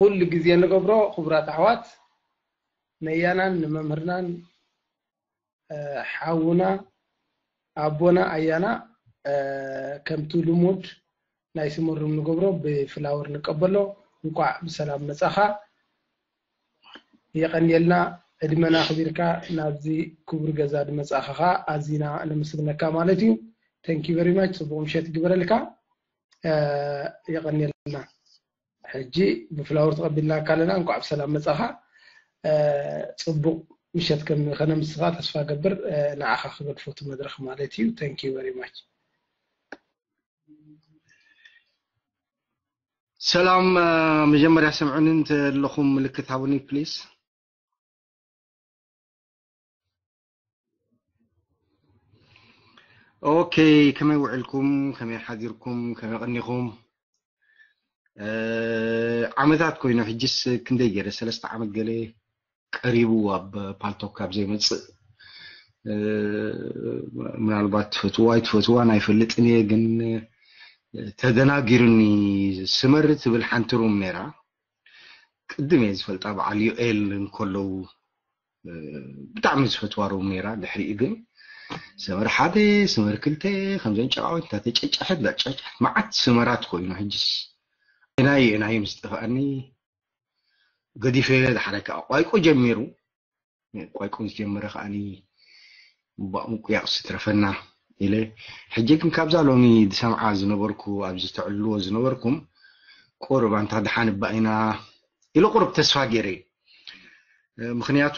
ኩሉ ግዜ ንገብሮ። ክቡራት ኣሕዋት፣ ነያናን ንመምህርናን ሓውና ኣቦና ኣያና ከምቲ ልሙድ ናይ ስመሩም ንገብሮ ብፍላወር ንቀበሎ። እንኳዕ ብሰላም መጻኻ። የቐንየልና ዕድመና ኣኽቢርካ ናብዚ ክቡር ገዛ ድመጻኻ ኸኣ ኣዚና ነመስግነካ ማለት እዩ። Thank you very much። ጽቡቕ ምሸት ይግበረልካ። የቐንየልና። ሕጂ ብፍላወር ተቐቢልናካ ኣለና። እንኳዕ ብሰላም መጻኻ። ጽቡቕ ምሸት ከም ከነምስኻ ተስፋ ገብር። ንዓኻ ክገድፎ እቲ መድረኽ ማለት እዩ። Thank you very much። ሰላም። መጀመርያ ሰምዑኒ እንተለኹም ምልክት ሃቡኒ please። ኦኬ፣ ከመይ ውዕልኩም? ከመይ ሓዲርኩም? ከመይ ቀኒኹም? ዓመታት ኮይኑ ሕጅስ ክንደይ ገይረ፣ ሰለስተ ዓመት ገለ ቀሪቡ ኣብ ፓልቶክ ካብ ዘይመጽእ። ምናልባት ትፈትዋ ኣይትፈትዋን ኣይፈልጥን እየ፣ ግን ተደናጊሩኒ። ስመር ትብል ሓንቲ ሩም ነይራ። ቅድም እየ ዝፈልጣ፣ በዓል ዩኤል እንከለዉ ብጣዕሚ ዝፈትዋ ሩም ነይራ። ድሕሪኡ ግን ሰመር ሓደ፣ ሰመር ክልተ፣ ከምዘን ጨቃዊት እንዳተጨጨሐት እንዳጨጨሐት መዓት ሰመራት ኮይኑ፣ ሕጅስ ኣየናይ ኣየናይ ምስ ጠፍኣኒ ገዲፈ። ድሓረ ከዓ ቋይቆ ጀሚሩ። ቋይቆ ምስ ጀመረ ከዓኒ እምባእ ምቁያቕ ስትረፈና ኢለ። ሕጂ ግን ካብዛ ሎሚ ዝሰምዓ ዝነበርኩ፣ ኣብዚ ተዕልዎ ዝነበርኩም፣ ቁሩብ ኣንታ ደሓን እባ ኢና ኢለ ቁሩብ ተስፋ ገይረ። ምኽንያቱ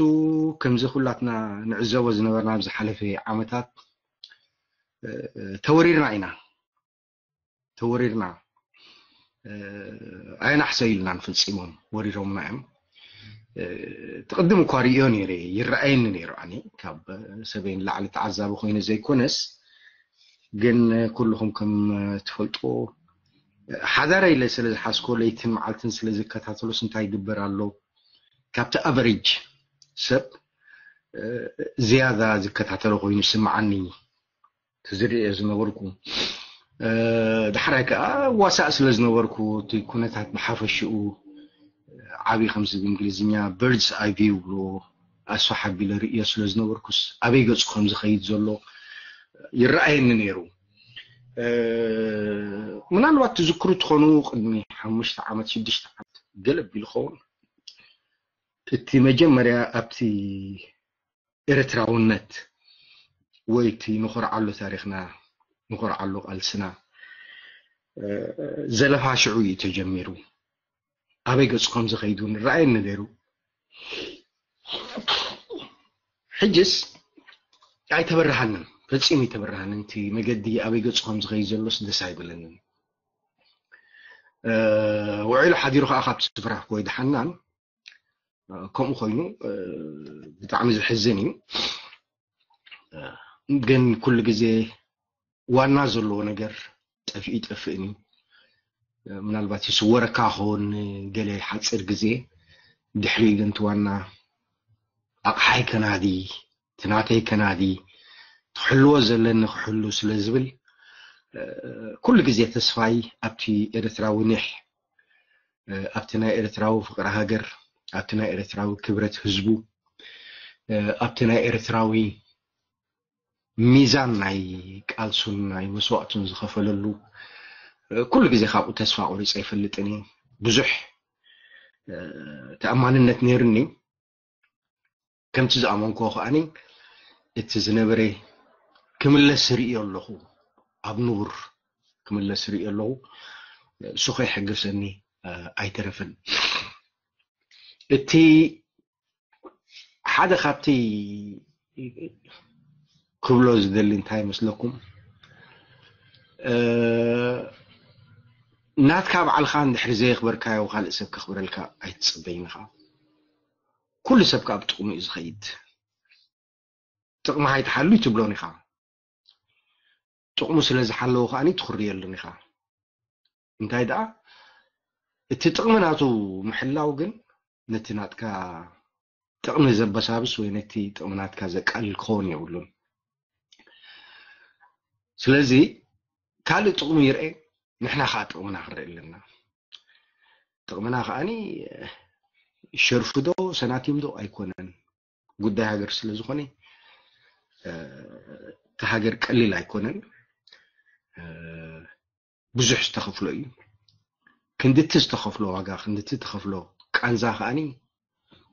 ከምዚ ኩላትና ንዕዘቦ ዝነበርና ኣብ ዝሓለፈ ዓመታት ተወሪርና ኢና። ተወሪርና። ኣየናሕሰዩልናን ፈጺሞም፣ ወሪሮምና እዮም። ትቕድም እኳ ርእዮ ነይረ፣ ይረኣየኒ ነይሩ። ኣነ ካብ ሰበይ ንላዕሊ ተዓዛቢ ኮይነ ዘይኮነስ፣ ግን ኩልኹም ከም ትፈልጥዎ ሓዳረ ኢለ ስለ ዝሓዝኮ፣ ለይትን መዓልትን ስለ ዝከታተሎስ እንታይ ይግበር ኣሎ፣ ካብቲ ኣቨሬጅ ሰብ ዝያዳ ዝከታተሎ ኮይኑ ይስምዓኒ። ዝርእዮ ዝነበርኩ። ዳሕራይ ከዓ ዋሳእ ስለ ዝነበርኩ፣ እቲ ኩነታት ብሓፈሽኡ ዓብዪ፣ ከምዚ ብእንግሊዝኛ በርድስ ኣይ ቪው ብሎ፣ ኣስፍሕ ኣቢለ ርእዮ ስለ ዝነበርኩስ፣ ኣበይ ገጹ ከም ዝኸይድ ዘሎ ይረኣየኒ ነይሩ። ምናልባት ትዝክሩ ትኾኑ፣ ቅድሚ ሓሙሽተ ዓመት፣ ሽዱሽተ ዓመት ገለ ኣቢሉ ኸውን፣ እቲ መጀመርያ ኣብቲ ኤርትራውነት ወይ እቲ ንኾርዓሉ ታሪኽና፣ ንኾርዓሉ ቃልስና ዘለፋ ሽዑ እዩ ተጀሚሩ። ኣበይ ገጹ ከም ዝኸይድ እውን ይረኣየኒ ነይሩ። ሕጅስ ኣይተበረሃንን፣ ፈጺሙ ኣይተበረሃንን። እቲ መገዲ ኣበይ ገጹ ከም ዝኸይድ ዘሎስ ደስ ኣይብለንን። ውዒሉ ሓዲሩ ከዓ ካብቲ ስፍራ ወይ ደሓናን ከምኡ ኮይኑ ብጣዕሚ ዘሕዝን እዩ። ግን ኩሉ ግዜ ዋና ዘለዎ ነገር ጠፊኡ ይጠፍእን እዩ። ምናልባት ይስወረካ ኸውን ገለ ሓፂር ግዜ፣ ድሕሪኡ ግን እቲ ዋና ኣቕሓይ ከናዲ፣ እቲ ናተይ ከናዲ፣ ክሕልዎ ዘለኒ ክሕሉ ስለ ዝብል ኩሉ ግዜ ተስፋይ ኣብቲ ኤርትራዊ ኒሕ፣ ኣብቲ ናይ ኤርትራዊ ፍቕሪ ሃገር፣ ኣብቲ ናይ ኤርትራዊ ክብረት ህዝቡ፣ ኣብቲ ናይ ኤርትራዊ ሚዛን ናይ ቃልሱን ናይ መስዋእቱን ዝኸፈለሉ፣ ኩሉ ግዜ ካብኡ ተስፋ ቆሪፀ ኣይፈልጥን እየ። ብዙሕ ተኣማንነት ነይሩኒ። ከምቲ ዝኣመንክዎ ከኣኒ እቲ ዝነበረ ክምለስ ርእዮ ኣለኹ፣ ኣብ ንቡር ክምለስ ርእዮ ኣለኹ። እሱ ከይሕገሰኒ ኣይተረፈን። እቲ ሓደ ካብቲ ክብሎ ዝደሊ እንታይ ይመስለኩም? ናትካ ባዕልኻ እንድሕሪ ዘየኽበርካዮ ካልእ ሰብ ከኽብረልካ ኣይትጽበይን ኢኻ። ኩሉ ሰብ ከኣ ብጥቕሙ እዩ ዝኸይድ። ጥቕምኻ ኣይትሓሉ ኣይትብሎን ኢኻ። ጥቕሙ ስለ ዝሓለወ ከኣ ትኽርየሉን ኢኻ። እንታይ ደኣ እቲ ጥቕሚ ናቱ ምሕላው ግን ነቲ ናትካ ጥቕሚ ዘበሳብስ ወይ ነቲ ጥቕሚ ናትካ ዘቃልል ክኸውን የብሉን። ስለዚ ካልእ ጥቕሚ ይርኤ፣ ንሕና ከዓ ጥቕምና ክንርኢ ኣለና። ጥቕምና ከዓኒ ሸርፉ ዶ ሰናቲም ዶ ኣይኮነን። ጉዳይ ሃገር ስለ ዝኾነ፣ እ፣ እቲ ሃገር ቀሊል ኣይኮነን። እ፣ ብዙሕ ዝተኸፍሎ እዩ። ክንድቲ ዝተኸፍሎ ዋጋ፣ ክንድቲ ዝተኸፍሎ ቃንዛ ከዓኒ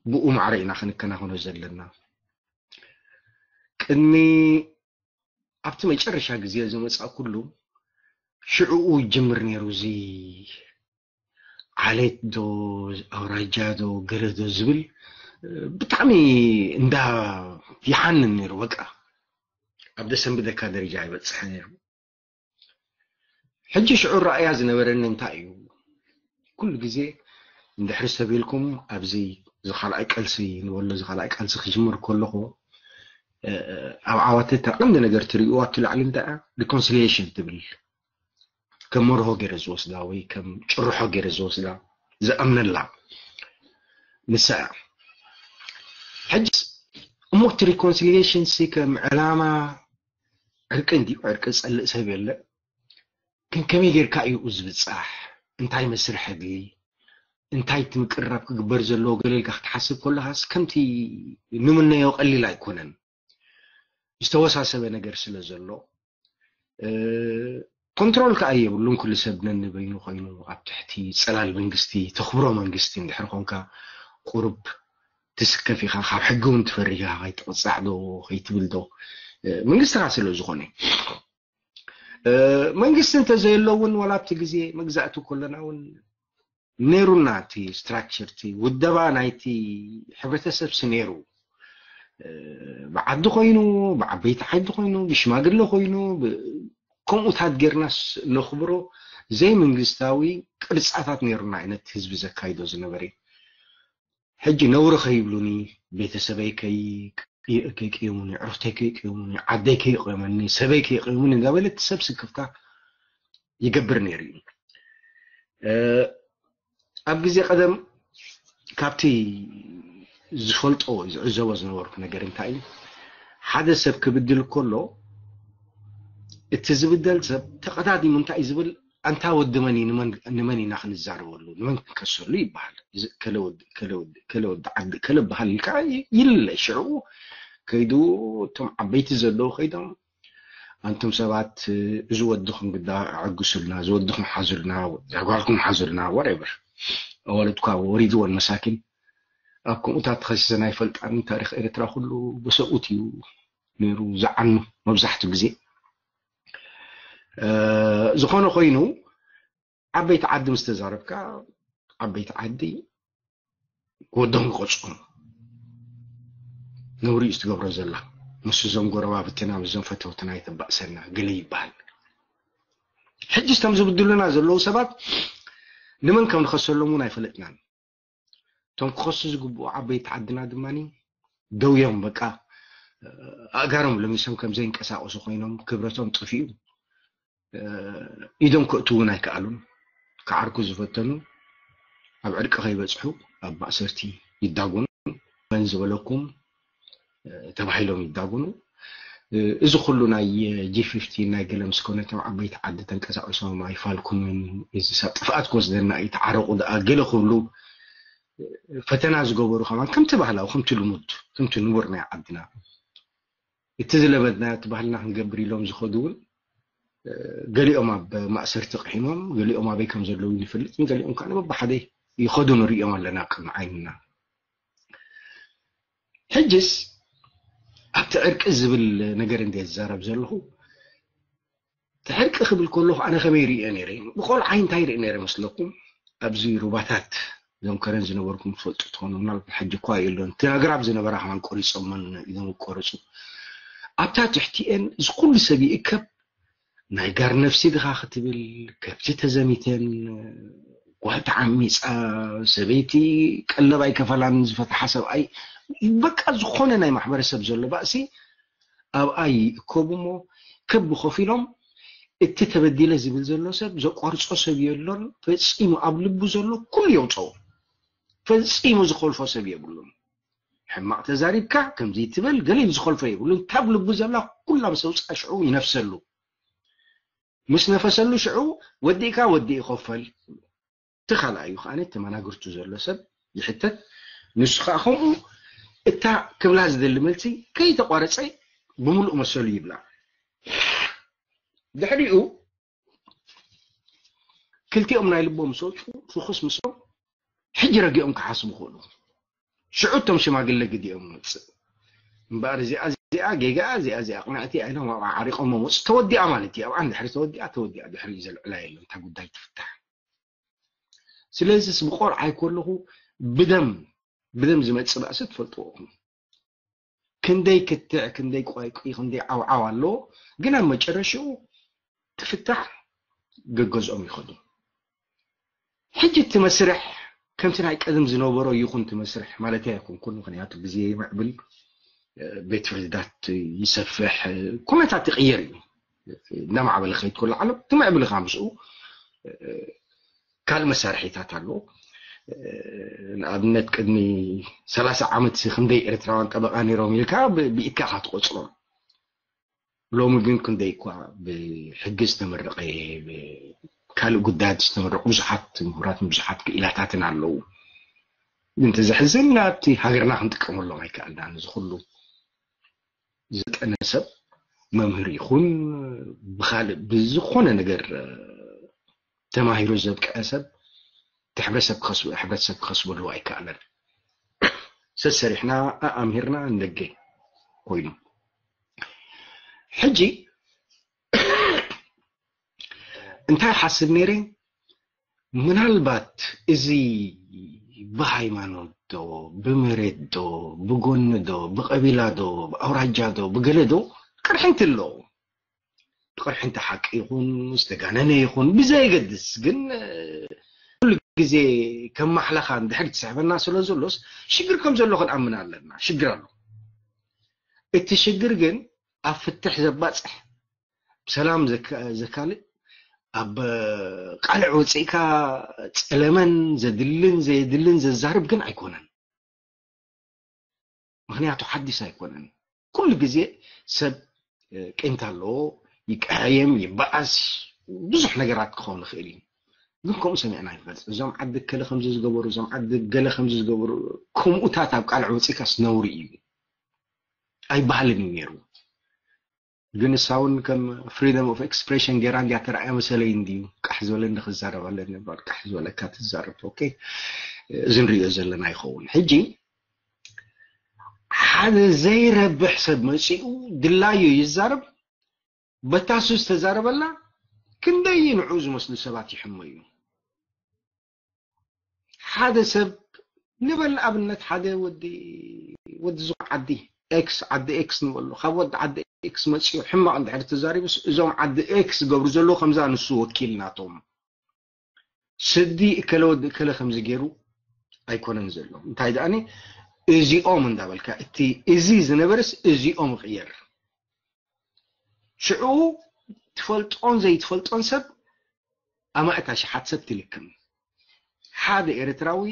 ብኡ ማዕረ ኢና ክንከናኸኖ ዘለና። ቅድሚ ኣብቲ መጨረሻ ግዜ ዝመጻእኩሉ ሽዕኡ ይጅምር ነይሩ። እዚ ዓሌት ዶ ኣውራጃ ዶ ገለ ዶ ዝብል ብጣዕሚ እንዳ ይሓንን ነይሩ። በቃ ኣብ ደሰንብደካ ደረጃ ይበጽሕ ነይሩ። ሕጂ ሽዑ ረኣያ ዝነበረኒ እንታይ እዩ? ኩሉ ግዜ እንድሕሪ ሰብ ኢልኩም ኣብዚ ዝኻልኣይ ቀልሲ ንበሎ ዝኻልኣይ ቀልሲ ክጅምር ከለኹ ኣብ ዓዋተ እታ ቀንዲ ነገር ትርእይዋ ኣብቲ ላዕሊ እንታይ እያ? ሪኮንሲሊየሽን ትብል ከም መርሆ ገይረ ዝወስዳ ወይ ከም ጭርሖ ገይረ ዝወስዳ ዝኣምነላ ንሳ እያ። ሕጅስ እሞ እቲ ሪኮንሲሊየሽን ሲ ከም ዕላማ ዕርቂ እንዲዩ ዕርቂ ዝጸልእ ሰብ የለ። ግን ከመይ ጌርካ እዩ ዝብጻሕ? እንታይ መስርሕ ድሊ እንታይ እቲ ምቅርራብ ክግበር ዘለዎ ገለ ኢልካ ክትሓስብ ከለኻስ ከምቲ ንምነዮ ቀሊል ኣይኮነን። ዝተወሳሰበ ነገር ስለ ዘሎ ኮንትሮል ከዓ የብሉን። ኩሉ ሰብ ነንበይኑ ኮይኑ ኣብ ትሕቲ ፀላል መንግስቲ ተኽብሮ መንግስቲ እንድሕር ኮንካ ቁሩብ ትስከፍ ኢኻ። ካብ ሕጊ እውን ትፈሪ ኢኻ። ከይትቕፃዕ ዶ ከይትብል ዶ መንግስትኻ ስለ ዝኾነ መንግስቲ እንተዘየሎ እውን ዋላ ኣብቲ ግዜ መግዛእቲ ከለና እውን ነይሩና እቲ ስትራክቸር እቲ ውደባ ናይቲ ሕብረተሰብ ሲ ነይሩ። ብዓዲ ኮይኑ ብዓበይቲ ዓዲ ኮይኑ ብሽማግለ ኮይኑ ከምኡታት ጌርናስ ነኽብሮ ዘይመንግስታዊ ቅርፃታት ነይሩና ዓይነት ህዝቢ ዘካይዶ ዝነበረ። ሕጂ ነውሪ ከይብሉኒ ቤተሰበይ ከይቅየሙኒ ዕርፍተይ ከይቅየሙኒ ዓደይ ከይቅየመኒ ሰበይ ከይቅየሙኒ እንዳበለ እቲ ሰብ ስክፍታ ይገብር ነይሩ እዩ። ኣብ ግዜ ቀደም ካብቲ ዝፈልጦ ዝዕዘቦ ዝነበርኩ ነገር እንታይ እዩ? ሓደ ሰብ ክብድል ከሎ እቲ ዝብደል ሰብ ተቐዳዲሙ እንታይ እዩ ዝብል? ኣንታ ወዲ መን እዩ ንመን ኢና ክንዛረበሉ ንመን ክንከሰሉ ይበሃል። ከለ ወዲ ዓዲ ከለ በሃል ኢልካ ይልለ። ሽዑ ከይዱ እቶም ዓበይቲ ዘለዉ ከይዶም ኣንቱም ሰባት እዚ ወድኹም ግዳ ኣዕግሱልና፣ እዚ ወድኹም ሓዙልና፣ ጓልኩም ሓዙልና፣ whatever ኣዋልድኳ ወሪድወን መሳኪን ኣብ ከምኡታት ተኸሲሰን ኣይፈልጣን። ታሪኽ ኤርትራ ኩሉ ብሰብኡት እዩ ነይሩ ዝዓኑ መብዛሕትኡ ግዜ። ዝኾነ ኮይኑ ዓበይቲ ዓዲ ምስ ተዛረብካ ዓበይቲ ዓዲ ወዶም ይቆፅኦም ነውሪ እዩ ትገብሮ ዘላ ምስ እዞም ጎረባብትና ምስዞም ፈተውትና የተባእሰና ገለ ይበሃል። ሕጂ ስቶም ዝብድሉና ዘለዉ ሰባት ንመን ከም ንኸሰሎም እውን ኣይፈለጥናን። እቶም ክኸሱ ዝግብኡ ዓበይቲ ዓድና ድማ ደውዮም በቃ ኣእጋሮም ለሚሶም ከም ዘይንቀሳቀሱ ኮይኖም ክብረቶም ጠፊኡ ኢዶም ክእትዉ እውን ኣይከኣሉን። ክዓርኩ ዝፈተኑ ኣብ ዕርቂ ከይበፅሑ ኣብ ማእሰርቲ ይዳጎኑ። መን ዝበለኩም ተባሂሎም ይዳጎኑ። እዚ ኩሉ ናይ ጂ ፊፍቲ ናይ ገለ ምስ ኮነ እቶም ዓበይቲ ዓዲ ተንቀሳቂሶም ኣይፋልኩምን፣ እዚ ሳብ ጥፍኣት ክወስደና እዩ፣ ተዓረቁ ደኣ ገለ ክብሉ ፈተና ዝገበሩ ከማን ከምቲ ባህላዊ ከምቲ ልሙድ ከምቲ ንቡር ናይ ዓድና እቲ ዝለመድናዮ እቲ ባህልና ክንገብር ኢሎም ዝኸዱ እውን ገሊኦም ኣብ ማእሰርቲ ቅሒሞም ገሊኦም ኣበይ ከም ዘለዉ ይንፈልጥ ገሊኦም ከዓ ንበብሓደ ይኸዱ ንሪኦም ኣለና ቅድሚ ዓይንና። ሕጅስ ኣብቲ ዕርቂ ዝብል ነገር እንደ ዝዛረብ ዘለኹ እቲ ዕርቂ ክብል ከለኹ ኣነ ከመይ ርእዮ ነይረ ብቆልዓይ እንታይ ርኢ ነይረ መስለኩም ኣብዚ ሩባታት እዞም ከረን ዝነበርኩም ትፈልጡ ትኾኑ ምናልባት ሕጂ እኳ የሎን እቲ ኣግራብ ዝነበራ ከማን ቆሪፆመን ኢዶም ቆረፁ ኣብታ ትሕቲኤን እዚ ኩሉ ሰብ ይእከብ ናይ ጋር ነፍሲ ድኻ ክትብል ከብቲ ተዘሚተን ጓል ተዓሚፃ ሰበይቲ ቀለብ ኣይከፈላን ዝፈትሓ ሰብኣይ በቃ ዝኾነ ናይ ማሕበረሰብ ዘሎ ባእሲ ኣብኣ ይእከቡ እሞ ክብ ኮፍ ኢሎም እቲ ተበዲለ ዝብል ዘሎ ሰብ ዘቋርፆ ሰብ የሎን ፈፂሙ ኣብ ልቡ ዘሎ ኩሉ የውፀኦ ፈፂሙ ዝኸልፎ ሰብ የብሉን ሕማቕ ተዛሪብካ ከምዚ ትበል ገሊል ዝኸልፎ የብሉን ካብ ልቡ ዘላ ኩላ ምስ ኣውፅኣ ሽዑ ይነፍሰሉ ምስ ነፈሰሉ ሽዑ ወዲእካ ወዲ ይኸፈል እቲ ካልኣዩ ከኣ ተመናግርቱ ዘሎ ሰብ ይሕተት። ንሱ ከኣ ከምኡ እታ ክብላ ዝደሊ መልሲ ከይተቋረጸ ብምሉእ መሰሉ ይብላ። ድሕሪኡ ክልቲኦም ናይ ልቦም ምስ ወፁ ፍኹስ ምስሎም ሕጂ ረጊኦም ክሓስቡ ክእሉ። ሽዑ እቶም ሽማግለ ግዲኦም መፅእ። እምበኣር እዚኣ እዚኣ ጌጋኣ እዚኣ እዚኣ ቅንዕቲ ኢሎም ኣብኣ ዓሪቆሞ መፁ። ተወዲኣ ማለት እዩ። ኣብኣ እንድሕሪ ተወዲኣ ተወዲኣ፣ ድሕሪ ዘልዕላ የለን። እታ ጉዳይ ትፍታሕ። ስለዚስ ብቆልዓ ኣይኮለኹ ብደም ብደም ዝመፅእ ባእሲ ትፈልጥዎ ኢኹም። ክንደይ ክትዕ፣ ክንደይ ቋይቁ፣ ክንደይ ዓውዓው ኣለዎ። ግን ኣብ መጨረሽኡ ትፍታሕ፣ ገገዝኦም ይኸዱ። ሕጂ እቲ መስርሕ ከምቲ ናይ ቀደም ዝነበሮ ይኹን እቲ መስርሕ ማለት ኣይኮንኩን፣ ምክንያቱ ግዜ ይምዕብል፣ ቤት ፍርድታት ይሰፍሕ፣ ኩነታት ይቕየር እዩ። እናማዕበለ ክኸይድ ከሎ ዓለም ትምዕብል ኢኻ ምስኡ። ካልእ መሳርሒታት ኣሎ። ንኣብነት ቅድሚ ሰላሳ ዓመት ክንደይ ኤርትራውያን ጠበቓ ነይሮም ኢልካ ብ- ብኢድካ ኢኻ ትቆጽሮም። ሎሚ ግን ክንደይ እኳ ብሕጊ ዝተመረቐ፣ ካልእ ጉዳያት ዝተመረቑ ብዙሓት ምሁራትን ብዙሓት ክኢላታትን ኣለዉ። ግን እቲ ዘሕዝን ናብቲ ሃገርና ክንጥቀመሎም ኣይከኣልናን። እዚ ኩሉ ዝጠነ ሰብ መምህር ይኹን ብኻልእ ብዝኾነ ነገር ተማሂሩ ዘብቅዐ ሰብ እቲ ሕብረተሰብ ክኸስቡ ሕብረተሰብ ክኸስበሉ ኣይከኣለን። ሰሰሪሕና ኣኣምሂርና እንደገ ኮይኑ ሕጂ እንታይ ሓስብ ነይረ? ምናልባት እዚ ብሃይማኖት ዶ ብመሬት ዶ ብጎኒ ዶ ብቀቢላ ዶ ብኣውራጃ ዶ ብገለ ዶ ቅርሕንቲ ኣለዎ። ቅርሕንቲ ሓቂ ይኹን ዝተጋነነ ይኹን ብዘየገድስ ግን ኩሉ ግዜ ከም ማሕለኻ እንድሕር ትስሕበና ስለ ዘሎስ ሽግር ከም ዘሎ ክንኣምን ኣለና። ሽግር ኣሎ። እቲ ሽግር ግን ኣብ ፍትሕ ዘባፅሕ ብሰላም ዘካልእ ኣብ ቃልዕ ወፂእካ ፀለመን ዘድልን ዘየድልን ዘዛርብ ግን ኣይኮነን። ምክንያቱ ሓዲስ ኣይኮነን። ኩሉ ግዜ ሰብ ቂምታ ኣለዎ፣ ይቀያየም፣ ይበኣስ፣ ብዙሕ ነገራት ክኸውን ይኽእል እዩ። ግን ከምኡ ሰሚዕና ይፈልጥ። እዞም ዓዲ ገለ ከምዚ ዝገበሩ፣ እዞም ዓዲ ገለ ከምዚ ዝገበሩ፣ ከምኡታት ኣብ ቃልዕ ወፂእካስ ነውሪ እዩ። ኣይበሃልን እዩ ነይሩ። ግን ንሳ እውን ከም freedom of expression ገይራ እንዲያ ተራእያ መሰለይ እንድዩ። ቃሕ ዝበለ እንዲ ክዛረብ ኣለኒ እምበር ቃሕ ዝበለካ ትዛረብ። ኦኬ፣ እዚ ንሪኦ ዘለና ይኸውን። ሕጂ ሓደ ዘይረብሕ ሰብ መፂኡ ድላዩ ይዛረብ። በታሱ ዝተዛረበላ ክንደይ ንዑ ዝመስሉ ሰባት ይሕመዩ። ሓደ ሰብ ንበል ኣብነት ሓደ ወዲ ወዲ ዝኾነ ዓዲ ኤክስ ዓዲ ኤክስ ንበሎ ካብ ወዲ ዓዲ ኤክስ መፅኡ ሕማቕ እንድሕር ተዛሪቡስ እዞም ዓዲ ኤክስ ዝገብሩ ዘለዉ ከምዛ ንሱ ወኪል ናቶም ስዲ እከለ ወዲ እከለ ከምዚ ገይሩ ኣይኮነን ዘሎ እንታይ ደኣኒ እዚኦም እንዳበልካ እቲ እዚ ዝነበረስ እዚኦም ይቕየር ሽዑ ትፈልጦን ዘይትፈልጦን ሰብ ኣማእት ኣሽሓት ሰብ ትልክም። ሓደ ኤርትራዊ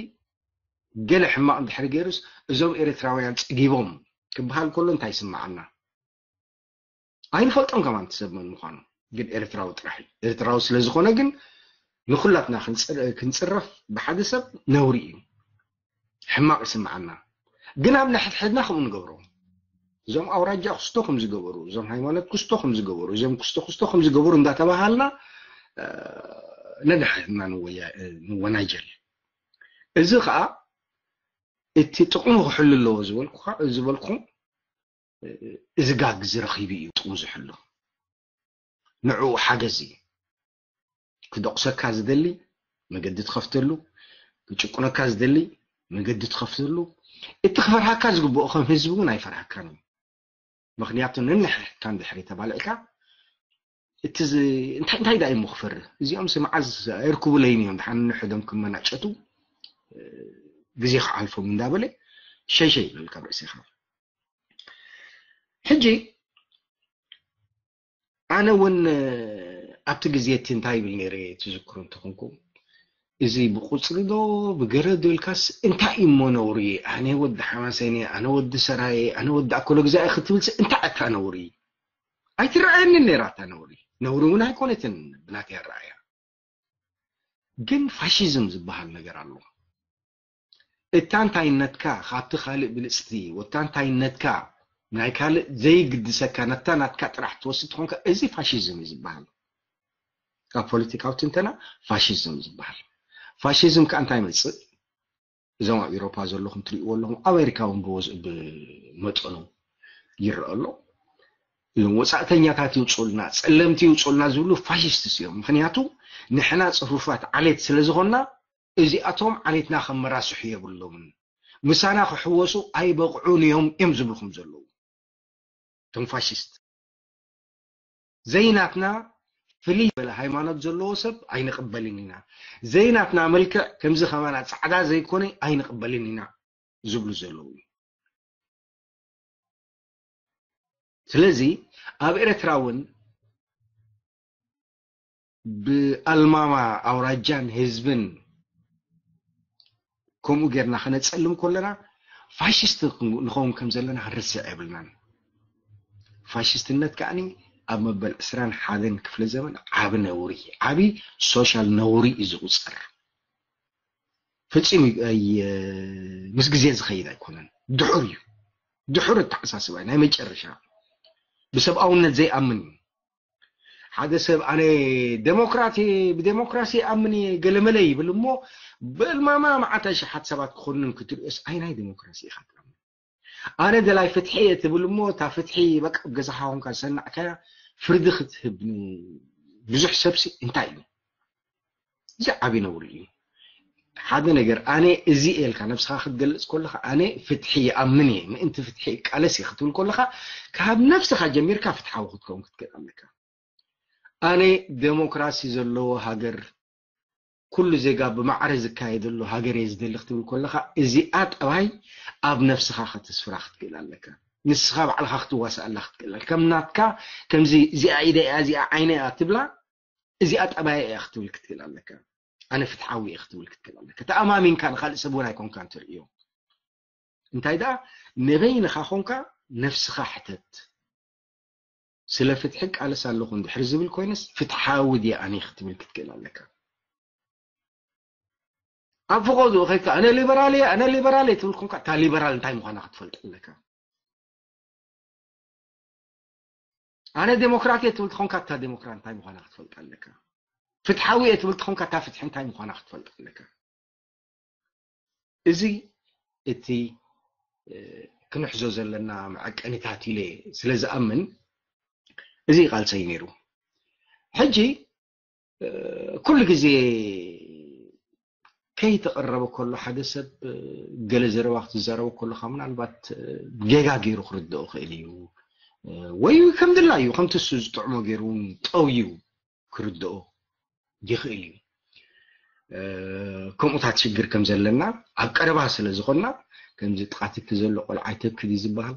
ገለ ሕማቕ እንድሕር ገይሩስ እዞም ኤርትራውያን ጸጊቦም ክበሃል ከሎ እንታይ ይስምዓና? ኣይንፈልጦን ከማን እቲ ሰብ መን ምዃኑ ግን ኤርትራዊ ጥራሕ እዩ። ኤርትራዊ ስለ ዝኾነ ግን ንኹላትና ክንጽረፍ ብሓደ ሰብ ነውሪ እዩ። ሕማቕ ይስምዓና። ግን ኣብ ነሕድሕድና ከምኡ ንገብሮ። እዞም ኣውራጃ ክስቶ ከም ዝገበሩ፣ እዞም ሃይማኖት ክስቶ ከም ዝገበሩ፣ እዞም ክስቶ ክስቶ ከም ዝገበሩ እንዳተባሃልና ነድሕድና ንወናጀል። እዚ ከዓ እቲ ጥቕሙ ክሕሉ ኣለዎ ዝበልኩ ዝበልኩም እዚ ጋግ ዝረኺቡ እዩ ጥቕሙ ዝሕሉ። ንዕኡ ሓገዝ እዩ። ክደቑሰካ ዝደሊ መገዲ ትኸፍተሉ፣ ክጭቁነካ ዝደሊ መገዲ ትኸፍተሉ። እቲ ክፈርሃካ ዝግብኦ ከም ህዝቢ እውን ኣይፈርሃካን እዩ። ምክንያቱ ነንሕካ እንድሕሪ ተባልዕካ እቲ እንታይ እንታይ ዳ እሞ ክፈርህ እዚኦም ሲ መዓዝ ኣይርክቡለይን እዮም ድሓን ንሕዶም ክመናጨቱ ግዜ ክዓልፎም እንዳበለ ሸይሸይ ይብል ካብ ርእሲኻ ሕጂ ኣነ እውን ኣብቲ ግዜ እቲ እንታይ ይብል ነይረ ትዝክሩ እንተኾንኩም እዚ ብቁፅሪ ዶ ብገለ ዶ ኢልካስ እንታይ እሞ ነውሪ ኣነ ወዲ ሓማሴን እየ ኣነ ወዲ ሰራየ ኣነ ወዲ ኣኮሎ ግዛኢ ክትብልሲ እንታይ ኣታ ነውሪ ኣይትረኣየንን ነይራ እታ ነውሪ ነውሪ እውን ኣይኮነትን ብናተይ ኣረኣያ ግን ፋሽዝም ዝበሃል ነገር ኣሎ። እታ እንታይነትካ ካብቲ ካልእ ብልጽቲ፣ ወታ እንታይነትካ ናይ ካልእ ዘይግድሰካ፣ ነታ ናትካ ጥራሕ ትወስድ ትኾንካ፣ እዚ ፋሽዝም እዩ ዝበሃል። ካብ ፖለቲካዊ ትንተና ፋሽዝም ዝበሃል። ፋሽዝም ከኣ እንታይ ይመጽእ? እዞም ኣብ ኤውሮፓ ዘለኹም ትርእይዎ ኣለኹም፣ ኣሜሪካ እውን ብወዝ-፣ ብመጠኑ ይረአ ኣሎ። እዞም ወጻእተኛታት ይውፅኡልና፣ ጸለምቲ ይውፅኡልና ዝብሉ ፋሽስትስ እዮም። ምኽንያቱ ንሕና ጽፉፋት ዓሌት ስለ ዝኾንና፣ እዚኣቶም ዓሌትና ከመራስሑ የብሎምን፣ ምሳና ክሕወሱ ኣይበቕዑን እዮም እዮም ዝብልኹም ዘለዉ። እቶም ፋሽስት ዘይናትና ፍልይ ዝበለ ሃይማኖት ዘለዎ ሰብ ኣይንቕበልን ኢና። ዘይናትና መልክዕ ከምዚ ከማና ጻዕዳ ዘይኮነ ኣይንቕበልን ኢና ዝብሉ ዘለዉ እዩ። ስለዚ ኣብ ኤርትራ እውን ብኣልማማ ኣውራጃን ህዝብን ከምኡ ጌርና ከነጸልም ከለና ፋሽስት ንኸውን ከም ዘለና ክንርስዕ የብልናን። ፋሽስትነት ከኣኒ ኣብ መበል ዕስራን ሓደን ክፍለ ዘመን ዓቢ ነውሪ፣ ዓቢ ሶሻል ነውሪ እዩ ዝቑጸር። ፍጹም እዩ፣ ኣይ-፣ ምስ ግዜ ዝኸይድ ኣይኮነን። ድሑር እዩ። ድሑር ኣተሓሳስባ እዩ፣ ናይ መጨረሻ። ብሰብኣውነት ዘይኣምን እዩ። ሓደ ሰብ ኣነ ዴሞክራት እየ፣ ብዴሞክራሲ ይኣምን እየ፣ ገለመለ ይብል እሞ፣ ብእልማማ መዓት ኣሽሓት ሰባት ክኾንን ክትርእዮስ፣ ኣይ ናይ ዴሞክራሲ ኢኻ ትኣምን። ኣነ ደላይ ፍትሒ እየ ትብል እሞ፣ እታ ፍትሒ በቃ ኣብ ገዛኻ ኮንካ ዝሰናዕካያ ፍርዲ ክትህብ ንብዙሕ ሰብሲ እንታይ እዩ? እዚ ዓቢ ነውሪ እዩ። ሓደ ነገር ኣነ እዚ እየ ኢልካ ነብስኻ ክትገልጽ ከለኻ፣ ኣነ ፍትሒ ይኣምን እየ፣ ምእንቲ ፍትሒ እቃለስ እየ ክትብል ከለኻ፣ ካብ ነብስኻ ጀሚርካ ፍትሓዊ ክትከውን ክትክእል ኣለካ። ኣነ ዴሞክራሲ ዘለዎ ሃገር፣ ኩሉ ዜጋ ብማዕረ ዝካየደሉ ሃገር እየ ዝደሊ ክትብል ከለኻ፣ እዚኣ ጠባይ ኣብ ነብስኻ ከተስፍራ ክትክእል ኣለካ። ንስኻ ባዕልኻ ክትዋስኣላ ክትክእል ኣለካ። ከም ናትካ፣ ከምዚ እዚኣ ኢደ እያ፣ እዚኣ ዓይነ እያ ትብላ፣ እዚኣ ጠባይ እያ ክትብል ክትክእል ኣለካ። ኣነ ፍትሓዊ እየ ክትብል ክትክእል ኣለካ። ተኣማሚንካ ንኻልእ ሰብ እውን ኣይኮንካን ትርእዮ። እንታይ ደኣ፣ ንበይንኻ ኮንካ ነብስኻ ሕተት። ስለ ፍትሒ ቃለስ ኣለኹ እንድሕር ዝብል ኮይነስ፣ ፍትሓዊ ድየ ኣነ ክትብል ክትክእል ኣለካ። ኣብ ፈቐድኡ ኸይድካ፣ ኣነ ሊበራል እየ፣ ኣነ ሊበራል እየ ትብል ኮንካ፣ እታ ሊበራል እንታይ ምዃና ክትፈልጥ ኣለካ። ኣነ ዴሞክራት እየ ትብል ትኾንካ፣ እታ ዴሞክራት እንታይ ምዃና ክትፈልጥ ኣለካ። ፍትሓዊ እየ ትብል ትኾንካ፣ እታ ፍትሒ እንታይ ምዃና ክትፈልጥ ኣለካ። እዚ እቲ፣ እ፣ ክንሕዞ ዘለና መዐቀኒታት ኢለ ስለ ዝኣምን፣ እዚ ቃልሰይ ነይሩ። ሕጂ፣ እ፣ ኩሉ ግዜ ከይተቐረበ ከሎ ሓደ ሰብ፣ እ፣ ገለ ዘረባ ክትዛረቦ ከለኻ ምናልባት፣ እ፣ ጌጋ ገይሩ ክርድኦ ክእል እዩ። እ፣ ወይ ከም ድላዩ፣ ከምቲ እሱ ዝጥዕሞ ገይሩ እውን ጠውዩ ክርድኦ ይኽእል እዩ። እ፣ ከምኡታት ሽግር ከም ዘለና ኣብ ቀረባ ስለ ዝኾንና፣ ከምዚ ጥቓትኪ ዘሎ ቆልዓ ኣይተብክድ እዩ ዝበሃል።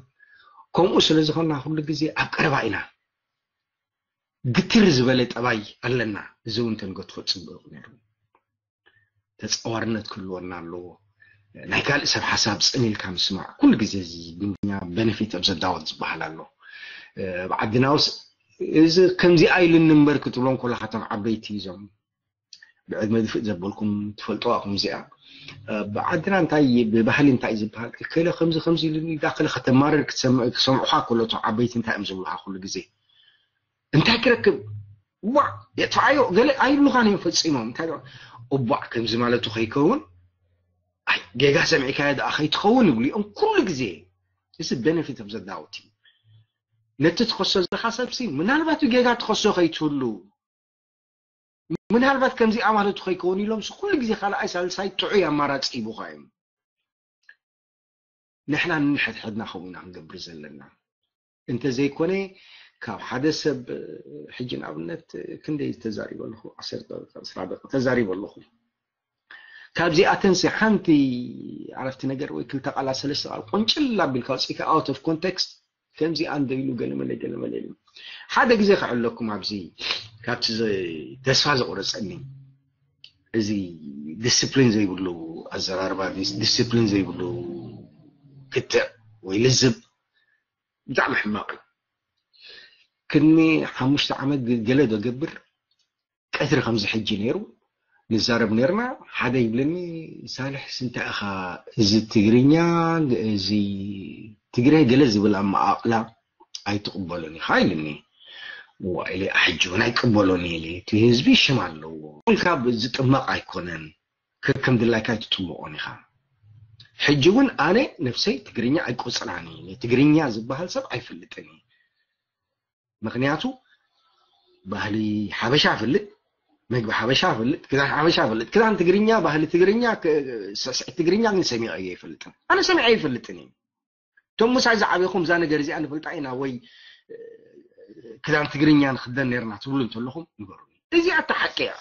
ከምኡ ስለ ዝኾንና ኩሉ ግዜ ኣብ ቀረባ ኢና። ግትር ዝበለ ጠባይ ኣለና። እዚ እውን ተንገድፎ ጽቡቕ ነይሩ። ተጻዋርነት ክህልወና ኣለዎ። ናይ ካልእ ሰብ ሓሳብ ጽን ኢልካ ምስማዕ ኩሉ ግዜ እዚ ብእንግሊዝኛ ቤነፊት ኦፍ ዘ ዳውት ዝበሃል ኣሎ። እ፣ ኣብ ዓድና ውስ እዚ ከምዚ ኣይሉኒ እምበር ክትብሎም ከለኻ እቶም ዓበይቲ እዞም ብዕድመ ድፍእ ዘበልኩም ትፈልጥዋ ኢኹም እዚኣ። እ፣ ብዓድና እንታይ ብባህሊ እንታይ ዝበሃል፣ እከለ ከምዚ ከምዚ ኢሉኒ ኢልካ ከለ ከተማርር ክትሰምዕ፣ ክሰምዑኻ ከሎ እቶም ዓበይቲ እንታይ እዮም ዝብሉኻ ኩሉ ግዜ? እንታይ ክረክብ? ዋዕ፣ የጥፍኣዮ፣ ገለ ኣይብሉኻን እዮም ፈጺሞም። እንታይ ደኣ? እቧዕ፣ ከምዚ ማለቱ ከይከውን፣ ኣይ፣ ጌጋ ሰሚዕካዮ ደኣ ከይትኸውን ይብሉ እዮም ኩሉ ግዜ። እዚ ቤነፊት ኦፍ ዘ ዳውት እዩ። ነቲ ትኸሶ ዘለኻ ሰብሲ፣ ምናልባት ብጌጋ ትኸሶ ከይትህሉ፣ ምናልባት ከምዚኣ ማለቱ ከይከውን ኢሎምሲ ኩሉ ግዜ ካልኣይ ሳልሳይ ጥዑይ ኣማራጺ ይቡኻ እዮም። ንሕና ንንሕድሕድና ከምኡ ኢና ክንገብር ዘለና። እንተዘይኮነ ካብ ሓደ ሰብ፣ ሕጂ ንኣብነት ክንደይ ተዛሪበ ኣለኹ? ዓሰርተ ደቂቃ፣ ዕስራ ደቂቃ ተዛሪበ ኣለኹ። ካብዚኣተንሲ ሓንቲ ዓረፍቲ ነገር ወይ ክልተ ቃላት፣ ሰለስተ ቃል ቆንጭል ኣቢልካ ኣውጺእካ፣ out of context፣ ከምዚ ኣንደ ኢሉ ገለመለ ገለመለ ኢሉ። ሓደ ግዜ ክዕለኩም ኣብዚ ካብቲ ዘ-፣ ተስፋ ዘቑረጸኒ፣ እዚ ዲስፕሊን ዘይብሉ ኣዘራርባ፣ ዲስ-፣ ዲስፕሊን ዘይብሉ ክትዕ ወይ ልዝብ ብጣዕሚ ሕማቕ እዩ። ቅድሚ ሓሙሽተ ዓመት ግ-፣ ገለ ዶ ገብር ቀትሪ ከምዚ ሕጂ ነይሩ፣ ንዛረብ ነርና። ሓደ ይብለኒ፣ ሳልሕ ስንታ ኢኻ እዚ ትግርኛ፣ እዚ ትግረ ገለ ዝብል ኣመቓቕላ ኣይትቕበሎን ኢኻ ኢልኒ። ዋ ኢለ፣ ሕጂ እውን ኣይቅበሎን ኢለ፣ እቲ ህዝቢ ሽም ኣለዎ ኢልካ ዝጥመቕ ኣይኮነን። ከከም ድላይካ ኣይትጥምቖን ኢኻ። ሕጂ እውን ኣነ ነፍሰይ ትግርኛ ኣይቆፅራን እየ። ትግርኛ ዝበሃል ሰብ ኣይፈልጥን እየ። ምክንያቱ ባህሊ ሓበሻ እፈልጥ፣ መግቢ ሓበሻ እፈልጥ፣ ክዳን ሓበሻ እፈልጥ። ክዳን ትግርኛ፣ ባህሊ ትግርኛ፣ ስዕስዒት ትግርኛ ግን ሰሚዐ ኣይፈልጥን። ኣነ ሰሚዐ ኣይፈልጥን እዩ። እቶም ምሳይ ዝዓበኹም እዛ ነገር እዚኣ ንፈልጣ ኢና ወይ ክዳን ትግርኛ ንክደን ነርና ትብሉ እንተለኹም ንገሩ። እዚኣ እታ ሓቂ እያ።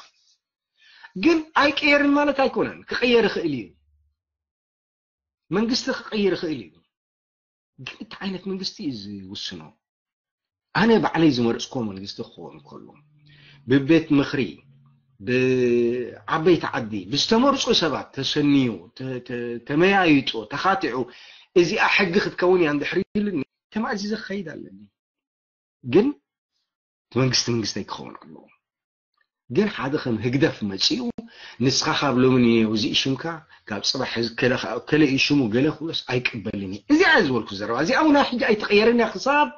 ግን ኣይቀየርን ማለት ኣይኮነን፣ ክቀየር ይኽእል እዩ። መንግስቲ ክቀይር ይኽእል እዩ። ግን እቲ ዓይነት መንግስቲ እዩ ዝውስኖ። ኣነ ባዕለይ ዝመረፅኮ መንግስቲ ክኸውን ከሎ ብቤት ምኽሪ ብዓበይቲ ዓዲ ብዝተመርፁ ሰባት ተሰንዩ ተመያይጦ ተኻቲዑ እዚኣ ሕጊ ክትከውን እያ እንድሕር ኢሉኒ ተማእዚዘ ክኸይድ ኣለኒ። ግን እቲ መንግስቲ መንግስተይ ክኸውን ኣለዎ። ግን ሓደ ከም ህግደፍ መፂኡ ንስኻ ካብ ሎሚ ንየው እዚ ሽምካ ካብ ፅባሕ ከለ እዩ ሽሙ ገለ ክብሎስ ኣይቅበልን እዩ። እዚኣ ዝበልኩ ዘረባ እዚኣ እውን ሕጂ ኣይትቐየርን እያ። ክሳብ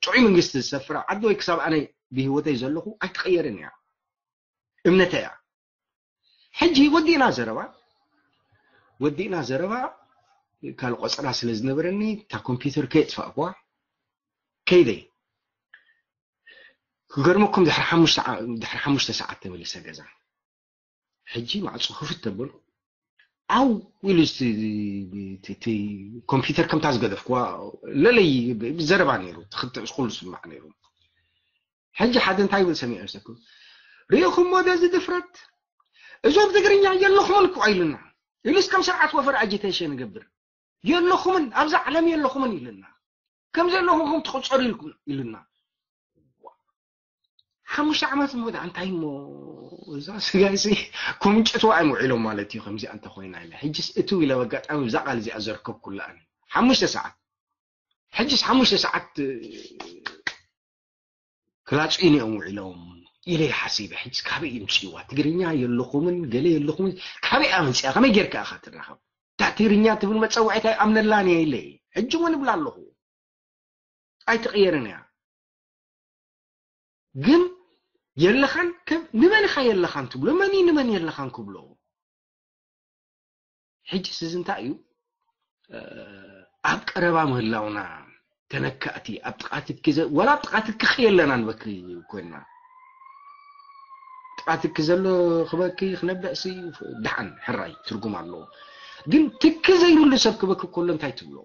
ጥዑይ መንግስቲ ዝሰፍራ ዓዲ ወይ ክሳብ ኣነ ብህይወተይ ዘለኹ ኣይትቐየርን እያ። እምነተይ እያ። ሕጂ ወዲእና ዘረባ ወዲእና ዘረባ ካልእ ቆፀራ ስለ ዝነበረኒ እታ ኮምፒውተር ከየጥፋእኳ ከይደ። ክገርመኩም ድሕሪ ሓሙሽተ ሰዓት ተመሊሰ ገዛ። ሕጂ ማዕፁ ክፍት ተበልኩ። ዓው ኢሉ ኮምፒውተር ከምታ ዝገደፍኩዋ ለለይ ዘረባ ነይሩ። ትክትዕ ኩሉ ስማዕ ነይሩ። ሕጂ ሓደ እንታይ ይብል ሰሚዐ ሰኩ ሪኢኹሞ ዶ እዚ ድፍረት? እዞም ትግርኛ የለኹምን እኮ ኢሉና ኢሉስ ከም ስርዓት ወፈር ኣጂቴሽን ይገብር። የለኹምን፣ ኣብዛ ዓለም የለኹምን ኢሉና። ከም ዘለኹም ትቑጸሩ ኢልኩም ኢሉና። ሓሙሽተ ዓመት እሞ ደኣ እንታይ እሞ እዛ ስጋይሲ ኮምጨትዋ እዮም ውዒሎም ማለት እዩ። ከምዚኣ እንተኾይና ኢለ ሕጅስ እትው ኢለ በጋጣሚ ብዛ ቃል እዚኣ ዘርከብኩላ ኣነ ሓሙሽተ ሰዓት ሕጅስ ሓሙሽተ ሰዓት ክላፅዩኒ እዮም ውዒሎም ኢለ ሓሲበ። ሕጅስ ካበይ ይምፅእዋ ትግርኛ የለኹምን ገለ የለኹምን ካበይ ኣመፅያ ከመይ ጌርካ ኢኻ ትራኸብ? እታ ትግርኛ ትብል መፀዋዒት ኣይኣምነላን እየ ኢለ ሕጂ እውን እብላ ኣለኹ። ኣይትቕየርን እያ። ግን የለኻን ከም ንመን ኢኻ የለኻን ትብሎ? መን እዩ ንመን የለኻን ክብሎ? ሕጅስ እዚ እንታይ እዩ? ኣብ ቀረባ ምህላውና ተነካእቲ ኣብ ጥቓትኪ ወላ ኣብ ጥቓትኪ ክየለና ንበኪ ኮይና ጥቓትኪ ዘሎ ክበኪ ክነብዕሲ ደሓን ሕራይ ትርጉም ኣለዎ። ግን ትኪ ዘይብሉ ሰብ ክበኪ ከሎ እንታይ ትብሎ?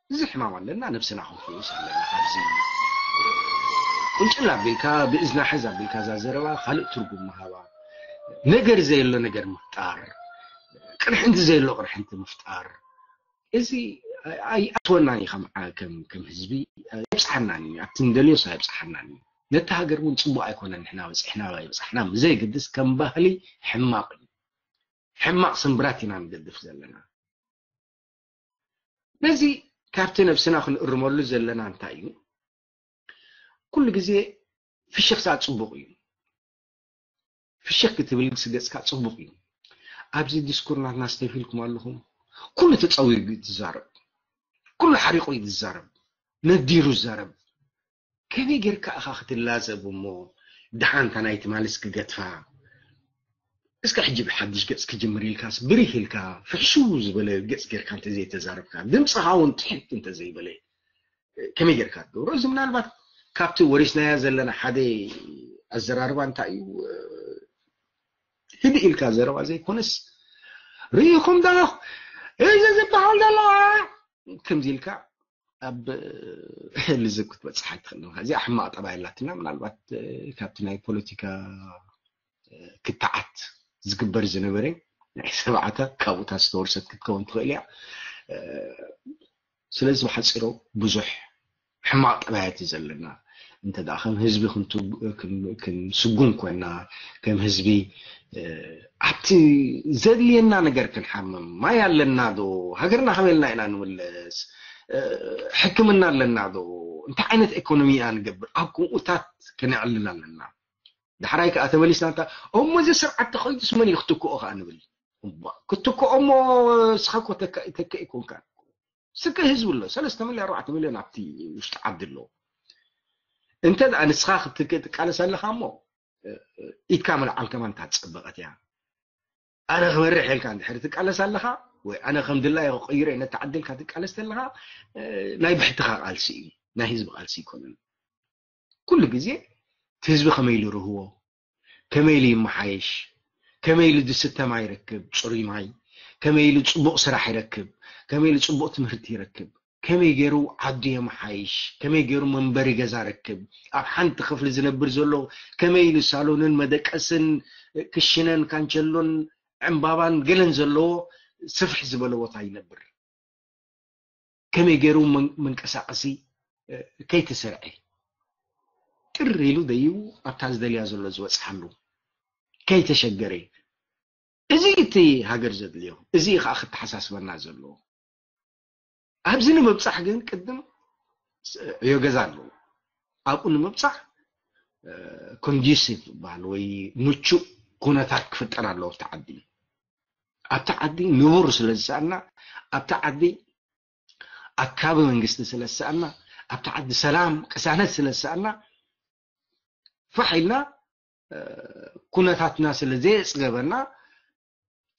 እዚ ሕማም ኣለና፣ ነብስና ክንፍውስ ኣለና። ኣብዚ ቁንጭል ኣቢልካ ብእዝና ሕዝ ኣቢልካ እዛ ዘረባ ካልእ ትርጉም ምሃባ፣ ነገር ዘየሎ ነገር ምፍጣር፣ ቅርሕንቲ ዘየሎ ቅርሕንቲ ምፍጣር፣ እዚ ኣይኣትወናን እዩ። ከም ከም ህዝቢ ኣይብፅሓናን እዩ። ኣብቲ ንደልዮስ ኣይብፅሓናን እዩ። ነቲ ሃገር እውን ፅቡቅ ኣይኮነን። ንሕና በፂሕና ኣይበፃሕና ዘይግድስ ከም ባህሊ ሕማቅ እዩ። ሕማቅ ስምብራት ኢና ንገድፍ ዘለና። ነዚ ካብቲ ነብስና ክንእርመሉ ዘለና እንታይ እዩ? ኩሉ ግዜ ፍሽኽታ ፅቡቅ እዩ። ፍሽኽ ክትብል ስገፅካ ፅቡቅ እዩ። ኣብዚ ዲስኩር ናትና ስተፊልኩም ኣለኹም። ኩሉ ተፀዊጉ እዩ ዝዛረብ፣ ኩሉ ሓሪቁ እዩ ዝዛረብ፣ ነዲሩ ዝዛረብ። ከመይ ጌርካ ኢኻ ክትላዘብ እሞ ደሓን እታ ናይ ትማልስ ክገድፋ? እስከ ሕጂ ብሓድሽ ገጽ ክጅምር ኢልካስ ብሪህ ኢልካ ፍሕሽው ዝበለ ገጽ ጌርካ እንተዘይተዛረብካ ድምጽኻ እውን ትሕት እንተዘይበለ ከመይ ጌርካ ትገብሮ? እዚ ምናልባት ካብቲ ወሪስናያ ዘለና ሓደ ኣዘራርባ እንታይ እዩ? ህድእ ኢልካ ዘረባ ዘይኮነስ ርኢኹም ዶ እዚ ዝበሃል ዘሎ ከምዚ ኢልካ ኣብ ልዝብ ክትበፅሕ ኣይትኽእልን። እዚኣ ሕማቕ ጠባይ ኣላትና። ምናልባት ካብቲ ናይ ፖለቲካ ክትዓት ዝግበር ዝነበረ ናይ ሰብዓታት ካብኡታት ዝተወርሰት ክትከውን ትኽእል እያ። ስለዚ ብሓፂሮ ብዙሕ ሕማቕ ጠባያት እዩ ዘለና። እንተ ደኣ ከም ህዝቢ ክንስጉም ኮይና ከም ህዝቢ ኣብቲ ዘድልየና ነገር ክንሓምም ማይ ኣለና ዶ ሃገርና ከመልና ኢና ንምለስ ሕክምና ኣለና ዶ እንታይ ዓይነት ኤኮኖሚ ኢና ንገብር ኣብ ከምኡታት ከነዕልል ኣለና። ዳሕራይ ከዓ ተመሊስና እንታ እሞ እዚ ስርዓት ተኸይዱስ መን እዩ ክትክኦ ከዓ ንብል። እባ ክትክኦ እሞ ንስኻ እኮ ተካኢ ተካኢ ኮንካ። ስከ ህዝቢ ኣሎ ሰለስተ ሚልዮን ኣርባዕተ ሚልዮን ኣብቲ ውሽጢ ዓዲ ኣሎ። እንተ ደኣ ንስኻ ክትክ- ትቃለስ ኣለኻ እሞ ኢድካ ምልዓል ከማን እታ ዝጸበቐት እያ። ኣነ ክመርሕ ኢልካ እንድሕር ትቃለስ ኣለኻ ወይ ኣነ ከም ድላየ ክቕይሮ እየ ነቲ ዓዲ ኢልካ ትቃለስ ተለኻ ናይ ብሕትኻ ቃልሲ እዩ፣ ናይ ህዝቢ ቃልሲ ኣይኮነን። ኩሉ ግዜ እቲ ህዝቢ ከመይ ኢሉ ይርህዎ፣ ከመይ ኢሉ ይመሓየሽ፣ ከመይ ኢሉ ዝስተ ማይ ይረክብ፣ ፅሩይ ማይ፣ ከመይ ኢሉ ፅቡቕ ስራሕ ይረክብ፣ ከመይ ኢሉ ፅቡቕ ትምህርቲ ይረክብ፣ ከመይ ገይሩ ዓዱ የመሓይሽ፣ ከመይ ገይሩ መንበሪ ገዛ ረክብ፣ ኣብ ሓንቲ ክፍሊ ዝነብር ዘሎ ከመይ ኢሉ ሳሎንን መደቀስን ክሽነን ካንቸሎን ዕምባባን ገለን ዘለዎ ስፍሕ ዝበለ ቦታ ይነብር፣ ከመይ ገይሩ መንቀሳቀሲ ከይተሰርዐ ጥር ኢሉ ደይቡ ኣብታ ዝደልያ ዘሎ ዝበፅሓሉ ከይተሸገረ፣ እዚ እቲ ሃገር ዘድልዮ፣ እዚ ከዓ ክተሓሳስበና ዘለዎ። ኣብዚ ንምብፃሕ ግን ቅድም ዕዮ ገዛ ኣለዎ። ኣብኡ ንምብፃሕ ኮንዲሲቭ ዝበሃል ወይ ምቹእ ኩነታት ክፍጠር ኣለዎ ኣብቲ ዓዲ። ኣብቲ ዓዲ ንቡር ስለ ዝሰኣና፣ ኣብቲ ዓዲ ኣካቢ መንግስቲ ስለ ዝሰኣና፣ ኣብቲ ዓዲ ሰላም ቅሳነት ስለ ዝሰኣና ፋሕ ኢልና ኩነታትና ስለ ዘየፅገበና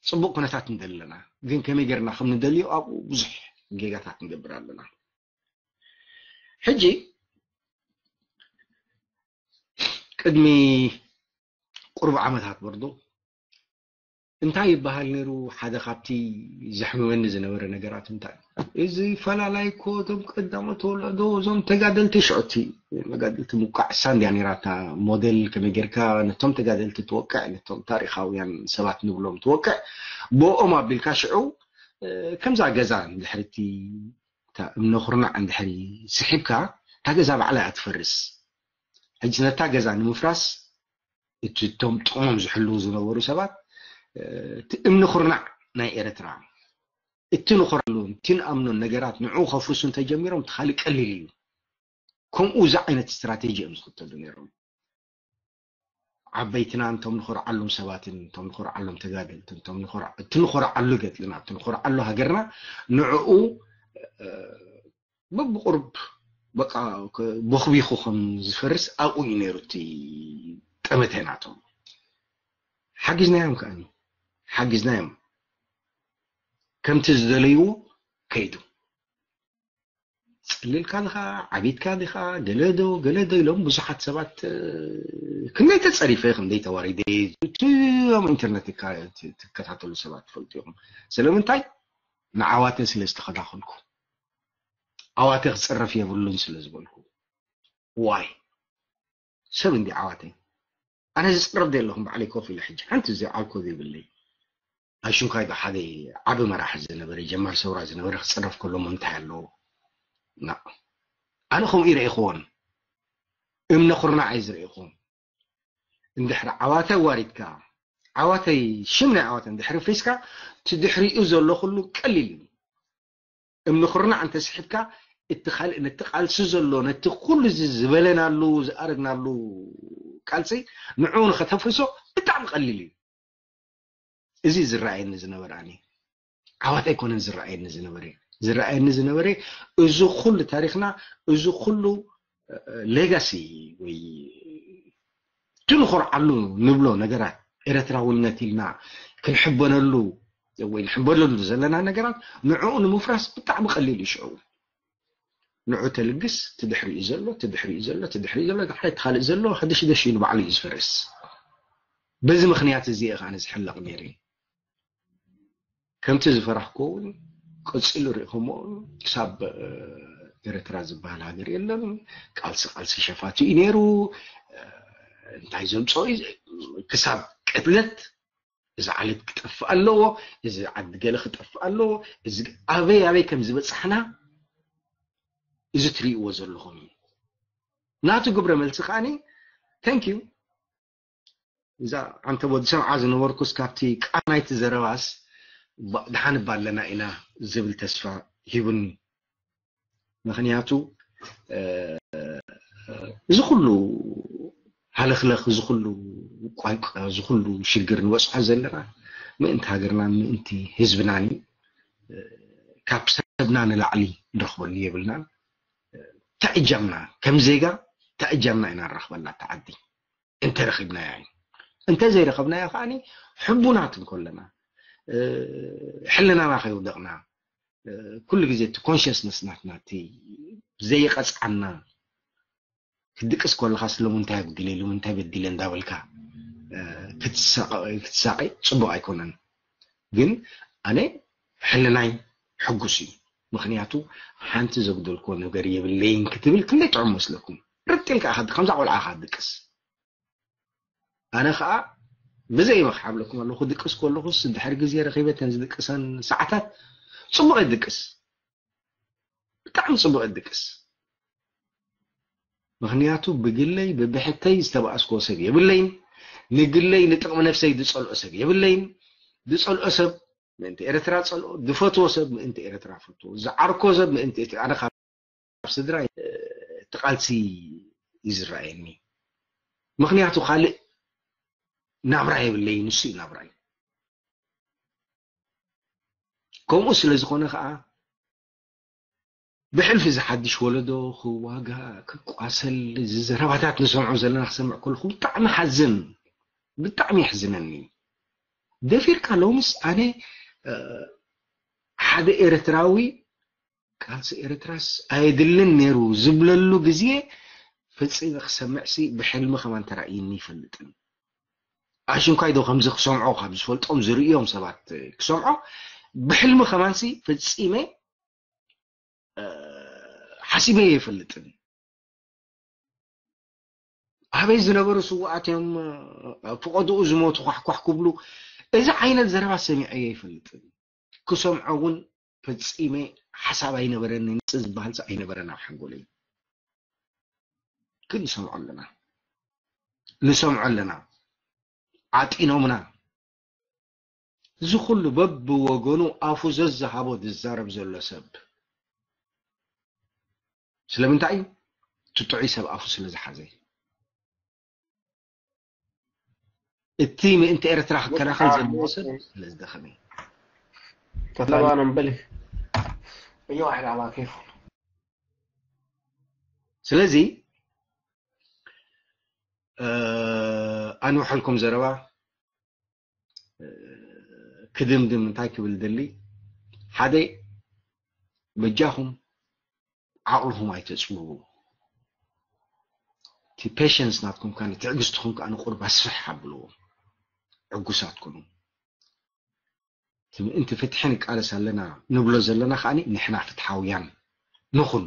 ፅቡቅ ኩነታት ንደሊ ኣለና። ግን ከመይ ጌርና ከም ንደልዮ ኣብኡ ብዙሕ ጌጋታት ንገብር ኣለና። ሕጂ ቅድሚ ቁሩብ ዓመታት በርዶ እንታይ ይበሃል ነይሩ? ሓደ ካብቲ ዘሕምመኒ ዝነበረ ነገራት እንታይ እዚ ፈላላይ እኮ እቶም ቀዳሞት ወለዶ እዞም ተጋደልቲ ሽዑቲ መጋደልቲ ምቋዕ እሳ እንድያ ነይራ እታ ሞዴል ከመይ ጌርካ ነቶም ተጋደልቲ ትወቅዕ ነቶም ታሪኻውያን ሰባት ንብሎም ትወቅዕ ብኦም ኣቢልካ ሽዑ ከምዛ ገዛ እንድሕርቲ እምነ ኩርናዕ እንድሕሪ ስሒብካ እታ ገዛ ባዕላ እያ ትፈርስ። ሕጂ ነታ ገዛ ንምፍራስ እቲ እቶም ጥቕሞም ዝሕልዉ ዝነበሩ ሰባት እቲ እምኒ ኩርናዕ ናይ ኤርትራ እቲ ንኾርዓሉ እቲ ንኣምኖን ነገራት ንዕኡ ከፍርሱ እንተጀሚሮም እቲ ካልእ ቀሊል እዩ። ከምኡ እዚ ዓይነት ስትራቴጂ እዮም ዝኽተሉ ነይሮም። ዓበይትና እንቶም ንኾርዓሎም ሰባትን እንቶም ንኾርዓሎም ተጋደልትን እንቶም ንኾርዓ- እቲ ንኾርዓሉ ገድልና እቲ ንኾርዓሉ ሃገርና ንዕኡ በብቁሩብ በቃ ቦኽቢኹ ከም ዝፈርስ ኣብኡ እዩ ነይሩ እቲ ጠመተ ናቶም። ሓጊዝናዮም ከኣኒ ሓጊዝናዮም ከምቲ ዝደለይዎ ከይዱ። ፀሊልካ ዲኻ ዓቢድካ ዲኻ ገለዶ ገለዶ ኢሎም ብዙሓት ሰባት ክንደይ ተፀሪፈ ክንደይ ተዋሪደ እቲ ኣብ ኢንተርነት ትከታተሉ ሰባት ትፈልጡ ኢኹም። ስለምንታይ ንዓዋተ ስለ ዝተኸላኸልኩ ዓዋተ ክፅረፍ የብሉን ስለ ዝበልኩ። ዋይ ሰብ እንዲ ዓዋተይ ኣነ ዝፅረፍ ደ ኣለኹም ባዕለይ ኮፍ ኢለ ሕጂ ሓንቲ እዚ ዓልኮ ዘይብለይ ናይ ሽንኳይ ዶ ሓደ ዓቢ መራሒ ዝነበረ ጀማሪ ሰውራ ዝነበረ ክፅረፍ ከሎ ሞ እንታይ ኣለዎ? ና ኣነ ከምኡ ይረኢኽዎን እምነ ኩርናዕ እየ ዝረኢኹም። እንድሕሪ ዓዋተ ኣዋሪድካ ዓዋተይ ሽም ናይ ዓዋተ እንድሕሪ ፍሪስካ እቲ ድሕሪኡ ዘሎ ኩሉ ቀሊል እዩ። እምኒ ኩርናዕ እንተስሒብካ እቲ ካልእ ነቲ ቃልሲ ዘሎ ነቲ ኩሉ እዚ ዝበለናሉ ዝኣረግናሉ ቃልሲ ንዕኡ ንኸተፍርሶ ብጣዕሚ ቀሊል እዩ። እዚ ዝረኣየኒ ዝነበረ ኣነ ዓዋት ኣይኮነን ዝረኣየኒ ዝነበረ ዝረኣየኒ ዝነበረ እዚ ኩሉ ታሪኽና እዚ ኩሉ ሌጋሲ ወይ እቲ ንኾርዓሉ ንብሎ ነገራት ኤረትራውነት ኢልና ክንሕበነሉ ወይ ንሕበነሉ ዘለና ነገራት ንዕኡ ንምፍራስ ብጣዕሚ ቀሊል እዩ ሽዑ ንዑ ተልግስ ትድሕሪኡ ዘሎ ትድሕሪኡ ዘሎ ትድሕሪኡ ዘሎ ድሕሪ ትኻልእ ዘሎ ሃደሽደሽ ኢሉ ባዕሉ እዩ ዝፈርስ በዚ ምኽንያት እዚ እየ ከዓነ ዝሕለቕ ነይረ ከምቲ ዝፈራህኮ እውን ቀፂሉ ርኢኹሞ ክሳብ ኤረትራ ዝበሃል ሃገር የለን ቃልሲ ቃልሲ ሸፋቱ እዩ ነይሩ እንታይ ዘምፅኦ ክሳብ ቅትለት እዚ ዓለት ክጠፍእ ኣለዎ እዚ ዓዲ ገለ ክጠፍእ ኣለዎ እዚ ኣበይ ኣበይ ከም ዝበፃሕና እዚ ትሪእዎ ዘለኹም እዩ ናቱ ግብረ መልሲ ከዓኒ thank you እዛ ዓንተቦ ዝሰምዓ ዝነበርኩስ ካብቲ ቃናይቲ ዘረባስ ደሓን እባ ኣለና ኢና ዝብል ተስፋ ሂቡኒ ምክንያቱ እዚ ኩሉ ሃለኽለኽ፣ እዚ ኩሉ ቋንቋ፣ እዚ ኩሉ ሽግር ንበፅሖ ዘለና ምእንቲ ሃገርናን ምእንቲ ህዝብናን እዩ። ካብ ሰብና ንላዕሊ ንረኽበሉ የብልናን። ተእጃምና ከም ዜጋ ተእጃምና ኢና ንረኽበላ እታ ዓዲ እንተረኺብናያ እዩ። እንተዘይረኸብናያ ከዓኒ ሕቡናት እንኮለና ሕልናና ከይውደቕና ኩሉ ግዜ እቲ ኮንሽስነስ ናትና እቲ ዘይቐፅዓና ክድቅስ ከለኻ ስለምንታይ ኣጉዲለ ኢሉ ምንታይ በዲለ እንዳበልካ ክትሳቐ ክትሳቐ ጽቡቕ ኣይኮነን። ግን ኣነ ሕልናይ ሕጉስ እዩ። ምኽንያቱ ሓንቲ ዘጉደልክዎ ነገር የብለይን ክትብል ክንደይ ጥዑም መስለኩም። ርጥ ኢልካ ኢኻ ከምዛ ቆልዓ ኢኻ ትድቅስ። ኣነ ኸኣ ብዘይ መኽሓብለኩም ኣለኹ ክድቅስ ከለኹስ ድሕሪ ግዜ ረኺበ ተን ዝድቅሰን ሰዓታት ጽቡቕ እየ ዝድቅስ። ብጣዕሚ ጽቡቕ እየ ዝድቅስ። ምኽንያቱ ብግለይ ብብሕተይ ዝተባእስክዎ ሰብ የብለይን። ንግለይ ንጥቕሚ ነብሰይ ዝጸልኦ ሰብ የብለይን። ዝጸልኦ ሰብ ምእንቲ ኤርትራ ጸልኦ፣ ዝፈትዎ ሰብ ምእንቲ ኤርትራ ፈትዎ፣ ዝዓርኮ ሰብ ምእንቲ እቲ ኣነ ካብ ስድራ እቲ ቃልሲ እዩ ዝረኣየኒ። ምኽንያቱ ካልእ ናብራ የብለይን፣ ንሱ እዩ ናብራይ። ከምኡ ስለ ዝኾነ ኸኣ ብሕልፊ እዚ ሓድሽ ወለዶ ክዋጋእ ክቋሰል እዚ ዘረባታት ንሰምዖ ዘለና ክሰምዕ ከለኹ ብጣዕሚ ሓዝን ብጣዕሚ የሕዝነኒ። ደፊርካ ሎምስ ኣነ ሓደ ኤርትራዊ ቃልሲ ኤርትራስ ኣየድልን ነይሩ ዝብለሉ ግዜ ፈጺመ ክሰምዕሲ ብሕልሚ ከማን ተራእይኒ ይፈልጥን። ኣሽንኳይ ዶ ከምዚ ክሰምዖ ካብ ዝፈልጦም ዝርእዮም ሰባት ክሰምዖ ብሕልሚ ከማንሲ ፈጺመ ሓሲበ ይፈልጥን። ኣበይ ዝነበሩ ስውኣት እዮም ኣብ ፍቐድኡ ዝሞቱ ኳሕኳሕ ክብሉ እዚ ዓይነት ዘረባ ሰሚዐ ይፈልጥን። ክሰምዖ እውን ፈጺመ ሓሳብ ኣይነበረኒ። ንጽ ዝበሃል ኣይነበረን ኣብ ሓንጎለይ። ግን ንሰምዖ ኣለና ንሰምዖ ኣለና። ዓጢኖምና። እዚ ኩሉ በብወገኑ ኣፉ ዘዝሃቦ ዝዛረብ ዘሎ ሰብ ስለምንታይ እዩ? እቲ ጥዑይ ሰብ ኣፉ ስለ ዝሓዘ። እቲ ምእንቲ ኤርትራ ክከላኸል ዘለዎ ሰብ ስለ ዝደኸመ። ተተባኖም በሊ እዮ ዋሕድ ኣባኪፍ ስለዚ ኣንውሐልኩም ዘረባ ክድምድም እንታይ ክብል ደሊ ሓደ በጃኹም ዓቕልኹም ኣይተፅብቡ እቲ patience ናትኩም ከ ትዕግስትኹም ከ ንቁርብ ኣስፍሕ ኣብልዎ ዕጉሳት ኩኑ እቲ ምእንቲ ፍትሒ ንቃለስ ኣለና ንብሎ ዘለና ከኣ ንሕና ፍትሓውያን ንኹን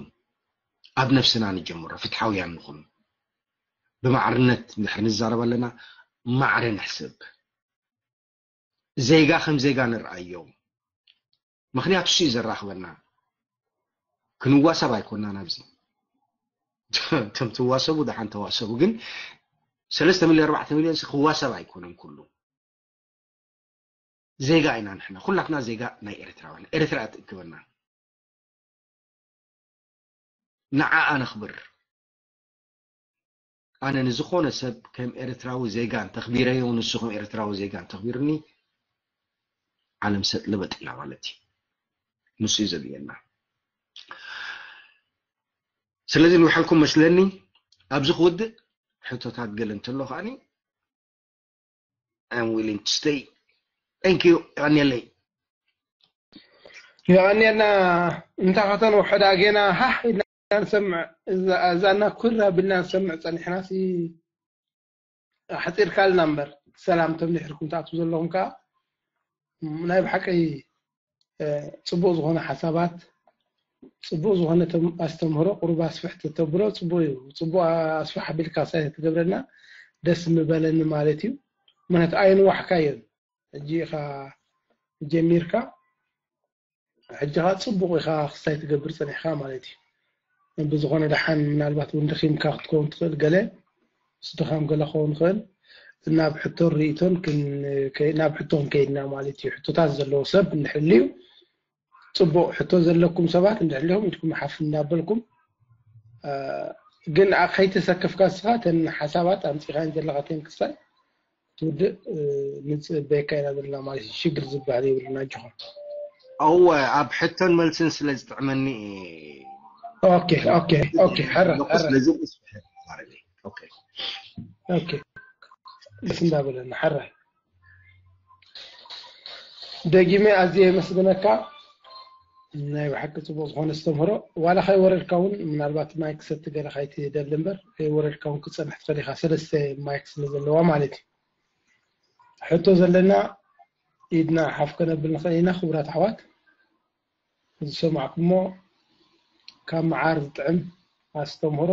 ኣብ ነፍስና ንጀምሮ ፍትሓውያን ንኹን ብማዕርነት እንድሕር ንዛረብ ኣለና ማዕረ ንሕስብ ዜጋ ከም ዜጋ ንርኣዮ ምኽንያቱ እሱ እዩ ዘራኽበና ክንዋሰብ ኣይኮናን ኣብዚ እቶም ትዋሰቡ ደሓን ተዋሰቡ ግን ሰለስተ ሚልዮን ኣርባዕተ ሚልዮን ክዋሰብ ኣይኮነን ኩሉ ዜጋ ኢና ንሕና ኩላትና ዜጋ ናይ ኤርትራውያን ኤርትራ ትእክበና ንዓኣ ነኽብር ኣነ ንዝኾነ ሰብ ከም ኤርትራዊ ዜጋ እንተኽቢረዮ ንሱ ከም ኤርትራዊ ዜጋ እንተኽቢርኒ ዓለም ሰጥ ልበጥ ኢላ ማለት እዩ ንሱ እዩ ዘድልየና ስለዚ ንውሓልኩም መስለኒ ኣብዚ ክውድእ ሕቶታት ገለ እንተሎ ከዓኒ I'm willing to stay. Thank you. የቐንየለይ። የቐንየልና እንታ ከተን ውሕዳ ጌና ሃህ ኢልና ንሰምዕ እዛና ኩር ኣቢልና ንሰምዕ ጸኒሕና ሲ ሓጺርካልና እምበር ሰላም ተምኒሕርኩም ትኣትዉ ዘለኹም ከዓ ናይ ብሓቂ ጽቡቕ ዝኾነ ሓሳባት ጽቡቕ ዝኾነ ኣስተምህሮ ቁሩብ ኣስፍሕ ተተብሎ ጽቡቕ እዩ። ጽቡቕ ኣስፍሕ ኣቢልካ ሳይ ትገብረና ደስ ምበለኒ ማለት እዩ። ምክንያቱ ኣይንዋሕካዮን ሕጂ ኢኻ ጀሚርካ ሕጂ ኻ ጽቡቕ ኢኻ ክሳይ ትገብር ጸኒሕካ ማለት እዩ። ብዝኾነ ደሓን ምናልባት እውን ደኺምካ ክትከውን ትኽእል ገለ ምስ ድኻም ገለ ክኸውን ይኽእል ናብ ሕቶን ርእይቶን ናብ ሕቶ ክንከይድና ማለት እዩ ሕቶታት ዘለዎ ሰብ እንድሕልዩ ጽቡቕ ሕቶ ዘለኩም ሰባት እንድሕልዮም ኢድኩም ሓፍ እናበልኩም ግን ከይተሰከፍካ ንስኻ እተን ሓሳባት ኣምፂኻየን ዘለኻ ተን ክሳይ ትውድእ ንፅበየካ ኢና ዘለና ማለት እዩ። ሽግር ዝበሃል የብልና። ኣጆኻ። እወ፣ ኣብ ሕቶን መልስን ስለ ዝጥዕመኒ እየ። ኦኬ ኦኬ ኦኬ። ሕረ ሕረ። ስለዚ እስፍሕ ማለት እዩ። ኦኬ። ኦኬ። ደስ እንዳበለና ሕረ። ደጊመ ኣዝየ የመስግነካ። ናይ ብሓቂ ጽቡቕ ዝኾነ ኣስተምህሮ። ዋላ ከይወረድካ እውን ምናልባት ማይክ ሰቲ ገለ ከይትደሊ እምበር ከይወረድካ እውን ክትጸንሕ ትኽእል ኢኻ። ሰለስተ ማይክ ስለ ዘለዋ ማለት እዩ። ሕቶ ዘለና ኢድና ሓፍ ከነብል ንኽእል ኢና። ክቡራት ኣሕዋት፣ ዝሰማዕኩሞ ካብ መዓር ዝጥዕም ኣስተምህሮ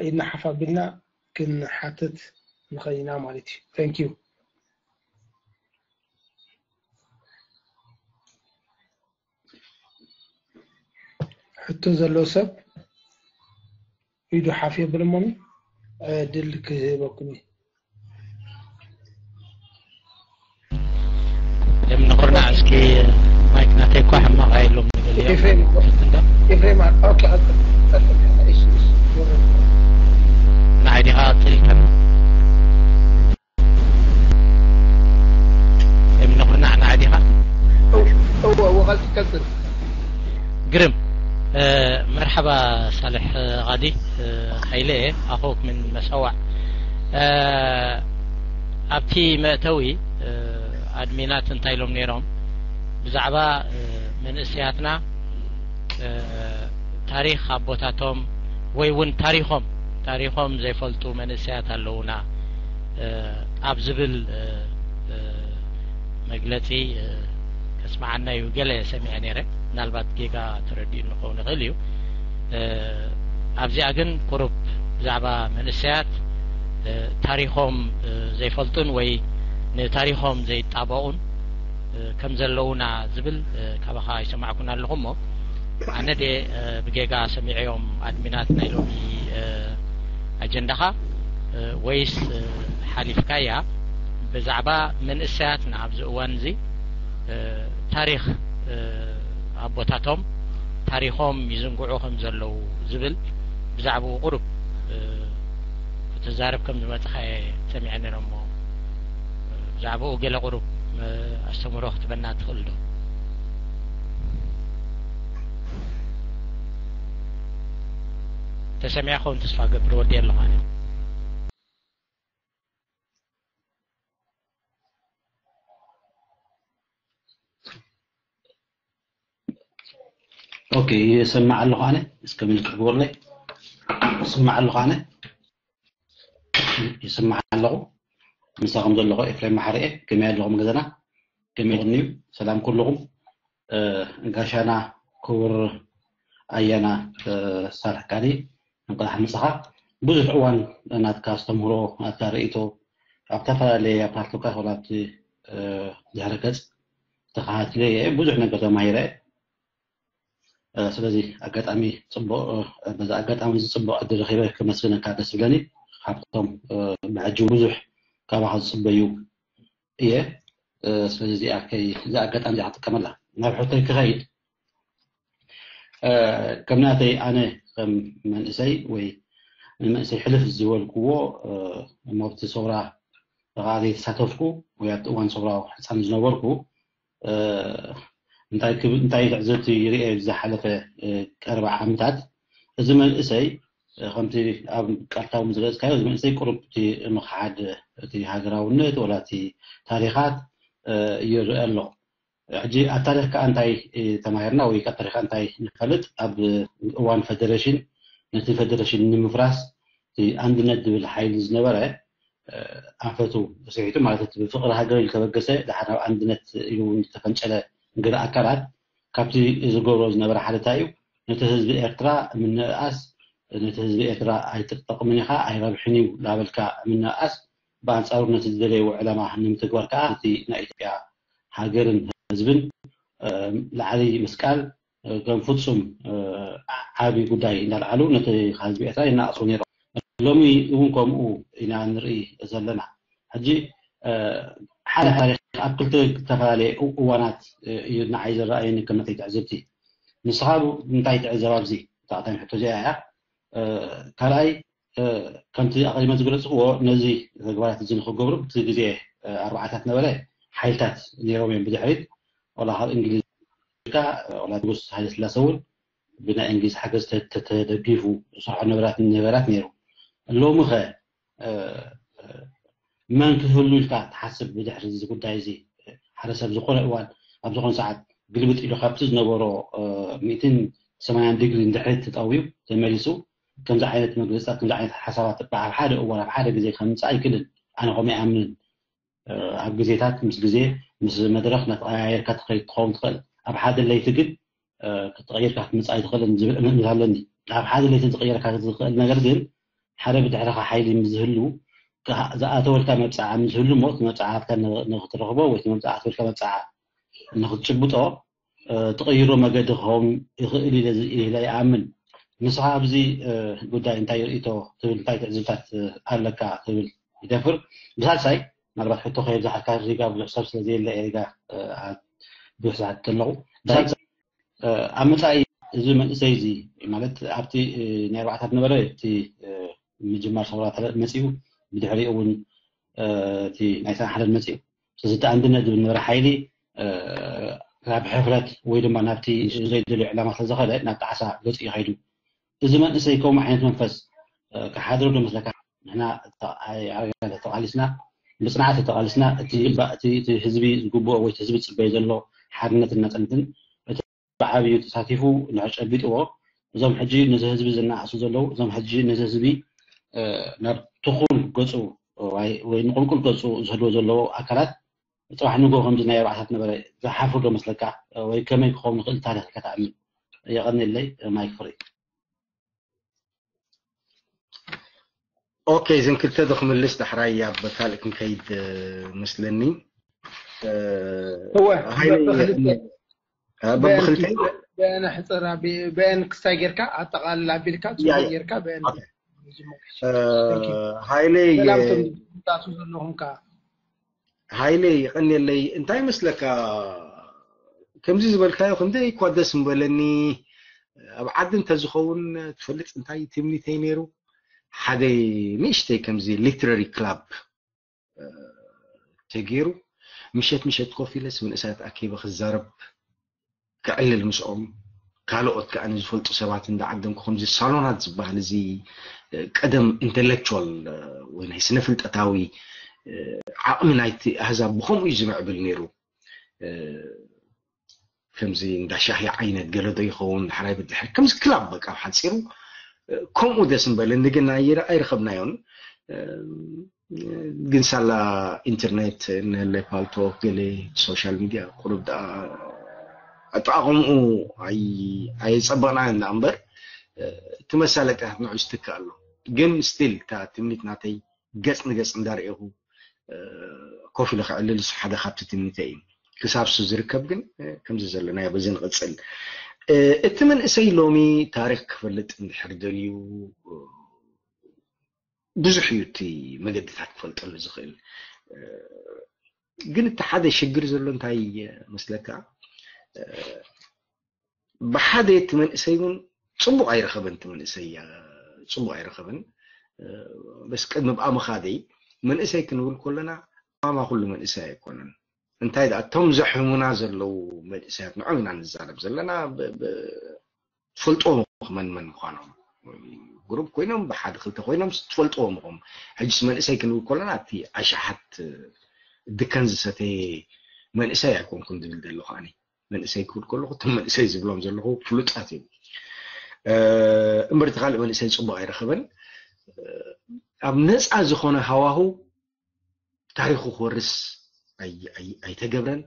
ኢድና ሓፍ ኣቢልና ክንሓትት ንኽእል ኢና ማለት እዩ። Thank you። ሕቶ ዘለዎ ሰብ ኢዱ ሓፍ የብል እሞኒ ዕድል ክህበኩም እዩ። ደም ንኹርና እስኪ ማይክ ናተይ እኳ ሕማቕ ኣይሎም ንገሊኦም ኤፍሬም እንዳ ኤፍሬም ኦኬ ቀጥል ቀጥል። እሺ እሺ። ንዓይ ዲኻ ቀጺልካ ደም ንኹርና ንዓይ ዲኻ እወ እወ ቀጥል ቀጥል። ግርም። መርሓባ ሳልሕ ቃዲ፣ ሓይለ እየ፣ ኣኹክ ምን መሰዋዕ። ኣብቲ መእተዊ ኣድሚናት እንታይ ኢሎም ነይሮም? ብዛዕባ መንእሰያትና ታሪኽ ኣቦታቶም ወይ እውን ታሪኾም ታሪኾም ዘይፈልጡ መንእሰያት ኣለውና ኣብ ዝብል መግለጺ ከስምዓና እዩ። ገለ ሰሚዐ ነይረ፣ ምናልባት ጌጋ ተረዲኡ ንኸውን ይኽእል እዩ። ኣብዚኣ ግን ቁሩብ ብዛዕባ መንእሰያት ታሪኾም ዘይፈልጡን ወይ ንታሪኾም ዘይጣበቑን ከም ዘለዉና ዝብል ካባኻ ይሰማዕኩን ኣለኹ እሞ ኣነ ደ ብጌጋ ሰሚዐዮም ኣድሚናት ናይ ሎሚ ኣጀንዳኻ ወይስ ሓሊፍካያ? ብዛዕባ መንእሰያትና ኣብዚ እዋን እዚ ታሪኽ ኣቦታቶም ታሪኾም ይዝንግዑ ከም ዘለዉ ዝብል ብዛዕባኡ ቁሩብ ክትዛረብ ከም ዝመጽኻ እየ ሰሚዐ ነይረ እሞ ብዛዕባኡ ገለ ቁሩብ ኣስተምህሮ ክትበና ትኽእል ዶ? ተሰሚዐ ክኸውን ተስፋ ገብር ወዲ ኣለኹ ኣነ። ኦኬ ይሰማዕ ኣለኹ ኣነ እስከ ምልክት ግበሩለይ። ይስማዕ ኣለኹ ኣነ ይስማዕ ኣለኹ ምሳኹም ዘለኹ ኤፍሬም ማሕርኤ። ከመይ ኣለኹም ገዛና ከመይ እዩ? ሰላም ኩልኹም። ጋሻና ክቡር ኣያና ሳልሕ ቃዲ እንኳዕ ምሳኻ ብዙሕ እዋን ናትካ ኣስተምህሮ ናትካ ርእይቶ ኣብ ዝተፈላለየ ኣብ ፓርቲካ ኮላ ኣብቲ ድሕሪ ገጽ ተኸታትለ እየ ብዙሕ ነገር ተማሂረ። ስለዚ ኣጋጣሚ ጽቡቕ በዛ ኣጋጣሚ እዚ ጽቡቕ ዕድል ረኺበ ከመስግነካ ደስ ዝብለኒ ካብቶም ብሕጂ ብዙሕ ካባኻ ዝጽበዩ እየ። ስለዚ እዚኣ ከይ እዛ ኣጋጣሚ እዚኣ ክጥቀመላ ናብ ሕቶይ ክኸይድ ከም ናተይ ኣነ ከም መንእሰይ ወይ ንመንእሰይ ሕልፍ ዝበልክዎ መብቲ ሰውራ ከዓ ዘይተሳተፍኩ ወይ ኣብቲ እዋን ሰውራ ሕፃን ዝነበርኩ እንታይ እንታይ ትዕዝብቲ ይርኤ ዝሓለፈ ቀርባ ዓመታት እዚ መንእሰይ ከምቲ ኣብ ቃልታውን ዝገለፅካዮ እዚ መንእሰይ ቁሩብ እቲ ምኽሓድ እቲ ሃገራውነት ወላ እቲ ታሪኻት ይርአ ኣሎ። ሕጂ ኣብ ታሪኽ ከዓ እንታይ ተማሂርና ወይ ካብ ታሪኻ እንታይ ንፈልጥ? ኣብ እዋን ፈደረሽን ነቲ ፈደረሽን ንምፍራስ እቲ ኣንድነት ዝብል ሓይሊ ዝነበረ ኣንፈቱ ስሒቱ ማለት እቲ ብፍቕሪ ሃገር ዝተበገሰ ድሓር ናብ ኣንድነት ኢሉ እውን ዝተፈንጨለ ገለ ኣካላት ካብቲ ዝገብሮ ዝነበረ ሓደታ እዩ። ነቲ ህዝቢ ኤርትራ ምንእኣስ ነቲ ህዝቢ ኤርትራ ኣይትጠቕምን ኢኻ ኣይረብሕን እዩ ላበልካ ምንእኣስ ብኣንጻሩ ነቲ ዝደለይዎ ዕላማ ንምትግባር ከዓ እቲ ናይ ኢትዮጵያ ሃገርን ህዝብን ላዕሊ ምስቃል ከም ፍጹም ዓቢ ጉዳይ እንዳልዓሉ ነቲ ህዝቢ ኤርትራ ይናኣሱ ነይሮም። ሎሚ እውን ከምኡ ኢና ንርኢ ዘለና። ሕጂ ሓደ ታሪክ ኣብ ክልተ ዝተፈላለየ እዋናት እዩ ንዓይ ዝረኣየኒ ከም ናተይ ትዕዝብቲ። ንስኻ እንታይ ትዕዘብ ኣብዚ? እታ ቀዳመይቲ ሕቶ እዚኣ እያ። ካልኣይ ከምቲ ኣቐዲመ ዝገለፅክዎ ነዚ ተግባራት እዚ ንክገብሩ ብቲ ግዜ ኣርባዓታት ነበረ ሓይልታት ነይሮም እዮም። ብድሕሪት ወላ ካብ እንግሊዝ ካ ወላ ንጉስ ሃይለ ስላሰ እውን ብናይ እንግሊዝ ሓገዝ ተደጊፉ ዝሰርሖ ነበራት ነበራት ነይሩ። ሎሚ ኸ መን ክህሉ ኢልካ ትሓስብ? ብድሕሪ እዚ ጉዳይ እዚ ሓደ ሰብ ዝኾነ እዋን ኣብ ዝኾነ ሰዓት ግልብጥ ኢሉ ካብቲ ዝነበሮ ሚእትን ሰማንያን ዲግሪ ንድሕሪት ተጠውዩ ተመሊሱ ከምዚ ዓይነት መግለፅታት ከምዚ ዓይነት ሓሳባት ኣብ ሓደ እዋን ኣብ ሓደ ግዜ ከምፅእ ኣይክእልን። ኣነ ከምኡ ይኣምንን። ኣብ ግዜታት ምስ ግዜ ምስ መድረኽ እናተቐያየርካ ትኸይድ ትኸውን ትኽእል። ኣብ ሓደ ለይቲ ግን ክትቐይርካ ክትምፅእ ኣይትኽእልን ዝብል እምነት ኣለኒ። ኣብ ሓደ ለይቲ ዝቐየርካ ዝኽእል ነገር ግን ሓደ ብድሕርኻ ሓይሊ ምስ ዝህሉ ዝኣተወልካ መብፅዓ ምስ ዝህሉ እሞ እቲ መብፅዓ ሃብታ ንክትረኽቦ ወይ እቲ መብፅዓ ኣተወልካ መብፅዓ ንክትጭብጦ ትቐይሮ መገዲ ክኸውን ይኽእል ኢለ ይኣምን። ንስኻ ኣብዚ ጉዳይ እንታይ ርእቶ ትብል እንታይ ትዕዝብታት ኣለካ ትብል ይደፍር። ብሳልሳይ ምናልባት ሕቶ ከየብዛሓካ ሪጋ ብዙሕ ሰብ ስለ ዘየለ ሪጋ ብዙሕ ዝሓት ከለኹ ብሳልሳይ ኣብ መፃኢ እዚ መንእሰይ እዚ ማለት ኣብቲ ናይ ኣርባዕታት ነበረ እቲ ምጅማር ሰውራ መፂኡ ብድሕሪኡ እውን እቲ ናይ ሰብዓ ሓደር መፂኡ ስለዚ እቲ ኣንድነት ዝብል ነበረ ሓይሊ ናብ ሕፍረት ወይ ድማ ናብቲ ዘይደልዮ ዕላማ ስለዝኸደ ናብ ጣዕሳ ገፂ ይኸይዱ። እዚ መንእሰይ ከምኡ ዓይነት መንፈስ ክሓድሮ ዶ መስለካ? ንሕና ተቓሊስና ብፅንዓት ተቓሊስና እቲ ህዝቢ ዝግብኦ ወይ ህዝቢ ዝፅበዮ ዘሎ ሓድነትን ናፅነትን እቲ ብዓብዩ ተሳቲፉ ንዕጨቢጥዎ እዞም ሕጂ ነዚ ህዝቢ ዝነኣሱ ዘለዉ እዞም ሕጂ ነዚ ህዝቢ ናብ ትኹል ገፁ ወይ ንቁልቁል ገፁ ዝህድዎ ዘለዉ ኣካላት ፅባሕ ንጎ ከምዚ ናይ ኣርባዕታት ነበረ ዝሓፍር ዶ መስለካ? ወይ ከመይ ክኸውን ይኽእል ታሪኽ ኢልካ ትኣምን? የቐንየለይ። ማይክ ፍሪ። ኦኬ፣ እዘን ክልተ ዶ ክምልስ ዳሕራይ ኣብ ካልእ ክንከይድ መስለኒ። እወ በብክልተ በአን ሕፅር በአን ክስታይ ጌርካ ኣጠቃልል ኣቢልካ ጽሑፍ ጌርካ በአን ሃይለይ ቱ ዘለኹም ከ ሃይለይ ይቀንየለይ እንታይ መስለካ ከምዚ ዝበልካዮ ክንደይ እኳ ደስ ምበለኒ ኣብ ዓዲ እንተዝኸውን ትፈልጥ እንታይ ትምኒተይ ነይሩ ሓደ ንእሽተይ ከምዚ ሊትራሪ ክላብ ተገይሩ ምሸት ምሸት ኮፍ ኢለስ መንእሰያት ኣኪበ ክዛረብ ክዕልል ምስኦም ካልኦት ከዓ ንዝፈልጡ ሰባት እንዳዓደምኩ ከምዚ ሳሎናት ዝበሃል እዚ ቀደም ኢንተሌክቹዋል ወይ ናይ ስነ ፍልጠታዊ ዓቕሚ ናይቲ ኣህዛብ ብከምኡ እዩ ዝምዕብል ነይሩ። ከምዚ እንዳ ሻሂ ዓይነት ገለ ዶ ይኸውን ዳሕራይ ብድሕሪ ከምዚ ክላብ በቃ ሓፂሩ ከምኡ ደስ ምበለኒ ግን ኣይረኸብናዮን። ግን ሳላ ኢንተርኔት እንህለ ፓልቶክ ገለ ሶሻል ሚድያ ቁሩብ ደኣ ኣጠቓቕምኡ ኣየፀበቕናዮን ደኣ እምበር እቲ መሳለጥያታት ንዑ ዝትክእ ኣሎ። ግን ስቲል እታ ትምኒት ናተይ ገፅ ንገፅ እንዳርኤኹ ኮፍ ኢለ ክዕልል እሱ ሓደ ካብቲ ትምኒተይ እዩ። ክሳብ እሱ ዝርከብ ግን ከምዚ ዘለናዮ በዚ ንቕፅል። እቲ መንእሰይ ሎሚ ታሪክ ክፈልጥ እንድሕር ደልዩ ብዙሕ እዩ እቲ መገድታት ክፈልጠሉ ዝኽእል። ግን እቲ ሓደ ሽግር ዘሎ እንታይ መስለካ? ብሓደ እቲ መንእሰይ እውን ፅቡቕ ኣይረኸበን። እቲ መንእሰይ ፅቡቕ ኣይረኸበን። በስ ቅድሚ ብኣ ምኻደይ መንእሰይ ክንብል ከለና ማማ ኩሉ መንእሰይ ኣይኮነን። እንታይ ደኣ እቶም ዘሕሙና ዘለዉ መንእሰያት ንዖም ኢና ንዛረብ ዘለና። ትፈልጥዎም ኢኹም መን መን ምዃኖም። ግሩፕ ኮይኖም ብሓደ ክልተ ኮይኖም ትፈልጥዎም ኢኹም። ሕጅስ መንእሰይ ክንብል ከለና እቲ ኣሽሓት ድከን ዝሰተየ መንእሰይ ኣይኮንኩን ዝብል ዘለኹ ኣነ። መንእሰይ ክብል ከለኹ እቶም መንእሰይ ዝብሎም ዘለኹ ፍሉጣት እዮም። እምበር እቲ ካልእ መንእሰይ ፅቡቕ ኣይረኸበን። ኣብ ነፃ ዝኾነ ሃዋሁ ታሪኹ ክወርስ ኣይተገብረን።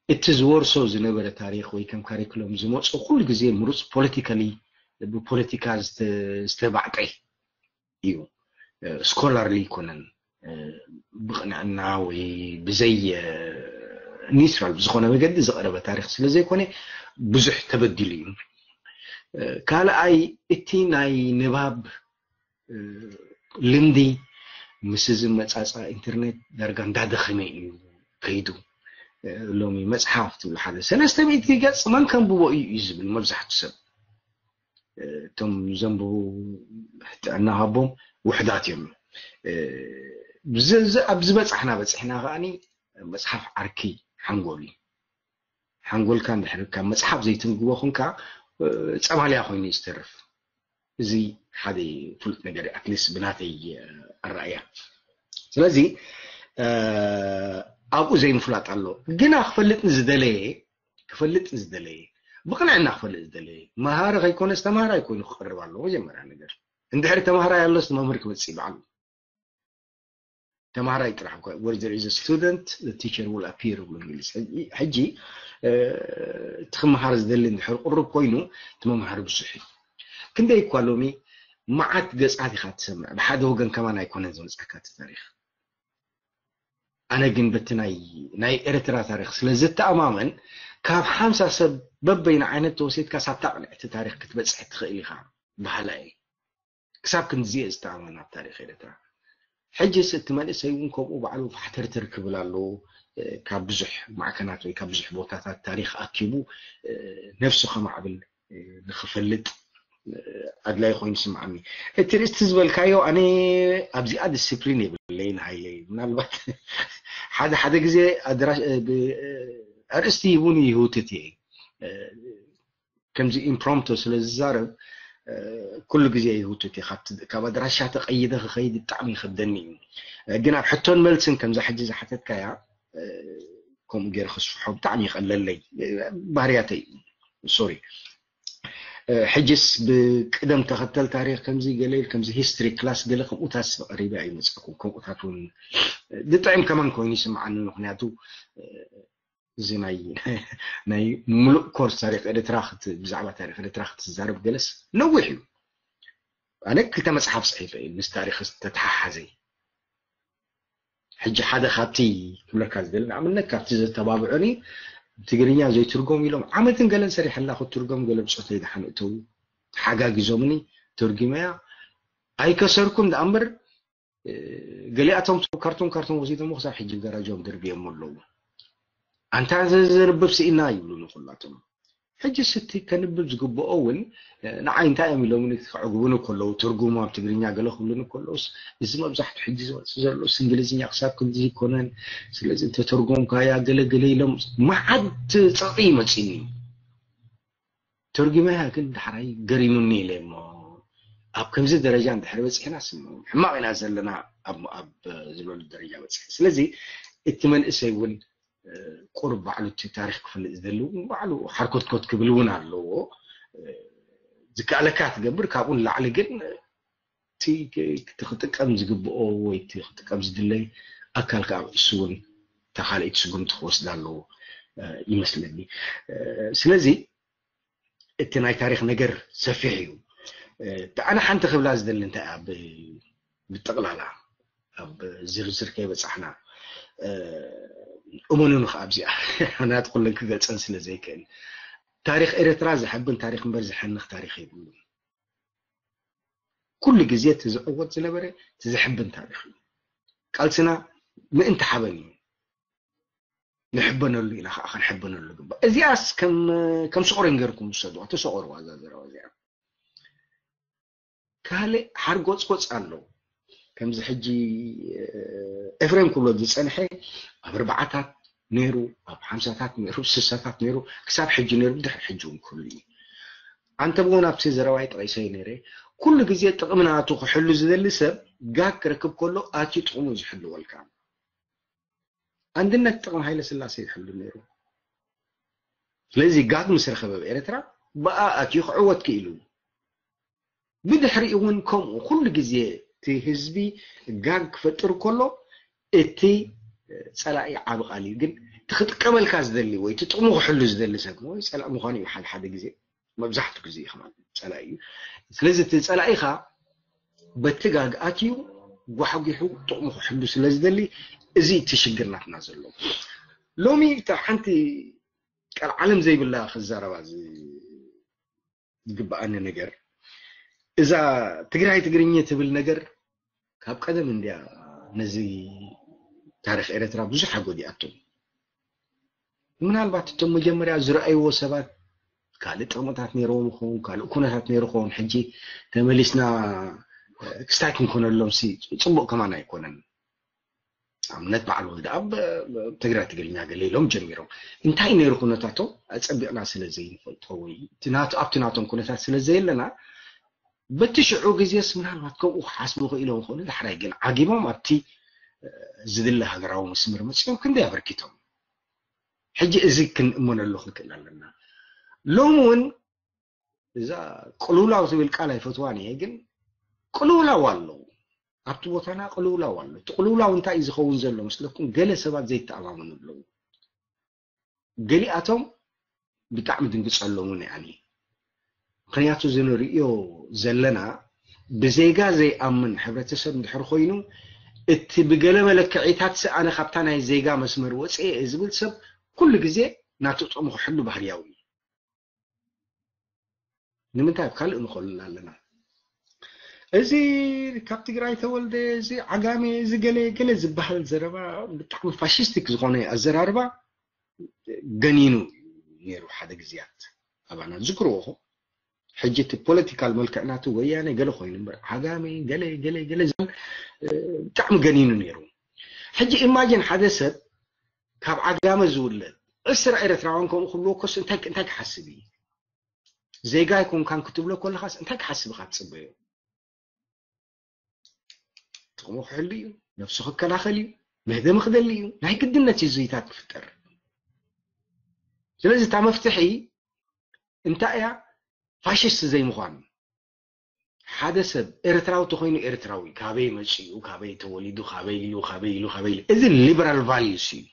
እቲ ዝወርሶ ዝነበረ ታሪክ ወይ ከም ካሪክሎም ዝመፁ ኩሉ ግዜ ምሩፅ ፖለቲካሊ ብፖለቲካ ዝተባዕጠ እዩ። ስኮላርሊ ኣይኮነን። ብቕንዕና ወይ ብዘይ ኒውትራል ብዝኾነ መገዲ ዝቐረበ ታሪክ ስለ ዘይኮነ ብዙሕ ተበዲሉ እዩ። ካልኣይ እቲ ናይ ንባብ ልምዲ ምስ እዚ መፃፃ ኢንተርኔት ዳርጋ እንዳደኸመ እዩ ከይዱ። ሎሚ መፅሓፍ ትብሉ ሓደ ሰለስተ ሚእቲ ገፅ መን ከንብቦ እዩ እዩ ዝብል መብዛሕቱ ሰብ። እቶም ዘንብቡ ጥዕና ሃቦም ውሕዳት እዮም። ኣብ ዝበፃሕና በፂሕና ከዓኒ መፅሓፍ ዓርኪ ሓንጎል እዩ። ሓንጎልካ እንድሕር ካብ መፅሓፍ ዘይትንግቦ ኮንካ ፀማልያ ኮይኑ እዩ ዝተርፍ። እዚ ሓደ ፍሉጥ ነገር እዩ ኣትሊስት ብናተይ ኣረኣያ። ስለዚ ኣብኡ ዘይምፍላጥ ኣሎ። ግና ክፈልጥ ንዝደለየ ክፈልጥ ንዝደለየ ብቕንዕና ክፈልጥ ዝደለየ መሃሪ ከይኮነስ ተማሃራይ ኮይኑ ክቐርብ ኣለዎ። መጀመርያ ነገር እንድሕሪ ተማሃራይ ኣሎስ መምህር ክመፅእ ይበዓሉ። ተማሃራይ ጥራሕ እኳ where there is a student the teacher will appear ብሎ እንግሊዝ። ሕጂ እቲ ክመሃር ዝደሊ እንድሕር ቅሩብ ኮይኑ እቲ መምሃሪ ብዙሕ እዩ። ክንደይ እኳ ሎሚ መዓት ገፃት ኢኻ ትሰምዕ፣ ብሓደ ወገን ከማን ኣይኮነን ዝመፅኣካ እቲ ታሪክ። ኣነ ግን በቲ ናይ ናይ ኤርትራ ታሪክ ስለ ዝተኣማመን ካብ ሓምሳ ሰብ በበይና ዓይነት ተወሲድካ ሳብታ ቅንዕቲ ታሪክ ክትበፅሕ ትኽእል ኢኻ በሃላ እየ። ክሳብ ክንድዚ እየ ዝተኣማመን ኣብ ታሪክ ኤርትራ። ሕጅስ እቲ መንእሰይ እውን ከምኡ ባዕሉ ፋሕተርተር ክብል ኣለዎ። ካብ ብዙሕ ማዕከናት ወይ ካብ ብዙሕ ቦታታት ታሪክ ኣኪቡ ነብሱ ከማዕብል ንክፈልጥ ኣድላይ ኮይኑ ይስምዓኒ። እቲ ርእስቲ ዝበልካዮ ኣነ ኣብዚኣ ዲስፕሊን የብለይን ሃይለይ። ምናልባት ሓደ ሓደ ግዜ ኣርእስቲ እውን ይህውትት እየ። ከምዚ ኢምፕሮምቶ ስለ ዝዛረብ ኩሉ ግዜ ይህውትት እየ። ካብ ኣድራሻ ተቀይደ ክኸይድ ብጣዕሚ ይኸብደኒ እዩ። ግን ኣብ ሕቶን መልስን ከምዛ ሕጂ ዝሓተትካያ ከምኡ ገይረ ክስፍሖ ብጣዕሚ ይቐለለይ። ባህርያተይ ሶሪ። ሕጅስ ብቅደም ተኸተል ታሪክ ከምዚ ገለ ከምዚ ሂስትሪ ክላስ ገለ ከምኡታት ቀሪበ ኣይመፀኩም። ከምኡታት እውን ብጥዕም ከማን ኮይኑ ይስምዓኒ። ምክንያቱ እዚ ናይ ናይ ሙሉእ ኮርስ ታሪክ ኤርትራ ብዛዕባ ታሪክ ኤርትራ ክትዛረብ ገለስ ነዊሕ እዩ። ኣነ ክልተ መፅሓፍ ፅሒፈ እዩ ምስ ታሪክ ዝተተሓሓዘ። ሕጂ ሓደ ካብቲ ክብለካ ዝደሊ ንኣብነት ካብቲ ዘተባብዑኒ ትግርኛ ዘይትርጎም ኢሎም ዓመትን ገለን ሰሪሐላ ክትርጎም ገለ ብፆተይ ደሓን እተው ተሓጋጊዞምኒ ተርጉመያ ኣይከሰርኩን ደኣ እምበር ገሊኣቶም ካርቶን ካርቶን ወሲዶሞ ክሳብ ሕጂ ገራጆም ደርብዮም ኣለዉ። ኣንታ ዘንብብ ስኢና ይብሉኒ ኩላቶም። ሕጂ ስቲ ከንብብ ዝግብኦ እውን ንዓይ እንታይ እዮም ኢሎምኒ ከዕግቡኒ ከለዉ ትርጉሙ ኣብ ትግርኛ ገለ ክብሉኒ ከለዉስ እዚ መብዛሕቱ ሕጂ ዝመፅእ ዘሎስ እንግሊዝኛ ክሳብ ክንዚ ይኮነን ስለዚ እንተተርጎምካያ ገለ ገለ ኢሎም መዓት ፀቕጢ ይመፅኒ። ተርጉመያ ግን ዳሕራይ ገሪሙኒ ኢለ እሞ ኣብ ከምዚ ደረጃ እንድሕር በፂሕና ስምዑ ሕማቕ ኢና ዘለና ኣብ ዝበሉ ደረጃ በፂሐ። ስለዚ እቲ መንእሰይ እውን ቁሩብ ባዕሉ እቲ ታሪክ ክፈልጥ ዝደሊ እውን ባዕሉ ሓርኮትኮት ክብል እውን ኣለዎ። ዝከኣለካ ትገብር ካብኡ ንላዕሊ ግን እቲ ክጥቀም ዝግብኦ ወይ እቲ ክጥቀም ዝድለይ ኣካል ከዓ እሱ እውን እታ ካልኣይቲ ስጉምቲ ክወስድ ኣለዎ ይመስለኒ። ስለዚ እቲ ናይ ታሪክ ነገር ሰፊሕ እዩ። ኣነ ሓንቲ ክብላ ዝደሊ እንታይ እያ ብጠቕላላ ኣብ ዝርዝር ከይበፃሕና እመኑኒ ከዓ ኣብዚኣ ናት ኩለን ክገልፀን ስለ ዘይክእል ታሪክ ኤርትራ ዘሐብን ታሪክ እምበር ዘሐንክ ታሪክ የብሉን። ኩሉ ግዜ እቲ ዝዕወት ዝነበረ እቲ ዘሕብን ታሪክ እዩ። ቃልስና ምእንቲ ሓበን እዩ። ንሕበነሉ ኢና ከዓ ክንሕበነሉ ግባእ። እዚኣስ ከም ከም ሰቆረን ገርኩም ውሰድዋ፣ ተሰቆርዋ እዛ ዘረባ እዚኣ። ካልእ ሓርጎፅጎፅ ኣሎ። ከምዚ ሕጂ ኤፍሬም ክብሎ ዝፀንሐ ኣብ ኣርባዓታት ነይሩ፣ ኣብ ሓምሳታት ነይሩ፣ ስሳታት ነይሩ፣ ክሳብ ሕጂ ነይሩ፣ ብድሕሪ ሕጂ እውን ክህሉ እዩ። ኣንተ ብውን ኣብቲ ዘረባይ ጠቒሰዮ ነይረ፣ ኩሉ ግዜ ጥቕሚ ናቱ ክሕሉ ዝደሊ ሰብ ጋግ ክረክብ ከሎ ኣትዩ ጥቕሙ ዝሕልወልካ። ኣንድነት ጥቕሚ ሃይለ ስላሴ ይሕሉ ነይሩ። ስለዚ ጋግ ምስ ረኸበ ኣብ ኤርትራ ብኣ ኣትዩ ክዕወት ክኢሉ። ብድሕሪኡ እውን ከምኡ ኩሉ ግዜ እቲ ህዝቢ ጋግ ክፈጥር ከሎ እቲ ፀላኢ ዓቢ ቃል እዩ። ግን እቲ ክጥቀመልካ ዝደሊ ወይ እቲ ጥቕሙ ክሕሉ ዝደሊ ሰብ ወይ ፀላኢ ምዃኑ እዩ ሓደ ሓደ ግዜ መብዛሕትኡ ግዜ እዩ ከማን ፀላኢ እዩ። ስለዚ እቲ ፀላኢኻ በቲ ጋግ ኣትዩ ጓሕጒሑ ጥቕሙ ክሕሉ ስለ ዝደሊ እዚ እቲ ሽግር ናትና ዘሎ። ሎሚ እታ ሓንቲ ቀልዓለም ዘይብላ ክዛረባ ዝግብኣኒ ነገር እዛ ትግራይ ትግርኛ ትብል ነገር ካብ ቀደም እንድያ ነዚ ታሪክ ኤርትራ ብዙሕ ኣጎዲኣቶ። ምናልባት እቶም መጀመርያ ዝረኣይዎ ሰባት ካልእ ጥቕምታት ነይርዎም ይኸውን፣ ካልእ ኩነታት ነይሩ ይኸውን። ሕጂ ተመሊስና ክስታይ ክንኮነሎም ሲ ጽቡቕ ከማን ኣይኮነን። ኣብነት በዓል ወልደኣብ ትግረ ትግርኛ ገለ ኢሎም ጀሚሮም። እንታይ ነይሩ ኩነታቶም ኣጸቢቕና ስለ ዘይንፈልጦ ወይ ኣብቲ ናቶም ኩነታት ስለ ዘየለና በቲ ሽዑ ግዜስ ምናልባት ከምኡ ክሓስቡ ክኢሎም ክኾኑ ዳሕራይ ግን ዓጊቦም ኣብቲ ዝድለ ሃገራዊ መስመር መጺኦም ክንደይ ኣበርኪቶም። ሕጂ እዚ ክንእመነሉ ክንክእል ኣለና። ሎም እውን እዛ ቅልውላው ዝብል ቃል ኣይፈትዋን እየ፣ ግን ቅልውላው ኣሎ ኣብቲ ቦታና ቅልውላው ኣሎ። እቲ ቅልውላው እንታይ እዩ ዝኸውን ዘሎ መስለኩም? ገለ ሰባት ዘይተኣማመኑ ኣለዉ። ገሊኣቶም ብጣዕሚ ድንግጸሎም እውን እየ። ምክንያቱ እዚ ንርእዮ ዘለና ብዜጋ ዘይኣምን ሕብረተሰብ እንድሕር ኮይኑ እቲ ብገለ መለክዒታት ኣነ ካብታ ናይ ዜጋ መስመር ወፅኤ እየ ዝብል ሰብ ኩሉ ግዜ ናቱ ጥቕሚ ክሕሉ ባህርያዊ እዩ። ንምንታይ ኣብ ካልእ ንኸልል ኣለና? እዚ ካብ ትግራይ ተወልደ፣ እዚ ዓጋሜ፣ እዚ ገለ ገለ ዝበሃል ዘረባ ብጣዕሚ ፋሽስቲክ ዝኾነ ኣዘራርባ ገኒኑ ነይሩ ሓደ ግዜያት ኣባና ዝክርዎ። ሕጂ እቲ ፖለቲካል መልክዕ ናቱ ወያነ ገለ ኮይኑ እምበር ዓጋሜ ገለ ገለ ገለ ዝብል ብጣዕሚ ገኒኑ ነይሩ። ሕጂ ኢማጂን ሓደ ሰብ ካብ ዓጋመ ዝውለድ ዕስራ ኤርትራውያን ከምኡ ክብልዎ ኮስ እንታይ እንታይ ክሓስብ እዩ? ዜጋ ኣይኮንካን ክትብሎ ከለኻስ እንታይ ክሓስብ ኢኻ ትጽበዮ? ጥቕሙ ክሕሉ እዩ፣ ነብሱ ክከላኸል እዩ፣ መህደሚ ክደሊ እዩ። ናይ ግድነት እዩ ዝይታት ክፍጠር። ስለዚ እታ መፍትሒ እንታይ እያ? ፋሽስት ዘይምዃን። ሓደ ሰብ ኤርትራዊ ተኾይኑ ኤርትራዊ፣ ካበይ መጺኡ፣ ካበይ ተወሊዱ፣ ካበይ ኢሉ፣ ካበይ ኢሉ፣ ካበይ ኢሉ። እዚ ሊበራል ቫልዩስ እዩ።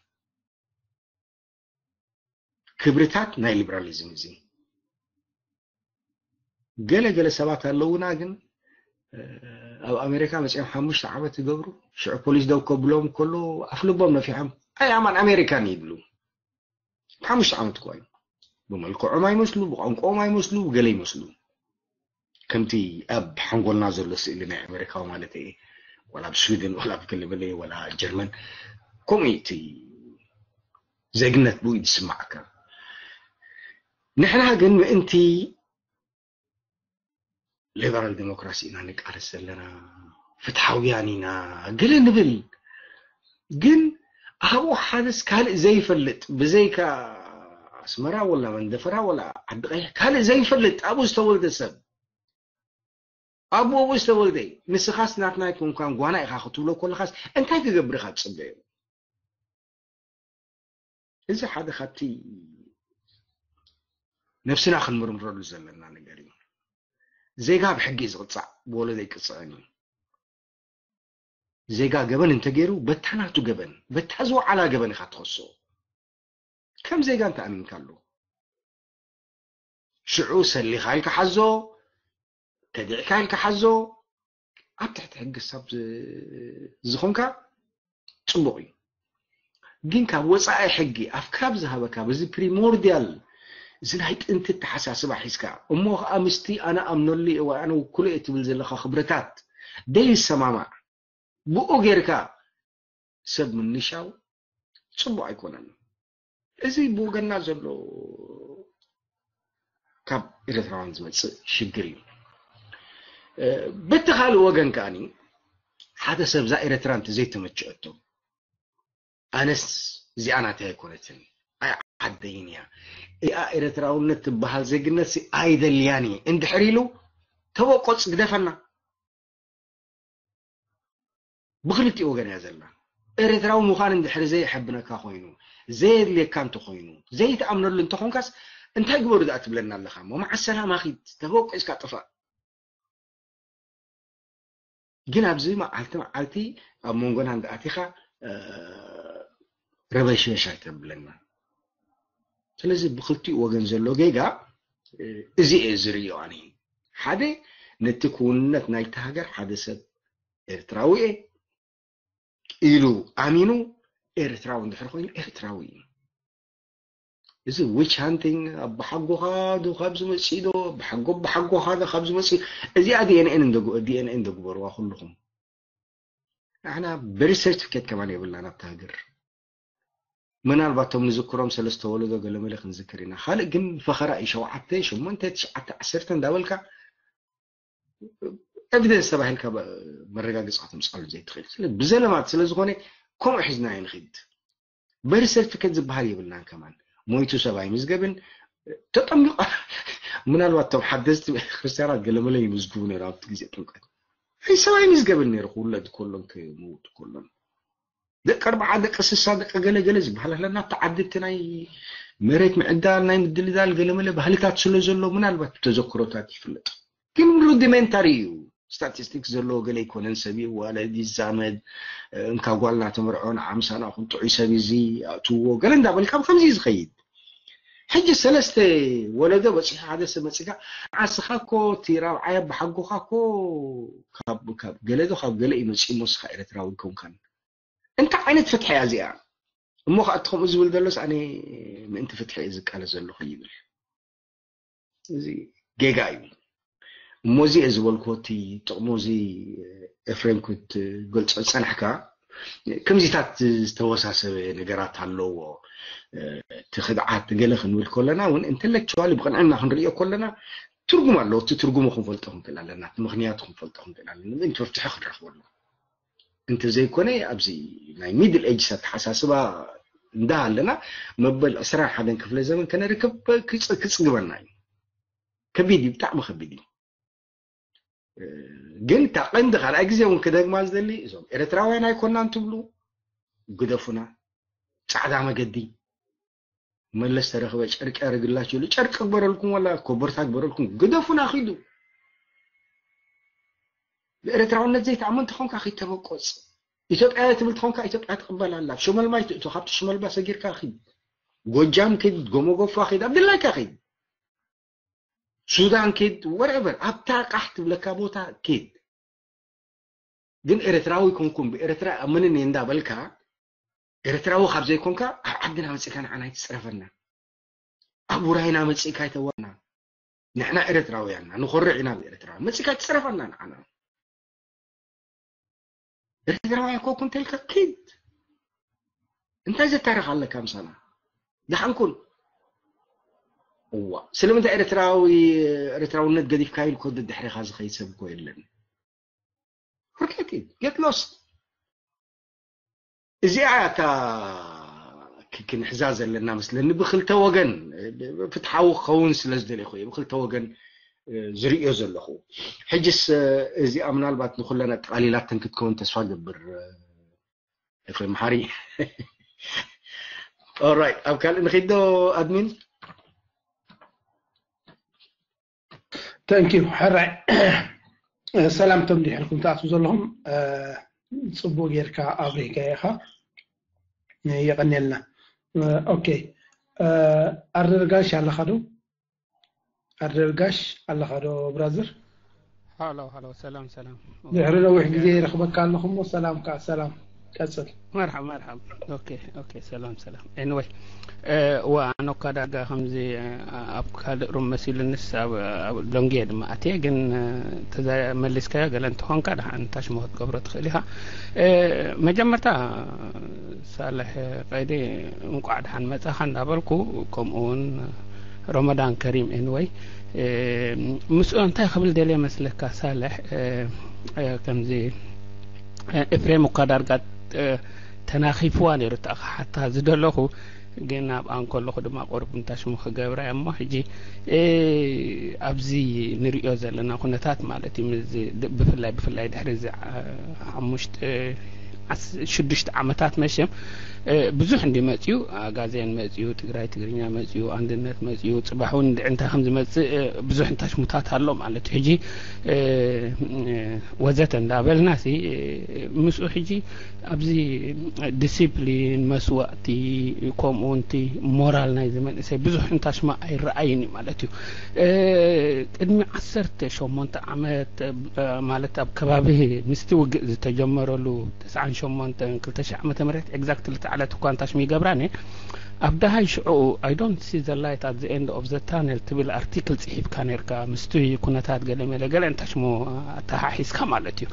ክብርታት ናይ ሊበራሊዝም እዚ። ገለ ገለ ሰባት ኣለውና ግን ኣብ ኣሜሪካ መጺኦም ሓሙሽተ ዓመት ይገብሩ፣ ሽዑ ፖሊስ ደው ከብሎም ከሎ ኣፍልቦም ነፊሖም ኣይ ኣማን ኣሜሪካን ይብሉ። ሓሙሽተ ዓመት እኳ እዩ። ብመልክዖም ኣይመስሉ፣ ብቋንቋኦም ኣይመስሉ፣ ብገለ ይመስሉ። ከምቲ ኣብ ሓንጎልና ዘሎ ስእሊ ናይ ኣሜሪካዊ ማለት እየ፣ ወላ ኣብ ስዊድን፣ ወላ ኣብ ገለመለ፣ ወላ ጀርመን፣ ከምኡ እዩ እቲ ዜግነት ብኡ እዩ ዝስማዓካ። ንሕና ግን ምእንቲ ሊበራል ዲሞክራሲ ኢና ንቃለስ ዘለና፣ ፍትሓውያን ኢና ገለ ንብል። ግን ኣብኡ ሓደስ ካልእ ዘይፈልጥ፣ ብዘይካ ኣስመራ ወላ መንደፈራ ወላ ዓዲ ቀይሕ ካልእ ዘይፈልጥ ኣብኡ ዝተወልደ ሰብ፣ ኣብኡ ኣብኡ ዝተወልደ፣ ንስኻስ ናትና ኣይኮንካን ጓና ኢኻ ክትብሎ ከለኻስ እንታይ ክገብር ኢኻ ትጽበዮ? እዚ ሓደ ካብቲ ነብስና ክንምርምረሉ ዘለና ነገር እዩ። ዜጋ ብሕጊ እዩ ዝቕጻዕ፣ ብወለዶ ኣይቅጸዕን እዩ። ዜጋ ገበን እንተገይሩ በታ ናቱ ገበን፣ በታ ዝወዓላ ገበን ኢኻ ትኸሶ። ከም ዜጋ እንተ ኣሚንካሉ ሽዑ ሰሊኻ ኢልካ ሓዞ፣ ከዲዕካ ኢልካ ሓዞ፣ ኣብ ትሕቲ ሕጊ ክሳብ ዝ- ዝኾንካ ጽቡቕ እዩ። ግን ካብ ወጻኢ ሕጊ ኣፍካብ ዝሃበካ በዚ ፕሪሞርዲያል እዚ ናይ ጥንቲ ተሓሳስባ ሒዝካ እሞ ከዓ ምስቲ ኣነ ኣምነሉ እየ ወይ ኣነ ውክሎ እየ ትብል ዘለካ ክብረታት ደይሰማማዕ ብኡ ጌርካ ሰብ ምንሻው ጽቡቕ ኣይኮነን። እዚ ብወገንና ዘሎ ካብ ኤርትራውያን ዝመጽእ ሽግር እዩ። በቲ ካልእ ወገን ከኣኒ ሓደ ሰብ እዛ ኤርትራ እንተዘይተመቸአቶ ኣነስ እዚኣ ናተይ ኣይኮነትን ኣይ ዓደይን እያ እዚኣ ኤርትራውነት ትበሃል ዜግነት ኣይደልያን እየ እንድሕር ኢሉ ተወቆጽ ግደፈና። ብክልቲኡ ወገን እያ ዘላ። ኤርትራዊ ምዃን እንድሕር ዘየሐብነካ ኮይኑ፣ ዘየድልየካ እንተኾይኑ፣ ዘይትኣምነሉ እንተኾንካስ እንታይ ግበሩ ደኣ ትብለና ኣለኻ እሞ? መዓስ ሰላም ኣኺድ ተበቂስካ ጥፋእ። ግን ኣብዚ መዓልቲ መዓልቲ ኣብ መንጎና እንዳኣቲኻ ረበሽበሽ ኣይተብለና። ስለዚ ብክልቲኡ ወገን ዘሎ ጌጋ እዚ እየ ዝርእዮ ኣነ። ሓደ ነቲ ክውንነት ናይቲ ሃገር ሓደ ሰብ ኤርትራዊ እየ ኢሉ ኣሚኑ ኤርትራዊ እንድሕር ኮይኑ ኤርትራዊ እዩ። እዚ ዊች ሃንቲንግ ኣብ ብሓጎኻ ዶ ካብ ዝመፅእ ዶ ብሓጎ ብሓጎኻ ዶ ካብ ዝመፅእ እዚኣ ዲኤንኤን እንደጉ ዲኤንኤን እንደግበርዋ ኩልኹም። ንሕና በሪ ሰርቲፊኬት ከማን የብልና ናብቲ ሃገር ምናልባት እቶም ንዝክሮም ሰለስተ ወለዶ ገለመለ ክንዝክር ኢና። ካልእ ግን ፈኸራ እዩ። ሸውዓተ፣ ሸሞንተ፣ ትሽዓተ፣ ዓሰርተ እንዳበልካ ኤቪደንስ ተባሂልካ መረጋገፂ ከተምፅኣሉ ዘይትኽእል። ብዘለማት ስለዝኾነ ከምኡ ሒዝና ይንኽድ። በርሰርቲከት ዝበሃል የብልናን። ከማን ሞይቱ ሰብ ኣይምዝገብን። ተጠሚቑ ምናልባት እቶም ሓደስቲ ክርስትያናት ገለመለ ይምዝግቡ ነይሩ ኣብቲ ግዜ ጥምቀት። ኣይ ሰብ ኣይምዝገብን ነይሩ ክውለድ ከሎን ክምውት ከሎን። ደቂ ኣርባዓ፣ ደቂ ስሳ፣ ደቂ ገለገለ ዝበሃል ኣለና። ኣብቲ ዓዲ እቲ ናይ መሬት ምዕዳል ናይ ምድልዳል ገለመለ ባህልታት ስለ ዘሎ ምናልባት ብተዘክሮታት ይፍለጥ። ግን ሩዲሜንታሪ እዩ። ስታቲስቲክስ ዘለዎ ገለ ኣይኮነን። ሰብ ይዋለድ ይዛመድ፣ እንካ ጓልና ተመርዖ ንዓምሳና ኩን ጥዑይ ሰብ እዚ ኣትዎ ገለ እንዳበልካ ብከምዚ እዩ ዝኸይድ። ሕጂ ሰለስተ ወለዶ በፂሑ ሓደ ሰብ መፂካ ዓስኻ እኮ እቲ ራብዓይ ኣባሓጎኻ እኮ ካብ ገለ ዶ ካብ ገለ እዩ መፂኡ እሞ ንስኻ ኤርትራዊ ኣይኮንካን። እንታይ ዓይነት ፍትሒ እያ እዚኣ? እሞ ከዓ እቲ ከምኡ ዝብል ዘሎስ ኣነ ምእንቲ ፍትሒ እየ ዝቃለስ ዘለኹ ይብል። እዚ ጌጋ እዩ። እሞ እዚ እየ ዝበልኩዎ እቲ ጥቕሙ እዚ ኤፍሬም ክትገልጾ ዝጸናሕካ ከምዚታት ዝተወሳሰበ ነገራት ኣለዎ። እቲ ክድዓት ገለ ክንብል ከለና እውን ኢንተሌክቹዋሊ ብቕንዕና ክንሪኦ ከለና ትርጉም ኣለዎ። እቲ ትርጉሙ ክንፈልጦ ክንክእል ኣለና። እቲ ምኽንያቱ ክንፈልጦ ክንክእል ኣለና። ምእንቲ መፍትሒ ክንረኽበሉ። እንተዘይኮነ ኣብዚ ናይ ሚድል ኤጅስ ኣተሓሳስባ እንዳሃለና መበል ዕስራን ሓደን ክፍለ ዘመን ከነርክብ ክጽግበና እዩ። ከቢድ እዩ፣ ብጣዕሚ ከቢድ እዩ። ግን እታ ቀንዲ ካልኣይ ግዜ እውን ክደግማ ዝደሊ እዞም ኤርትራውያን ኣይኮናን ትብሉ ግደፉና። ጻዕዳ መገዲ መለስ ተረኽበ ጨርቂ ያርግላችሁ ኢሉ ጨርቂ ግበረልኩም ወላ ኮበርታ ግበረልኩም ግደፉና ኺዱ። ብኤርትራውነት ዘይትኣምን ተኾንካ ኺተበቆጽ። ኢትዮጵያ ትብል ተኾንካ ኢትዮጵያ ትቕበል ኣላ። ሽመልባ ይትእቶ ካብቲ ሽመልባ ሰጊርካ ኺድ። ጎጃም ኪድ፣ ጎሞጎፋ ኺድ፣ ኣብ ድላይካ ኺድ። ሱዳን ኪድ፣ ወረቨር ኣብታ ቃሕ ትብለካ ቦታ ኪድ። ግን ኤርትራዊ ኮንኩም ብኤርትራ ኣምንን እየ እንዳበልካ ኤርትራዊ ካብ ዘይኮንካ ኣብ ዓድና መፂእካ ንዓና ይትፅረፈና። ኣብ ውራይና መፂእካ ይተዋና። ንሕና ኤርትራውያንና ንኮርዕ ኢና ብኤርትራ መፂእካ ይትፅረፈና ንዓና። ኤርትራውያን ኮኩ እንተልካ ኪድ እንታይ ዘታርኽ ኣለካ ምሳና? ደሓንኩን እዋ ስለምንታይ ኤርትራዊ ኤርትራውነት ገዲፍካ ኢልኮ ድሕሪኻ ዝኸይድ ሰብ እኮ የለን። Forget it, get lost። እዚኣ እታ ክንሕዛ ዘለና መስለኒ ብክልተ ወገን ፍትሓዊ ክኸውን ስለ ዝደለኹ እየ። ብክልተ ወገን ዝርእዮ ዘለኹ። ሕጅስ እዚኣ ምናልባት ንኩለን ኣጠቓሊላተን ክትከውን ተስፋ ገብር። ኤፍሬም መሓሪ። ኦራይት፣ ኣብ ካልእ ንኺዶ ኣድሚን። ተንኪዩ። ሕራይ ሰላም ቶም ድሕርኩም ትኣትዉ ዘለኹም። ጽቡቅ ጌርካ ኣብሪህካ ኢኻ። የቐንየልና። ኦኬ፣ ኣርደርጋሽ ኣለኻ ዶ? ኣርደርጋሽ ኣለኻ ዶ ብራዘር? ሃሎ ሃሎ፣ ሰላም ሰላም። ድሕሪ ነዊሕ ግዜ ይረኽበካ ኣለኹ እሞ ሰላም ከኣ ሰላም። ቀጽል። መርሓብ መርሓብ። ኦኬ ኦኬ፣ ሰላም ሰላም። ኤኒወይ፣ ዋ ኣነ እኳ ዳርጋ ከምዚ ኣብ ካልእ ሩም መሲሉንስ ኣብ ሎንጌ ድማ ኣትየ፣ ግን ተዛ መሊስካዮ ገለ እንተኾንካ ደሓን ታሽሞ ክትገብሮ ትኽእል ኢኻ። መጀመርታ ሳልሕ ቀይዲ እንቋዕ ደሓን መጻኻ እንዳበልኩ፣ ከምኡ እውን ረመዳን ከሪም። ኤኒወይ፣ ምስኡ እንታይ ክብል ደልየ መስለካ ሳልሕ፣ ከምዚ ኤፍሬም እኳ ዳርጋ ተናኺፍዋ ነይሩ እታ ክሓታ ዝደለኹ፣ ግን ኣብኣ እንከለኹ ድማ ቁሩብ እንታሽሙ ክገብራ እሞ ሕጂ ኣብዚ ንሪኦ ዘለና ኩነታት ማለት እዩ። ብፍላይ ብፍላይ ድሕሪ እዚ ሓሙሽተ ሽዱሽተ ዓመታት መሸም ብዙሕ እንዲ መፅዩ፣ ኣጋዜን መፅዩ፣ ትግራይ ትግርኛ መፅዩ፣ ኣንድነት መፅዩ፣ ፅባሕ እውን እንታይ ከም ዝመፅእ ብዙሕ እንታሽሙታት ኣሎ ማለት እዩ። ሕጂ ወዘተ እንዳበልና ሲ ምስኡ ሕጂ ኣብዚ ዲሲፕሊን መስዋእቲ ከምኡ እውን እቲ ሞራል ናይዚ መንእሰይ ብዙሕ እንታሽማ ኣይረኣይን እዩ ማለት እዩ። ቅድሚ ዓሰርተ ሸሞንተ ዓመት ማለት ኣብ ከባቢ ምስቲ ውግእ ዝተጀመረሉ ተስዓን ሸሞንተን ክልተ ሽሕ ዓመተ ምህረት ኤግዛክትሊ ተዓለት እኳ እንታሽሚ ይገብራን እየ ኣብ ደሃይ ሽዑ I don't see the light at the end of the tunnel ትብል ኣርቲክል ጽሒፍካ ነርካ፣ ምስቲ ኩነታት ገለ መለ ገለ እንታሽሞ ኣተሓሒዝካ ማለት እዩ።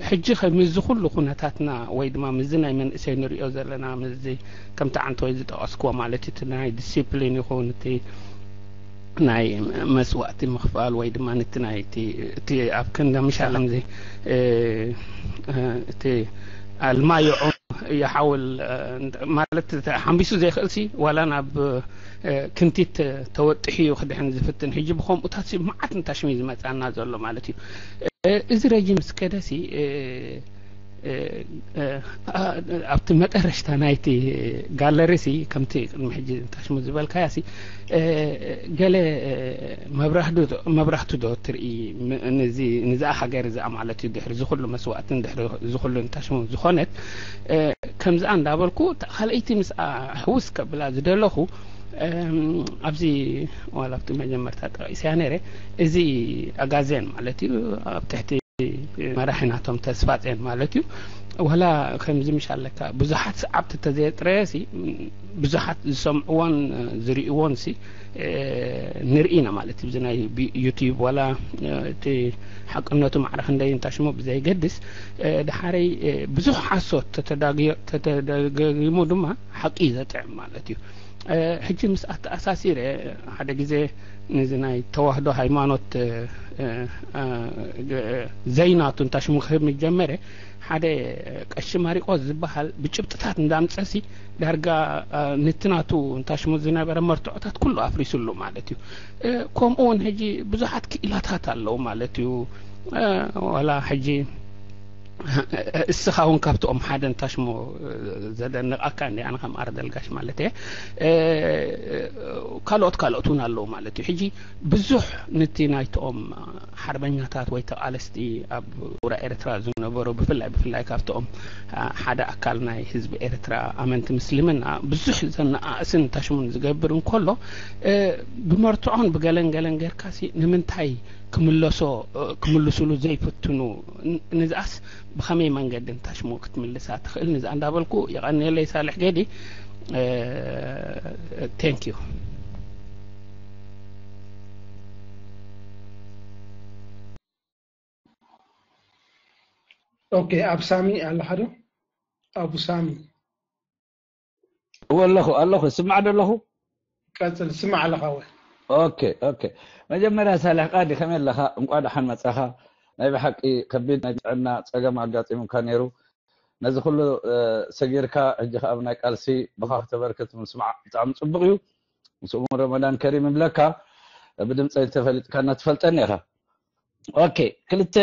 ሕጂ ኸ ምስዚ ኩሉ ኩነታትና ወይ ድማ ምስዚ ናይ መንእሰይ ንሪኦ ዘለና ምስዚ ከምቲ ዓንተ ወይ ዝጠቐስክዎ ማለት እዩ፣ እቲ ናይ ዲሲፕሊን ይኹን እቲ ናይ መስዋእቲ ምኽፋል ወይ ድማ ነቲ ናይ እቲ እቲ ኣብ ክንዲ ምሻል ከምዚ እቲ ኣልማዮ ይሓውል ማለት ሓንቢሱ ዘይኽእል ሲ ዋላ ናብ ክንቲት ተወጥሒ እዩ ክድሕን ዝፍትን። ሕጂ ብከምኡታት ሲ መዓት እንታሽሚ ዝመጻና ዘሎ ማለት እዩ። እዚ ረጂም ስከደሲ ኣብቲ መጠረሽታ ናይቲ ጋለሪ ሲ ከምቲ ቅድሚ ሕጂ እንታሽሙ ዝበልካያ ሲ ገለ መብራህቱ ዶ ትርኢ ንዛ ሃገር እዚኣ ማለት እዩ። ድሕሪ ዝኩሉ መስዋእትን ድሕሪ ዝኩሉ እንታሽሙ ዝኾነት ከምዚኣ እንዳበልኩ ካልኣይቲ ምስኣ ሕውስ ከብላ ዝደለኹ ኣብዚ ዋላ ኣብቲ መጀመርታ ጠቂስያ ነይረ። እዚ ኣጋዜን ማለት እዩ ኣብ ትሕቲ መራሒ ናቶም ተስፋጼን ማለት እዩ። ዋላ ከምዚ ምሽ ኣለካ ብዙሓት ሰዓብቲ ተዘየጥረየ ሲ ብዙሓት ዝሰምዕዎን ዝርእይዎን ሲ ንርኢ ኢና ማለት እዩ። እዚ ናይ ዩቲዩብ ዋላ እቲ ሓቅነቱ ማዕረ ክንደይ እንታሽሞ ብዘይገድስ ድሓረይ ብዙሕ ሓሶት ተተደጋጊሙ ድማ ሓቂ እዩ ዘጥዕም ማለት እዩ። ሕጂ ምስ ኣተኣሳሲረ ሓደ ግዜ ነዚ ናይ ተዋህዶ ሃይማኖት ዘይናቱ እንታሽሙ ክህብ ምጀመረ ሓደ ቀሺ ማሪቆስ ዝበሃል ብጭብጥታት እንዳምፀሲ ዳርጋ ነቲ ናቱ እንታሽሙ ዝነበረ መርትዖታት ኩሉ ኣፍሪሱሉ ማለት እዩ። ከምኡ እውን ሕጂ ብዙሓት ክኢላታት ኣለዉ ማለት እዩ። ዋላ ሕጂ እስኻ እውን ካብትኦም ሓደ እንታሽሞ ዘደንቃካ እንዲ ኣነ ከም ኣርደልጋሽ ማለት እየ። ካልኦት ካልኦት እውን ኣለዉ ማለት እዩ። ሕጂ ብዙሕ ነቲ ናይትኦም ሓርበኛታት ወይ ተቓለስቲ ኣብ ውራ ኤርትራ ዝነበሩ ብፍላይ ብፍላይ ካብትኦም ሓደ ኣካል ናይ ህዝቢ ኤርትራ ኣመንቲ ምስልምና ብዙሕ ዘነኣእስን እንታሽሙን ዝገብር እንከሎ ብመርትዖን ብገለን ገለን ጌርካሲ ንምንታይ ክምለሶ ክምልስሉ ዘይፍትኑ? ንዝኣስ ብኸመይ መንገዲ እንታሽሞ ክትምልሳ ትኽእል? ንዝኣ እንዳበልኩ የቐንየለይ ሳልሕ ገዲ። Thank you። ኦኬ፣ ኣብ ሳሚ ኣለኻ ዶ? ኣቡ ሳሚ እወ ኣለኹ ኣለኹ። ስማዕ ዶ ኣለኹ? ቀጽል፣ ስማዕ ኣለኻ ወይ? ኦኬ ኦኬ። መጀመርያ ሳልሕ ቃዲ ከመይ ኣለኻ? እንቋ ደሓን መጻኻ። ናይ ብሓቂ ከቢድ ናይ ጥዕና ጸገም ኣጋጢሙካ ነይሩ። ነዚ ኩሉ ሰጊርካ ሕጂ ከኣ ኣብ ናይ ቃልሲ ብኻ ክተበርክት ምስማዕ ብጣዕሚ ጽቡቕ እዩ። ምስ እሙን ረመዳን ከሪም ይብለካ። ብድምፀይ ተፈሊጥካና ትፈልጠኒ ኢኻ። ኦኬ፣ ክልተ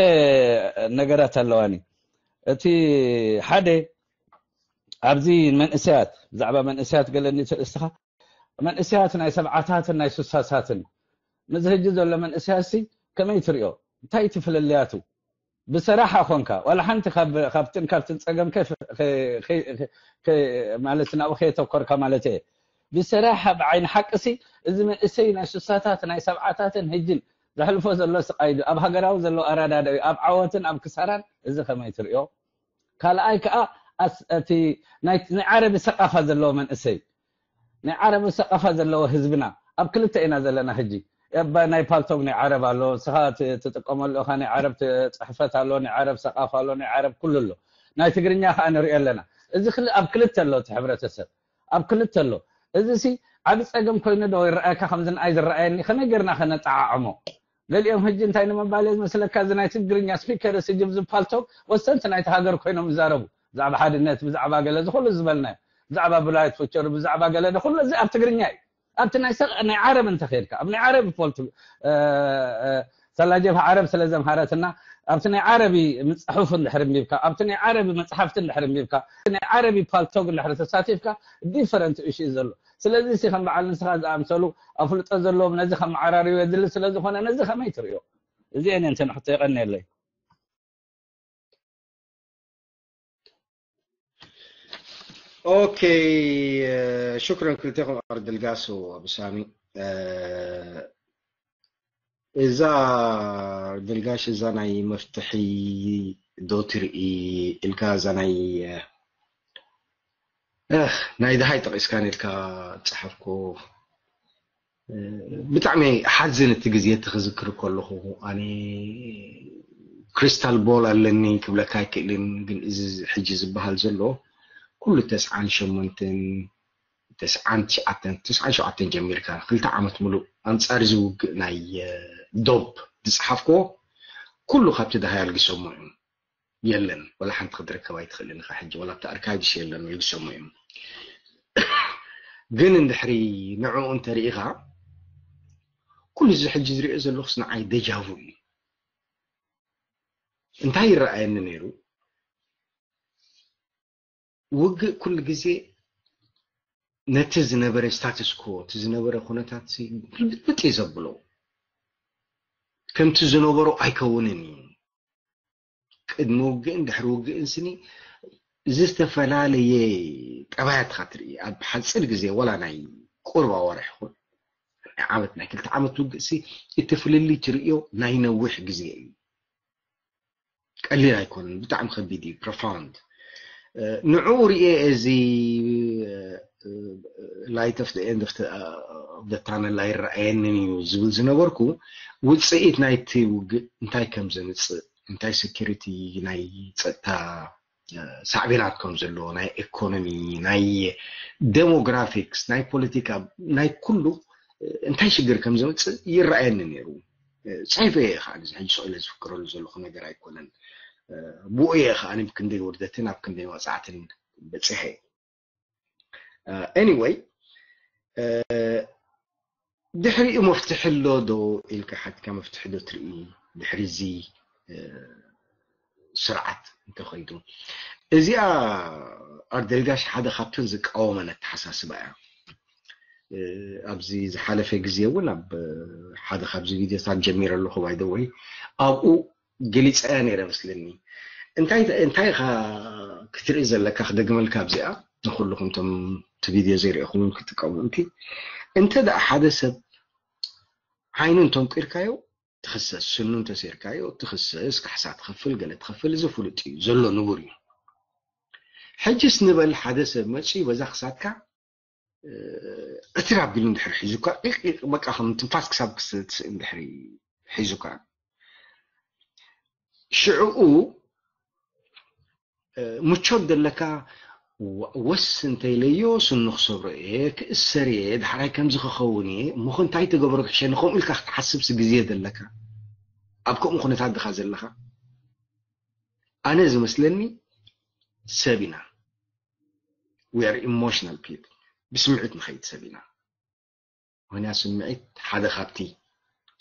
ነገራት ኣለዋኒ። እቲ ሓደ ኣብዚ መንእሰያት ብዛዕባ መንእሰያት ገለ እንተርእስትኻ መንእሰያት ናይ ሰብዓታትን ናይ ሱሳሳትን ምስዚ ሕጂ ዘሎ መንእሰያት ሲ ከመይ ትሪኦ? እንታይ እቲ ፍልልያቱ? ብሰራሓ ኮንካ ዋላ ሓንቲ ካብትን ካብትን ፀገም ማለት ናብኡ ከየተኮርካ ማለት እየ። ብሰራሓ ብዓይኒ ሓቂ ሲ እዚ መንእሰይ ናይ ሱሳታት ናይ ሰብዓታትን ሕጅን ዘሕልፎ ዘሎ ስቃይ ዶ ኣብ ሃገራዊ ዘሎ ኣረዳድኣዩ ኣብ ዓወትን ኣብ ክሳራን እዚ ከመይ ትሪኦ? ካልኣይ ከዓ እቲ ናይ ዓረቢ ሰቃፋ ዘለዎ መንእሰይ ናይ ዓረቢ ሰቃፋ ዘለዎ ህዝብና ኣብ ክልተ ኢና ዘለና ሕጂ። ናይ ፓልቶግ ናይ ዓረብ ኣሎ፣ ንስኻ ትጥቀመሉ ኢኻ፣ ናይ ዓረብ ጽሕፈት ኣሎ፣ ናይ ዓረብ ሰቃፋ ኣሎ፣ ናይ ዓረብ ኩሉ ኣሎ። ናይ ትግርኛ ከዓ ንሪኦ ኣለና። እዚ ኣብ ክልተ ኣሎ እቲ ሕብረተሰብ፣ ኣብ ክልተ ኣሎ። እዚ ሲ ዓቢ ጸገም ኮይኑ ዶ ይረኣየካ? ከምዚ ንኣይ ዝረኣየኒ ከመይ ጌርና ከነጠዓዕሞ? ገሊኦም ሕጂ እንታይ ንምባል እየ ዝመስለካ፣ እዚ ናይ ትግርኛ ስፒከር እዚ ጅብ ዝፓልቶግ ወሰንቲ ናይቲ ሃገር ኮይኖም ይዛረቡ። ብዛዕባ ሓድነት፣ ብዛዕባ ገለ ዝኹሉ ዝበልናዮ፣ ብዛዕባ ብላይት ፉቸር፣ ብዛዕባ ገለ ኩሉ እዚ ኣብ ትግርኛ እዩ። ኣብቲ ናይ ሰ ናይ ዓረብ እንተኸድካ ኣብ ናይ ዓረብ ፖልት ሰላጀብሃ ዓረብ ስለ ዘምሃረትና ኣብቲ ናይ ዓረቢ ምፅሑፍ እንድሕር እንቢብካ ኣብቲ ናይ ዓረቢ መፅሓፍቲ እንድሕር እንቢብካ ናይ ዓረቢ ፓልቶግ እንድሕር ተሳቲፍካ ዲፈረንት እሹ እዩ ዘሎ። ስለዚ ሲ ከም በዓል ንስኻ ዝኣምሰሉ ኣፍልጦ ዘለዎም ነዚ ከመዓራርዩ የድሊ ስለ ዝኾነ ነዚ ከመይ ትርእዮ? እዚአን እየን እተን ሕቶ። የቐንየለይ። ኦኬ፣ ሽክረን ክልቴኹም ኣርድልጋስ ወብሳሚ። እዛ ኣርድልጋሽ እዛ ናይ መፍትሒ ዶ ትርኢ ኢልካ እዛ ናይ እህ ናይ ድሃይ ጠቒስካ ነድካ ጸሓፍኩ። ብጣዕሚ ሓዝን እቲ ግዜ እቲ ክዝክር ከለኹ ኣነ ክሪስታል ቦል ኣለኒ ክብለካ ኣይክእልን፣ ግን እዚ ሕጂ ዝበሃል ዘሎ ኩሉ ተስዓን ሸሞንተን ተስዓን ትሽዓተን ተስዓን ሸውዓተን ጀሚርካ ክልተ ዓመት ሙሉእ ኣንጻር እዚ ውግእ ናይ ዶብ ዝጸሓፍክዎ ኩሉ ካብቲ ድሃይ ኣልጊሰሞ እዮም። የለን፣ ወላ ሓንቲ ክትርከብ ኣይትኽእልን ኢኻ። ሕጂ ወላ ኣብቲ ኣርካይቭስ የለን፣ ይግሰሙ እዮም። ግን እንድሕሪ ንዕኡ እንተርኢኻ ኩሉ እዚ ሕጂ ዝሪኦ ዘለኹስ ንዓይ ደጃ ቩ እዩ። እንታይ ይረኣየኒ ነይሩ? ውግእ ኩሉ ግዜ ነቲ ዝነበረ ስታትስ ኮ እቲ ዝነበረ ኩነታት ግልብጥ እዩ ዘብሎ። ከምቲ ዝነበሮ ኣይከውንን እዩ። ቅድሚ ውግእን ድሕሪ ውግእን ስኒ ዝተፈላለየ ጠባያት ኢኻ ትርኢ። ኣብ ሓፂር ግዜ ወላ ናይ ቁርባ ወርሒ ይኹን ናይ ዓመት ናይ ክልተ ዓመት ውግእ ሲ እቲ ፍልልይ ትርእዮ ናይ ነዊሕ ግዜ እዩ። ቀሊል ኣይኮነን፣ ብጣዕሚ ከቢድ እዩ፣ ፕሮፋውንድ። ንዕኡ ርኤ እዚ light of the end of the tunnel ኣይረኣየንን እዩ ዝብል ዝነበርኩ ውፅኢት ናይቲ ውግእ እንታይ ከም ዘምፅእ እንታይ ሴኩሪቲ ናይ ፀጥታ ሳዕቤናት ከም ዘለዎ ናይ ኢኮኖሚ ናይ ዴሞግራፊክስ ናይ ፖለቲካ ናይ ኩሉ እንታይ ሽግር ከም ዘምፅእ ይረኣየኒ ነይሩ። ፅሒፈ እየ ከዓ እዚ ሕጂ ስቕ ኢለ ዝፍክረሉ ዘለኹ ነገር ኣይኮነን። ብኡ እየ ከዓ ኣብ ክንደይ ውርደትን ኣብ ክንደይ መቕፃዕትን በፂሐ። Anyway ድሕሪኡ መፍትሒ ኣሎ ዶ ኢልካ ሓትካ መፍትሒ ዶ ትርኢ ድሕሪ እዚ ስርዓት እንተኸይዱ? እዚኣ ኣርደልጋሽ ሓደ ካብተን ዝቃወመን ኣተሓሳስባ እያ። ኣብዚ ዝሓለፈ ግዜ እውን ኣብ ሓደ ካብዚ ቪድዮታት ጀሚረ ኣለኹ ባይደወይ ኣብኡ ገሊፀያ ነይረ መስለኒ። እንታይ እንታይ ኢኻ ክትርኢ ዘለካ ክደግመልካ ኣብዚኣ ንኩልኹም ቶም እቲ ቪድዮ ዘይርኢኹም ክትጥቀሙ እቲ እንተ ደኣ ሓደ ሰብ ዓይኑ እንተንቂርካዮ ትኽሰስ፣ ስኑ እንተሴርካዮ ትኽሰስ፣ ካሕሳ ትኸፍል፣ ገለ ትኸፍል፣ እዚ ፍሉጥ እዩ ዘሎ ንቡር እዩ። ሕጅስ ንበል ሓደ ሰብ መፅዩ በዛ ክሳትካ ዕትር ኣቢሉ እንድሕር ሒዙካ በቃ ከም ትንፋስ ክሳብ ክስእን ድሕሪ ሒዙካ ሽዕኡ ምቾት ዘለካ ወስ እንተይለዮ ስኑ ክሰብሮ እየ ክእሰር እየ ድሓራይ ከምዚ ክኸውን እየ እሞ እንታይ ተገብሮ ክሕሸኒ ከምኡ ኢልካ ክትሓስብሲ ግዜ ዘለካ ኣብ ከምኡ ኩነታት ድኻ ዘለካ ኣነ ዝመስለኒ ሰብ ኢና we are emotional people ብስምዒት ንኸይድ ሰብ ኢና ምክንያት ስምዒት ሓደ ካብቲ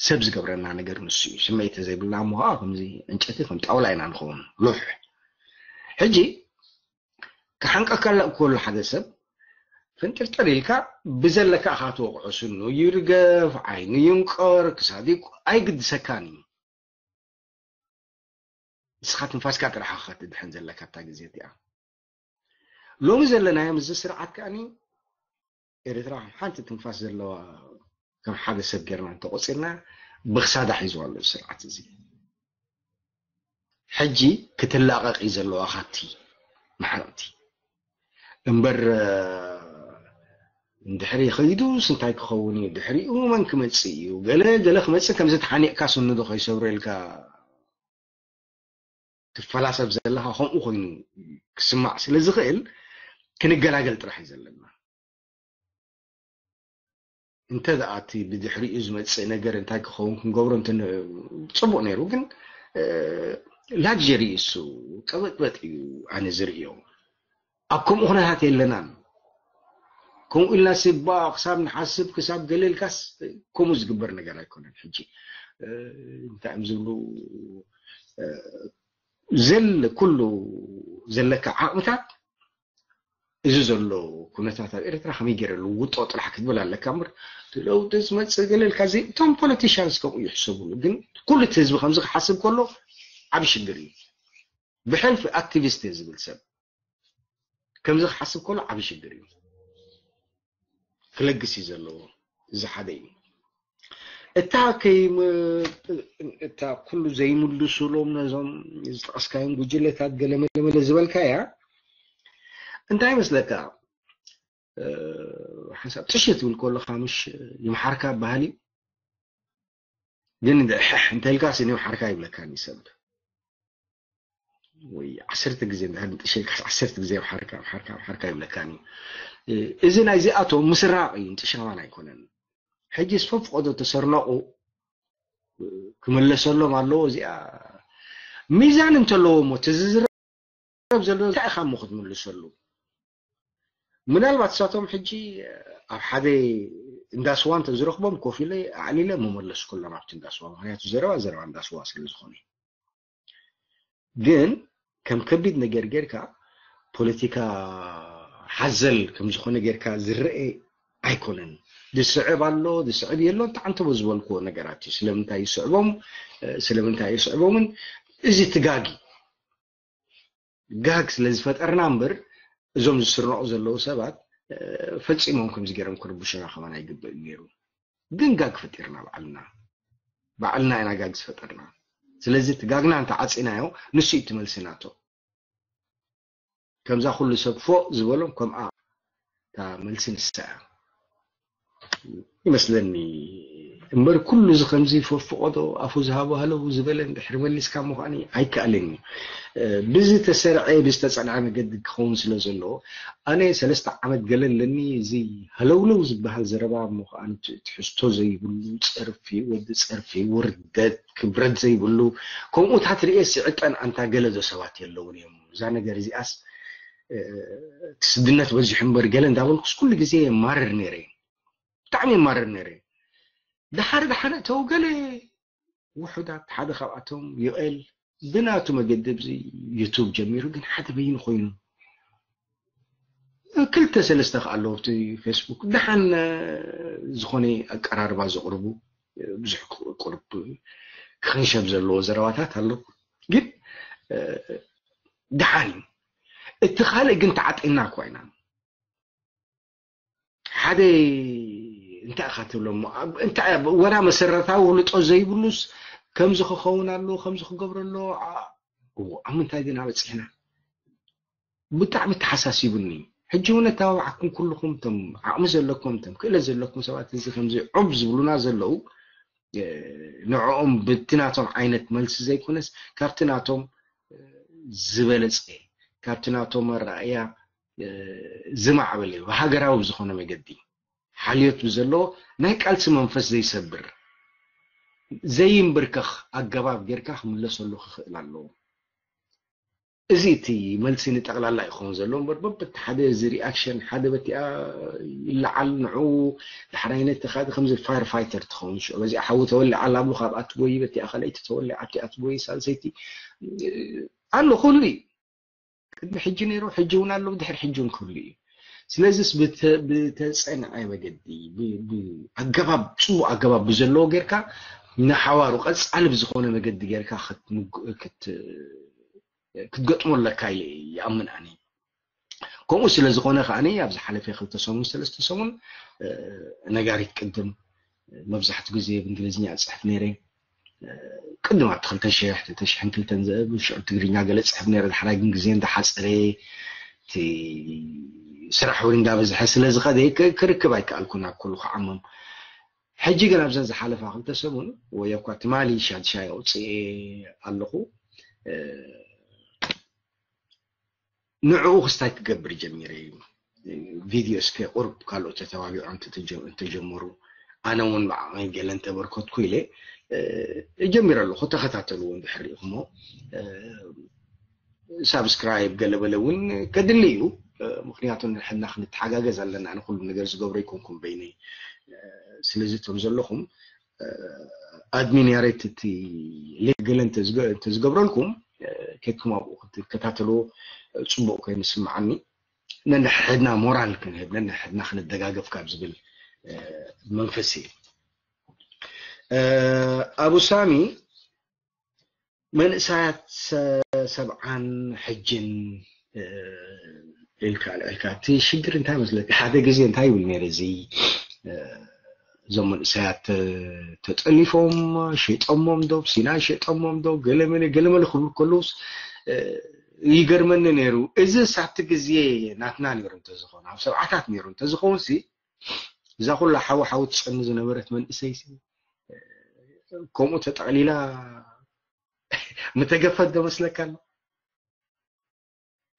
ሰብ ዝገብረና ነገር ንሱ እዩ ስምዒት ዘይብልና እሞ ከዓ ከምዚ ዕንጨቲ ከም ጣውላ ኢና ንኸውን ሉሕ ሕጂ ክሓንቀካ ከሎ ሓደ ሰብ ፍንጥርጥር ኢልካ ብዘለካ ኢኻ ትወቕዖ ስኑ ይርገፍ ዓይኑ ይንቀር ክሳዱ ኣይግድሰካን እዩ ንስኻ ትንፋስካ ጥራሕ ኢኻ ትድሕን ዘለካ እታ ግዜ እቲኣ ሎሚ ዘለናዮ ምስዚ ስርዓት ከኣኒ ኤርትራ ከም ሓንቲ ትንፋስ ዘለዋ ከም ሓደ ሰብ ጌርና እንተቆፂርና ብክሳዳ ሒዝዋ ኣሎ ስርዓት እዚ ሕጂ ክትላቐቕ እዩ ዘለዋ ካብቲ ማሕረቕቲ እምበር እንድሕሪ ከይዱስ እንታይ ክኸውን እዩ ድሕሪኡ መን ክመፅእ እዩ ገለ ገለ ክመፅእ ከምዚ ተሓኒቕካ ስንዶ ከይሰብረልካ ትፈላሰብ ዘለኻ ከምኡ ኮይኑ ክስማዕ ስለ ዝኽእል ክንገላገል ጥራሕ እዩ ዘለና እንተ ደኣ እቲ ብድሕሪኡ ዝመፅእ ነገር እንታይ ክኸውን ክንገብሮ እንተ ን- ፅቡቅ ነይሩ ግን እ፣ ላግጀሪ እሱ ቀበጥበጥ እዩ ኣነ ዝርእዮ ኣብ ከምኡ ኩነታት የለናን ከምኡ ኢልና ስባ ክሳብ ንሓስብ ክሳብ ገለልካስ ከምኡ ዝግበር ነገር ኣይኮነን ሕጂ እ፣ እንታይ እዮም ዝብሉ እ፣ ዘለ ኩሉ ዘለካ ዓቕምታት እዚ ዘሎ ኩነታት ኣብ ኤርትራ ከመይ ገይረ ልውጦ ጥራሕ ክትብል ኣለካ እምበር እቲ ለውጢ ዝመፅእ ገለ ኢልካ እዚ እቶም ፖለቲሽያንስ ከምኡ ይሕሰብሉ ግን ኩሉ እቲ ህዝቢ ከምዚ ክሓስብ ከሎ ዓብ ሽግር እዩ ብሕልፊ ኣክቲቪስት እየ ዝብል ሰብ ከምዚ ክሓስብ ከሎ ዓብ ሽግር እዩ ክለግስ እዩ ዘለዎ እዚ ሓደ እዩ እታ ከይም እታ ኩሉ ዘይምልሱሎም ነዞም ዝጠቀስካዮም ጉጅለታት ገለመለመለ ዝበልካያ እንታይ ይመስለካ ሓንሳብ ጥሽ ትብል ከለካ ምሽ ይምሓርካ ባህል እዩ። ግን ሕሕ እንተልካስ ይምሓርካ ይብለካኒ ሰብ። ወይ ዓሰርተ ግዜ እንድሕር ንጥሸልካስ ዓሰርተ ግዜ ይምሓርካ ይምሓርካ ይምሓርካ ይብለካኒ። እዚ ናይዚኣቶም ምስራቕ እዩ፣ ንጥሻማን ኣይኮነን። ሕጂ ዝፈፍቆዶ ተሰርነቑ ክምለሰሎም ኣለዎ። እዚኣ ሚዛን እንተለዎ እሞ እቲ ዝዝረብ ዘሎ እንታይ ኢኻ እሞ ክትምልሰሉ? ምናልባት እሳቶም ሕጂ ኣብ ሓደ እንዳስዋ እንተዝረኽቦም ኮፍ ኢለ ኣዕሊለ መመለስኩሎም ኣብቲ እንዳስዋ፣ ምክንያቱ ዘረባ ዘረባ እንዳስዋ ስለ ዝኾነ። ግን ከም ከቢድ ነገር ጌርካ ፖለቲካ ሓዘል ከም ዝኾነ ጌርካ ዝረአ ኣይኮነን። ዝስዕብ ኣሎ ዝስዕብ የሎን ተዓንተቦ ዝበልክዎ ነገራት እዩ። ስለምንታይ ይስዕቦም ስለምንታይ ይስዕቦምን እዚ ትጋጊ ጋግ ስለ ዝፈጠርና እምበር እዞም ዝስርነቑ ዘለዉ ሰባት ፈፂሞም ከምዚ ገይሮም ክርብሹና ከማን ኣይግበእ ነይሩ። ግን ጋግ ፈጢርና ባዕልና ባዕልና ኢና ጋግ ዝፈጠርና። ስለዚ እቲ ጋግና እንተዓፂናዮ ንሱ እዩ እቲ መልሲ ናቶ። ከምዛ ኩሉ ሰብ ፎእ ዝበሎም ከምኣ እታ መልሲ ንሳ እያ ይመስለኒ። እምበር ኩሉ እዚ ከምዚ ፈፍቆዶ ኣፉ ዝሃቦ ሃለው ዝበለ እንድሕር መሊስካ ምዃኒ ኣይከኣልን እዩ። ብዝተሰርዐ ብዝተፀንዐ መገዲ ክኸውን ስለ ዘለዎ ኣነ ሰለስተ ዓመት ገለ ኣለኒ። እዚ ሃለውለው ዝበሃል ዘረባ እሞ ከዓ ትሕዝቶ ዘይብሉ ፀርፊ ወዲ ፀርፊ ውርደት ክብረት ዘይብሉ ከምኡታት ርእየ ስዕጠን ኣንታ ገለ ዶ ሰባት የለውን እዮም። እዛ ነገር እዚኣስ እቲ ስድነት በዚሑ እምበር ገለ እንዳበልኩስ ኩሉ ግዜ የማርር ነይረ እዩ። ብጣዕሚ የማርር ነይረ እዩ። ደሓር ደሓን እተው ገለ ውሑዳት ሓደ ካብኣቶም ዩኤል ብናቱ መገዲ ኣብዚ ዩቱብ ጀሚሩ ግን ሓደ በይኑ ኮይኑ ክልተ ሰለስተ ከ ኣለዉ ኣብቲ ፌስቡክ ደሓን ዝኾነ ኣቀራርባ ዘቕርቡ ብዙሕ ቁርብ ክኽንሸብ ዘለዎ ዘረባታት ኣሎ። ግን ደሓን እዩ። እቲ ካልእ ግን ተዓጢና እኳ ኢና ሓደ እንታይ ኢኻ ትብሎ እሞ እንታይ ወላ መሰረታዊ ውልጦ ዘይብሉስ ከምዚ ክኸውን ኣለዎ ከምዚ ክገብሮ ኣለዎ። ኣብ ምንታይ ዲና በፂሕና? ብጣዕሚ ተሓሳሲቡኒ። ሕጂ እውን ኣተባባዕኩም ኩልኹም እቶም ዓቕሚ ዘለኩም እቶም ክእለት ዘለኩም ሰባት እዚ ከምዚ ዑብ ዝብሉና ዘለዉ ንዕኦም ብቲ ናቶም ዓይነት መልሲ ዘይኮነስ ካብቲ ናቶም ዝበለፀ ካብቲ ናቶም ኣረኣእያ ዝማዕበለ ብሃገራዊ ብዝኾነ መገዲ ሓልዮት ብዘለዎ ናይ ቃልሲ መንፈስ ዘይሰብር ዘይንብርከኽ ኣገባብ ጌርካ ክምለሰሉ ክኽእል ኣለዎ። እዚ እቲ መልሲ ንጠቕላላ ይኸውን ዘሎ እምበር በበቲ ሓደ እዚ ሪኣክሽን ሓደ በቲኣ ይለዓል ንዑ ዳሕራይ ነቲ ካልእ ከምዚ ፋየር ፋይተር ትኸውን ሽዑ በዚኣ ሓዊ ተወሊዓ ኣላ ብሉ ካብኣ ትጎይ በቲኣ ካልኣይቲ ተወሊዓ ኣብቲኣ ትጎይ ሳልሰይቲ ኣሎ ኩሉ እዩ። ቅድሚ ሕጂ ነይሩ ሕጂ እውን ኣሎ ድሕሪ ሕጂ እውን ክህሉ እዩ። ስለዚስ ብተፀንዐ መገዲ ኣገባብ ፅቡቅ ኣገባብ ብዘለዎ ጌርካ ንሓዋሩ ቀፃሊ ብዝኾነ መገዲ ጌርካ ክትገጥሞ ኣለካ ኢለ ይኣምን ኣነ። ከምኡ ስለ ዝኾነ ከዓኒ ኣብ ዝሓለፈ ክልተ ሰሙን ሰለስተ ሰሙን ነጋሪት ቅድም መብዛሕትኡ ግዜ ብእንግሊዝኛ እፅሕፍ ነይረ። ቅድም ኣብቲ ክልተ ሽሕ ክልተ ሽሕን ክልተን ዝእብ ሽዑ ትግርኛ ገለ እፅሕፍ ነይረ። ዳሕራይ ግን ግዜ እንዳሓፀረ እቲ ስራሕ እውን እንዳበዝሐ ስለ ዝኸደ ክርክብ ኣይከኣልኩን ኣብ ኩሉ ክዓምም። ሕጂ ግን ኣብዘን ዝሓለፋ ክልተ ሰሙን ወይ እኳ ትማሊ ሻድሻይ ኣውፅኤ ኣለኹ። ንዕኡ ክስታይ ክገብር ጀሚረ እዩ። ቪድዮ እስከ ቁርብ ካልኦት ተተባቢዖም እንተጀመሩ ኣነ እውን ብዓቕመይ ገለ እንተበርከትኩ ኢለ ጀሚረ ኣለኹ። ተኸታተልዎ እንድሕር ርኢኹሞ ሳብስክራይብ ገለበለ እውን ከድሊ እዩ። ምክንያቱ ንሕና ክንተሓጋገዝ ኣለና። ንኩሉ ነገር ዝገብሮ ይኮንኩም በይነይ። ስለዚ እቶም ዘለኹም ኣድሚን ያሬት እቲ ሌክ ገለ እንተዝገብረልኩም ከድኩም ኣብኡ ክትከታተልዎ ፅቡቅ ኮይኑ ስምዓኒ። ነንሕድና ሞራል ክንህብ ነንሕድና ክንደጋገፍ ካብ ዝብል መንፈስ እዩ። ኣቡ ሳሚ መንእሳያት ሰብዓን ሕጅን ኢልካ ልዕልካ እቲ ሽግር እንታይ መስለካ? ሓደ ግዜ እንታይ ይብል ነይረ እዚ እዞም መንእሰያት ተጠሊፎም ሸይጠሞም ዶ ሲናይ ሸይጠሞም ዶ ገለመለ ገለመለ ክብሉ ከለውስ ይገርመኒ ነይሩ። እዚ ሳብቲ ግዜ ናትና ነይሩ እንተዝኸውን፣ ኣብ ሰብዓታት ነይሩ እንተዝኸውን ሲ እዛ ኩላ ሓዊ ሓዊ ትጨኑ ዝነበረት መንእሰይ ሲ ከምኡ ተጠቕሊላ ምተገፈት ዶ መስለካ ኣሎ?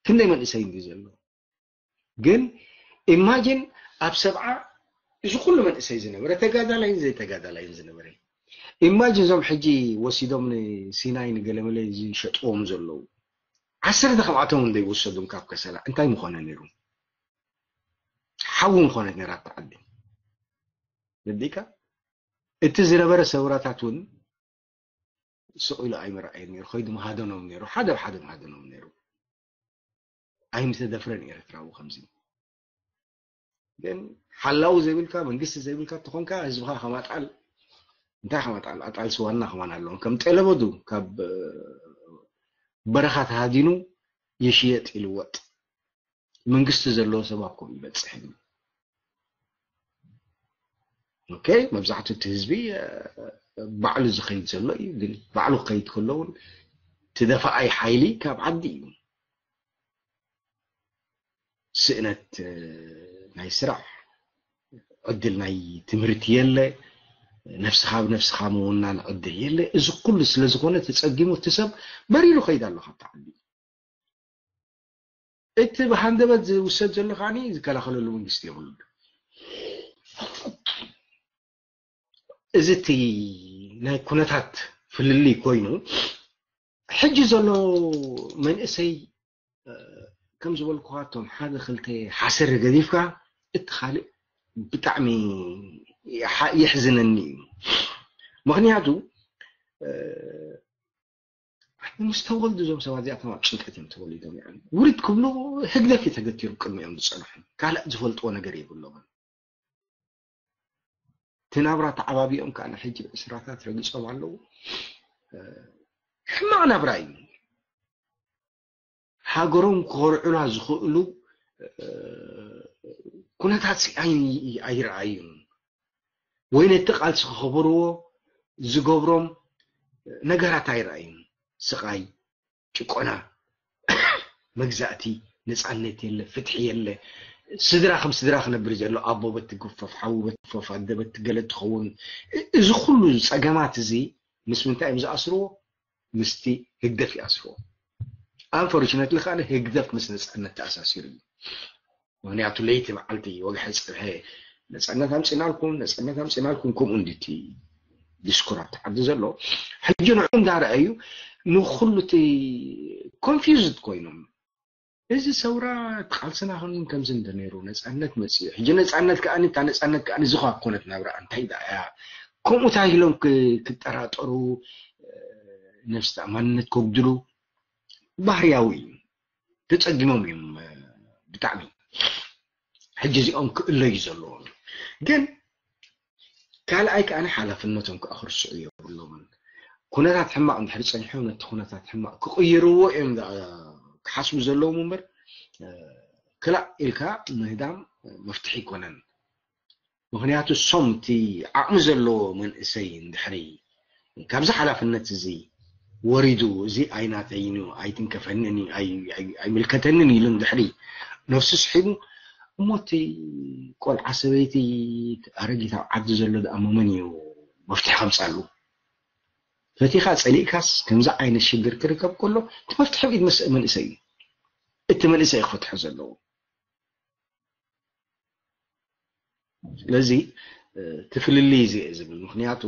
ክንደይ መንእሰይ እንዲ ዘሎ ግን ኢማጂን ኣብ ሰብዓ እዚ ኩሉ መንእሰይ ዝነበረ ተጋዳላይን ዘይተጋዳላይን ዝነበረ ኢማጂን እዞም ሕጂ ወሲዶም ንሲናይ ንገለመለ ዝሸጥዎም ዘለዉ ዓሰርተ ካብኣቶም እንደ ይወሰዱም ካብ ከሰላ እንታይ ምኾነ ነይሩ? ሓዊ ምኾነት ነይራ እታ ዓዲ። ረዲእካ እቲ ዝነበረ ሰውራታት እውን ስቕ ኢሉ ኣይመርኣየን ነይሩ። ከይዱ ምሃደኖም ነይሩ። ሓደ ብሓደ ምሃደኖም ነይሩ። ኣይምተደፍረን ኤርትራዊ ከምዚ። ግን ሓላዊ ዘይብልካ መንግስቲ ዘይብልካ ተኾንካ ህዝብኻ ከማጣል እንታይ ከማጣል ኣጣል ስዋና ከማን ኣለዎም ከም ጠለበዱ ካብ በረኻ ተሃዲኑ ይሽየጥ ይልወጥ መንግስቲ ዘለዎ ሰብ ኣብ ከምኡ ይበፅሕ እዩ። ኦኬ መብዛሕትኡ እቲ ህዝቢ ባዕሉ ዝኸይድ ዘሎ እዩ። ግን ባዕሉ ክኸይድ ከሎ እውን ትደፋኣይ ሓይሊ ካብ ዓዲ እዩ። ስእነት ናይ ስራሕ ዕድል ናይ ትምህርቲ የለ። ነፍስኻ ብነፍስኻ ምውናን ዕድል የለ። እዚ ኩሉ ስለ ዝኾነ ተፀጊሙ እቲ ሰብ በሪሩ ከይድ ኣሎ ካብቲ ዓዲ። እቲ ብሃንደበት ዝውሰድ ዘሎ ከዓኒ ዝከላኸለሉ መንግስቲ የብሉ። እዚ እቲ ናይ ኩነታት ፍልልይ ኮይኑ ሕጂ ዘሎ መንእሰይ ከም ዝበልኩካ እቶም ሓደ ክልተ ሓሰር ገዲፍካ እቲ ካልእ ብጣዕሚ የሕዝነኒ እዩ። ምክንያቱ ምስ ተወልዱ እዞም ሰባት እዚኣቶም ኣብ ጭንቀት እዮም ተወሊዶም። ውርድ ክብሉ ህግደፍ እዩ ተገቲሩ ቅድሚኦም ዝፀንሑ ካልእ ዝፈልጥዎ ነገር የብሎምን። እቲ ናብራ ተዓባቢኦም ከዓ ንሕጂ ብዕስራታት ረጊፆም ኣለዉ። ሕማቕ ናብራ እዩ። ሃገሮም ክኾርዑላ ዝኽእሉ ኩነታት ኣይረኣዩን። ወይ ነቲ ቃልሲ ክኸበርዎ ዝገብሮም ነገራት ኣይረኣዩን። ስቓይ፣ ጭቆና፣ መግዛእቲ፣ ነፃነት የለ፣ ፍትሒ የለ። ስድራ ከም ስድራ ክነብር ዘሎ ኣቦ በቲ ግፈፍ፣ ሓዊ በቲ ግፈፍ፣ ኣደ በቲ ገለ ትኸውን። እዚ ኩሉ ፀገማት እዚ ምስ ምንታይ እዮም ዝኣስርዎ? ምስቲ ህግደፍ ይኣስርዎ። ኣንፎርችነትሊ ከዓ ህግደፍ ምስ ነፃነት ተኣሳሲሩ እዩ። ምክንያቱ ለይቲ መዓልቲ ወግሐ ፅብሐ ነፃነት ኣምፂናልኩም ነፃነት ኣምፂናልኩም ከምኡ እንዲቲ ዲስኩራት ዓዲ ዘሎ ሕጂ ንዑ እንዳረኣዩ ንኩሉ እቲ ኮንፊውዝድ ኮይኖም እዚ ሰውራ ቃልስና ከኑ ከምዚ እንተነይሩ ነፃነት መፅኡ ሕጂ ነፃነት ከዓ እታ ነፃነት ከዓ ዝኳ ኮነት ናብራ እንታይ ዳ እያ ከምኡ ታይሎም ክጠራጠሩ ነፍሲ ተኣማንነት ከጉድሉ ባህርያዊ እዩ። ተፀጊሞም እዮም ብጣዕሚ ሕጂ እዚኦም ክእለዩ ዘለዎም ግን ካልኣይ ከዓ ሓላፍነቶም ከዓ ክርስዑ የብሎምን። ኩነታት ሕማቕ እንድሕር ፀኒሖም ነቲ ኩነታት ሕማቕ ክቕይርዎ እዮም ክሓስቡ ዘለዎም እምበር ክላእ ኢልካ ምህዳም መፍትሒ ኣይኮነን። ምክንያቱ ሶም እቲ ዓቕሚ ዘለዎ መንእሰይ እንድሕሪ ካብዚ ሓላፍነት እዚ ወሪዱ እዚ ኣይናተይን እዩ ኣይትንከፈንን እዩ ኣይምልከተንን ኢሉ እንድሕሪ ነፍሱ ስሒቡ እሞ እቲ ቆልዓ ሰበይቲ ኣረጊት ኣብ ዓዲ ዘሎ ደኣ መመን እዩ መፍትሒ ከምፃሉ ፈቲኻ ፀሊእካስ ከምዚ ዓይነት ሽግር ክርከብ ከሎ እቲ መፍትሒ ብኢድ መንእሰይ እዩ እቲ መንእሰይ ክፈትሖ ዘለዎ ስለዚ እቲ ፍልልይ እዚ እየ ዝብል ምክንያቱ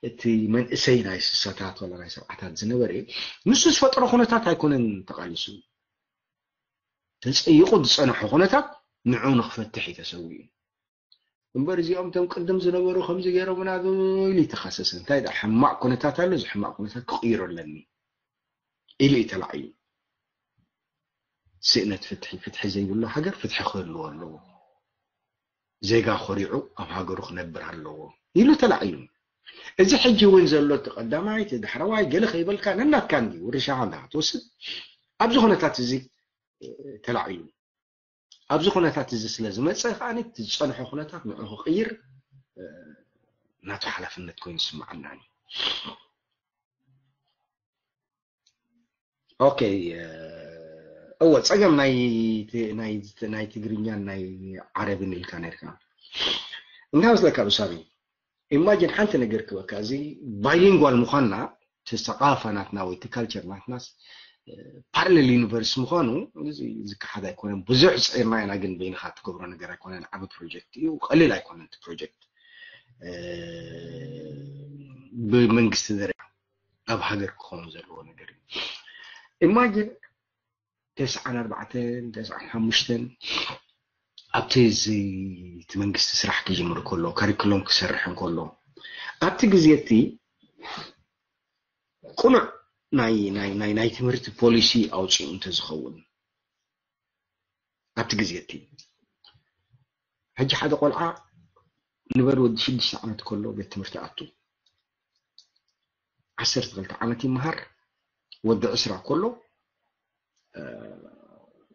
እቲ መንእሰይ ናይ ስሳታት ወላ ናይ ሰብዓታት ዝነበረ ንሱ ዝፈጠሮ ኩነታት ኣይኮነን ተቃሊሱ ተፀይቁ ዝፀንሖ ኩነታት ንዑ ንክፈትሕ እዩ ተሰዊኡ እምበር እዚኦም ቶም ቅድም ዝነበሩ ከምዚ ገይሮምና ኢሉ ይተኸሰስ እንታይ ዳ ሕማቅ ኩነታት ኣሎ እዚ ሕማቅ ኩነታት ክቅይሮ ኣለኒ ኢሉ እዩ ተላዕዩ ስእነት ፍትሒ ፍትሒ ዘይብሉ ሃገር ፍትሒ ክህልዎ ኣለዎ ዜጋ ኮሪዑ ኣብ ሃገሩ ክነብር ኣለዎ ኢሉ ተላዕዩ እዚ ሕጂ እውን ዘሎ እቲ ቀዳማይ እቲ ዳሕረዋይ ገለ ከይበልካ ነናትካ እንዲ ውርሻኻ እንዳ ትወስድ ኣብዚ ኩነታት እዚ ተላዕዩ ኣብዚ ኩነታት እዚ ስለ ዝመፀ ከዓ እቲ ዝፀንሖ ኩነታት ንዑ ክቅይር ናቱ ሓላፍነት ኮይኑ ዝስምዓና እዩ ኦኬ እወ፣ ጸገም ናይ ት- ናይ ናይ ትግርኛን ናይ ዓረብን ኢልካ ነርካ። እንታይ መስለካ ብሳሚ? ኢማጂን ሓንቲ ነገር ክበካ፣ እዚ ባይሊንጓል ምዃንና፣ እቲ ሰቃፋ ናትና ወይ እቲ ካልቸር ናትናስ ፓራሌል ዩኒቨርስ ምዃኑ እዚ ዝከሓድ ኣይኮነን። ብዙሕ ጽዒርና ኢና፣ ግን በይንኻ ትገብሮ ነገር ኣይኮነን። ዓቢ ፕሮጀክት እዩ፣ ቀሊል ኣይኮነን። እቲ ፕሮጀክት ብመንግስቲ ደረጃ ኣብ ሃገር ክኸውን ዘለዎ ነገር እዩ። ኢማጂን ተስዓን ኣርባዕተን ተስዓን ሓሙሽተን ኣብቲ እዚ እቲ መንግስቲ ስራሕ ክጅምር ከሎ፣ ካሪኩሎም ክሰርሕ እንከሎ፣ ኣብቲ ግዜ እቲ ቅኑዕ ናይ ናይ ናይ ናይ ትምህርቲ ፖሊሲ ኣውፂኡ እንተዝኸውን፣ ኣብቲ ግዜ እቲ ሕጂ ሓደ ቆልዓ ንበል ወዲ ሽዱሽተ ዓመት ከሎ ቤት ትምህርቲ ኣቱ፣ ዓሰርተ ክልተ ዓመት ይመሃር፣ ወዲ ዕስራ ከሎ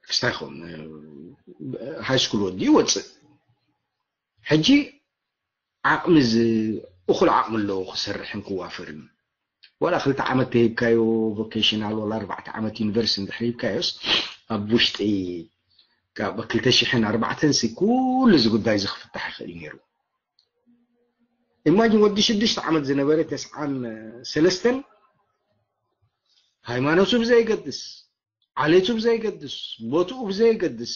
ክስታይ ኾን ሃይ ስኩል ወዲ ይወፅእ። ሕጂ ዓቕሚ ዝ- እኹል ዓቕሚ ኣለዎ ክሰርሕን ክዋፈርን። ዋላ ክልተ ዓመት ተሂብካዮ ቮኬሽናል፣ ዋላ ኣርባዕተ ዓመት ዩኒቨርሲቲ እንድሕር ሂብካዮስ፣ ኣብ ውሽጢ ካብ ክልተ ሽሕን ኣርባዕተን ሲ ኩሉ እዚ ጉዳይ እዚ ክፍታሕ ይኽእል ነይሩ። ኢማጂን ወዲ ሽዱሽተ ዓመት ዝነበረ ተስዓን ሰለስተን ሃይማኖቱ ብዘይገድስ፣ ዓሌቱ ብዘይገድስ፣ ቦትኡ ብዘይገድስ፣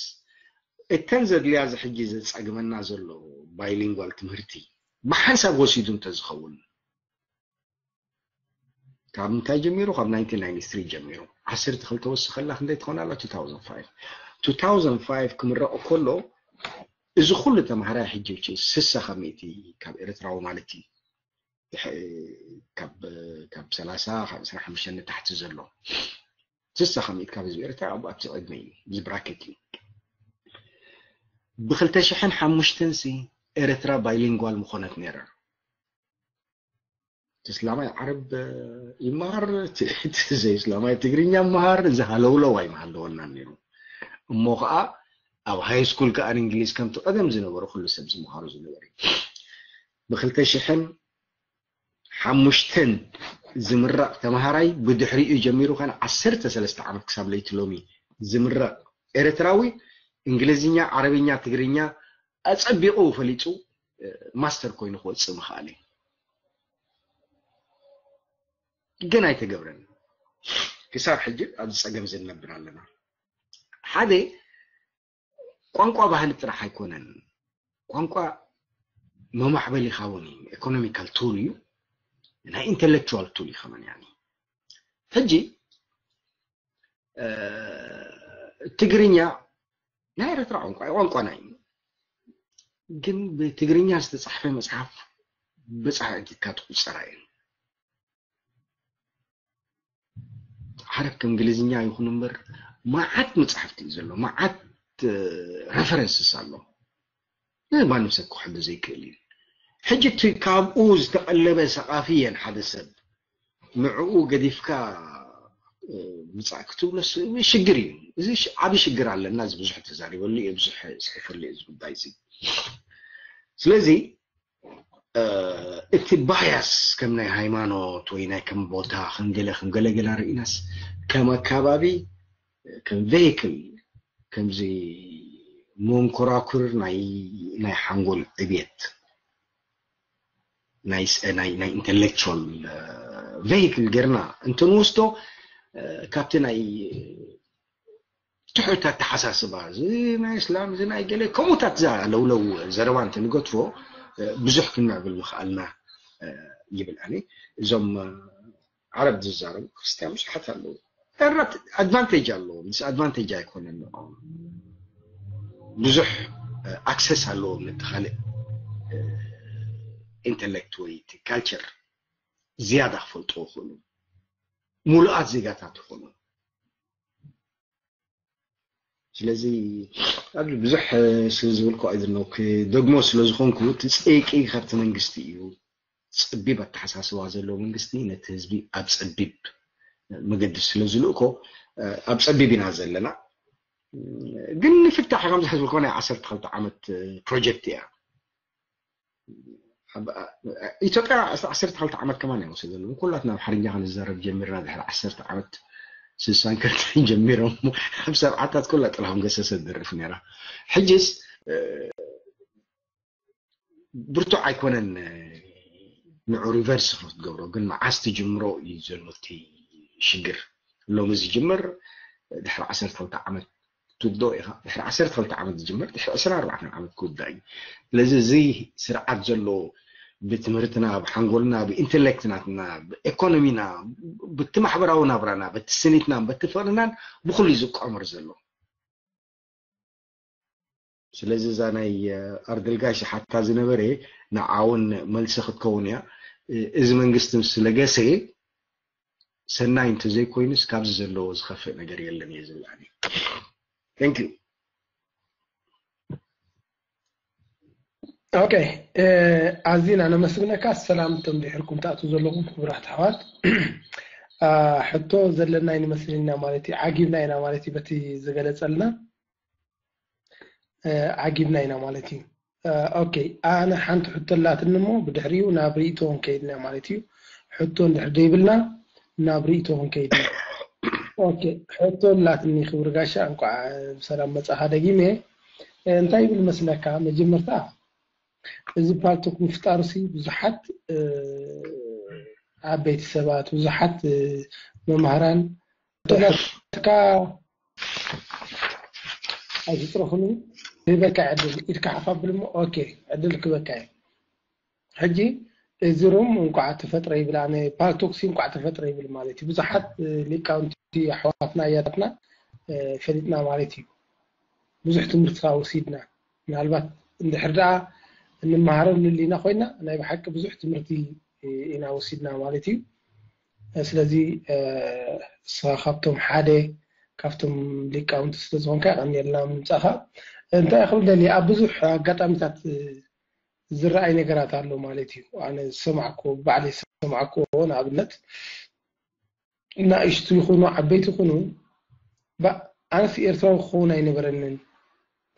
እተን ዘድልያ እዚ ሕጂ ዘጸግመና ዘሎ ባይሊንጓል ትምህርቲ ብሓንሳብ ወሲዱ እንተዝኸውን፣ ካብ ምንታይ ጀሚሩ? ካብ ናይንቲን ናይንቲ ስሪ ጀሚሩ። ዓሰርተ ክልተ ወስኸላ ክንደይ ትኾን ኣላ? ቱ ታውዘንድ ፋይቭ። ቱ ታውዘንድ ፋይቭ ክምረቕ ከሎ፣ እዚ ኩሉ ተምሃራይ ሕጂ፣ ሕጂ ስሳ ካብ ሚእቲ ካብ ኤርትራዊ ማለት እዩ። ድሕ- ካብ ካብ ሰላሳ ካብ ዕስራን ሓሙሽተን ንታሕቲ ዘሎ፣ ስሳ ካብ ሚእቲ ካብ ህዝቢ ኤርትራ ኣብ ኣብቲ ዕድመ እዩ፣ እዚ ብራኬት እዩ። ብክልተ ሽሕን ሓሙሽተን ሲ ኤርትራ ባይሊንጓል ምኾነት ነይራ። እቲ እስላማይ ዓረብ ይመሃር፣ እቲ እቲ ዘይእስላማይ ትግርኛ ይመሃር፣ እዚ ሃለውለው ኣይምሃለወናን ነይሩ። እሞ ኸዓ ኣብ ሃይ ስኩል ከኣ እንግሊዝ ከምቲ ቀደም ዝነበረ ኩሉ ሰብ ዝመሃሮ ዝነበረ እዩ። ብክልተ ሽሕን ሓሙሽተን ዝምረቕ ተምሃራይ ብድሕሪኡ ጀሚሩ ከነ ዓሰርተ ሰለስተ ዓመት ክሳብ ለይቲ ሎሚ ዝምረቕ ኤርትራዊ እንግሊዝኛ፣ ዓረብኛ፣ ትግርኛ ኣጸቢቑ ፈሊጡ ማስተር ኮይኑ ክወጽእ ምኽኣል እዩ። ግን ኣይተገብረን። ክሳብ ሕጂ ኣብዚ ጸገም ዝነብር ኣለና። ሓደ ቋንቋ ባህሊ ጥራሕ ኣይኮነን። ቋንቋ መማዕበሊኻ እውን እዩ። ኢኮኖሚካል ቱል እዩ። ናይ ኢንተሌክቹዋል ቱል እዩ ከመን ያኒ። ሕጂ ትግርኛ ናይ ኤርትራ ቋንቋ ቋንቋና እዩ። ግን ብትግርኛ ዝተጻሕፈ መጽሓፍ ብጻሕ እቲካ ትቁጸራ እየን። ዓረብ ከም እንግሊዝኛ ይኹን እምበር መዓት መጽሓፍቲ እዩ ዘሎ፣ መዓት ረፈረንስስ ኣሎ። ማንም ሰብ ክሕዶ ዘይክእል እዩ። ሕጂ እቲ ካብኡ ዝተቐለበ ሰቓፊ እየን ሓደ ሰብ ንዕኡ ገዲፍካ ምጻእ ክትብሎ ሽግር እዩ። እዚ ዓብ ሽግር ኣለና። እዚ ብዙሕ ተዛሪበሉ እየ፣ ብዙሕ ስሒፈሉ እየ እዚ ጉዳይ እዚ። ስለዚ እቲ ባያስ ከም ናይ ሃይማኖት ወይ ናይ ከም ቦታ ከም ገለ ከም ገለገላ ርኢናስ ከም ኣካባቢ ከም ቬይክል ከምዚ መንኮራኩር ናይ ናይ ሓንጎል ዕብየት ናይ ናይ ናይ ኢንተሌክቹዋል ቬይክል ጌርና እንትንወስዶ ካብቲ ናይ ትሑት ኣተሓሳስባ እዚ ናይ እስላም እዚ ናይ ገለ ከምኡታት ዝለውለው ዘረባ እንትንገድፎ ብዙሕ ክንምዕብል ምኽኣልና ይብል። ኣነ እዞም ዓረብ ዝዛረቡ ክርስትያን ብዙሓት ኣለዉ። ኣድቫንቴጅ ኣለዎም፣ ዲስኣድቫንቴጅ ኣይኮነን። ብዙሕ ኣክሰስ ኣለዎም ነቲ ካልእ ኢንተሌክት ወይ ካልቸር ዝያዳ ክፈልጡ ይኽእሉ፣ ሙሉኣት ዜጋታት ይኾኑ። ስለዚ ኣብዚ ብዙሕ ስለ ዝበልኩ ኣይደለኹ ክደግሞ ስለ ዝኾንኩ እቲ ጸይቂ ካብቲ መንግስቲ እዩ። ጸቢብ ኣተሓሳስባ ዘለዎ መንግስቲ ነቲ ህዝቢ ኣብ ጸቢብ መገዲ ስለ ዝልእኮ ኣብ ጸቢብ ኢና ዘለና። ግን ንፍታሕ ከምዚ ዝበልኩ ናይ ዓሰርተ ክልተ ዓመት ፕሮጀክት እያ። ኢትዮጵያ ዓሰርተ ክልተ ዓመት ከማን ኣይወሰደሉን። ኩላትና ኣምሓርኛ ክንዛረብ ጀሚርና ድሕሪ ዓሰርተ ዓመት ስሳን ከልተን ጀሚሮም ኣብ ሰብዓታት ኩላ ጥላሁን ገሰሰ ትደርፍ ነይራ። ሕጅስ ብርቱዕ ኣይኮነን። ንዑ ሪቨርስ ክትገብሮ ግን መዓስ ትጅምሮ እዩ ዘሎ እቲ ሽግር። ሎሚ ዝጅምር ድሕሪ ዓሰርተ ክልተ ዓመት ትውድኦ ኢኻ። ድሕሪ ዓሰርተ ክልተ ዓመት ዝጅምር ድሕሪ ዕስራን ኣርባዕተን ዓመት ክውዳእ እዩ። ስለዚ እዚ ስርዓት ዘሎ ብትምህርትና፣ ብሓንጎልና፣ ብኢንቴሌክት ናትና፣ ብኤኮኖሚና፣ ብቲ ማሕበራዊ ናብራና፣ በቲ ስኒትናን በቲ ፍቕርናን ብኩሉ እዩ ዝቋመር ዘሎ። ስለዚ እዛ ናይ ኣርድልጋሽ ሓታ ዝነበረ ንዓውን መልሲ ክትከውን እያ። እዚ መንግስቲ ምስ ለገሰ ሰናይ እንተዘይኮይኑስ ካብዚ ዘለዎ ዝኸፍእ ነገር የለን እየ ዝብል ኣነ። Thank you። ኦኬ፣ ኣዚና ነመስግነካ። ሰላም እቶም ድሕርኩም ትኣትዉ ዘለኹም ክቡራት ኣሕዋት። ሕቶ ዘለና ይመስለና ማለት እዩ፣ ዓጊብና ኢና ማለት እዩ በቲ ዝገለጸልና። ዓጊብና ኢና ማለት እዩ። ኦኬ፣ ኣነ ሓንቲ ሕቶ ኣላትኒ እሞ ብድሕሪኡ ናብ ርእይቶ ክንከይድ ኢና ማለት እዩ። ሕቶ እንድሕር ደይብልና ናብ ርእይቶ ክንከይድ ኢና። ኦኬ፣ ሕቶ ኣላትኒ ክቡር ጋሻ፣ እንኳዕ ብሰላም መጻኻ ደጊመ። እንታይ ይብል መስለካ፣ መጀመርታ እዚ ፓልቶክ ምፍጣሩሲ ብዙሓት ዓበይቲ ሰባት፣ ብዙሓት መማህራን ተመካ ኣይትጥረፉኒ። ይበካ ዕድል ኢድካ ሓፍ ኣብልሞ። ኦኬ፣ ዕድል ክበካ እዩ። ሕጂ እዚ ሩም እንኳዕ ተፈጥረ ይብል፣ ኣነ ፓልቶክሲ እንኳዕ ተፈጥረ ይብል ማለት እዩ። ብዙሓት ሊቃውንቲ ኣሕዋትና ኣያታትና ፈሊጥና ማለት እዩ። ብዙሕ ትምህርቲ ካብ ወሲድና፣ ምናልባት እንድሕር ደኣ እንመሃረሉ ሊና ኮይና ናይ ብሓቂ ብዙሕ ትምህርቲ ኢና ወሲድና ማለት እዩ። ስለዚ እስኻ ካብቶም ሓደ ካብቶም ሊቃውንቲ ስለዝኾንካ ቀኒልና ምምጻኻ። እንታይ ክብል ደሊ ኣብ ብዙሕ ኣጋጣሚታት ዝረኣይ ነገራት ኣሎ ማለት እዩ። ኣነ ዝሰማዕኩ ባዕለይ ዝሰማዕኩዎ ንኣብነት ንኣሽቱ ይኹኑ ዓበይቲ ይኹኑ ኣነስ ኤርትራዊ ክኸውን ኣይነበረንን።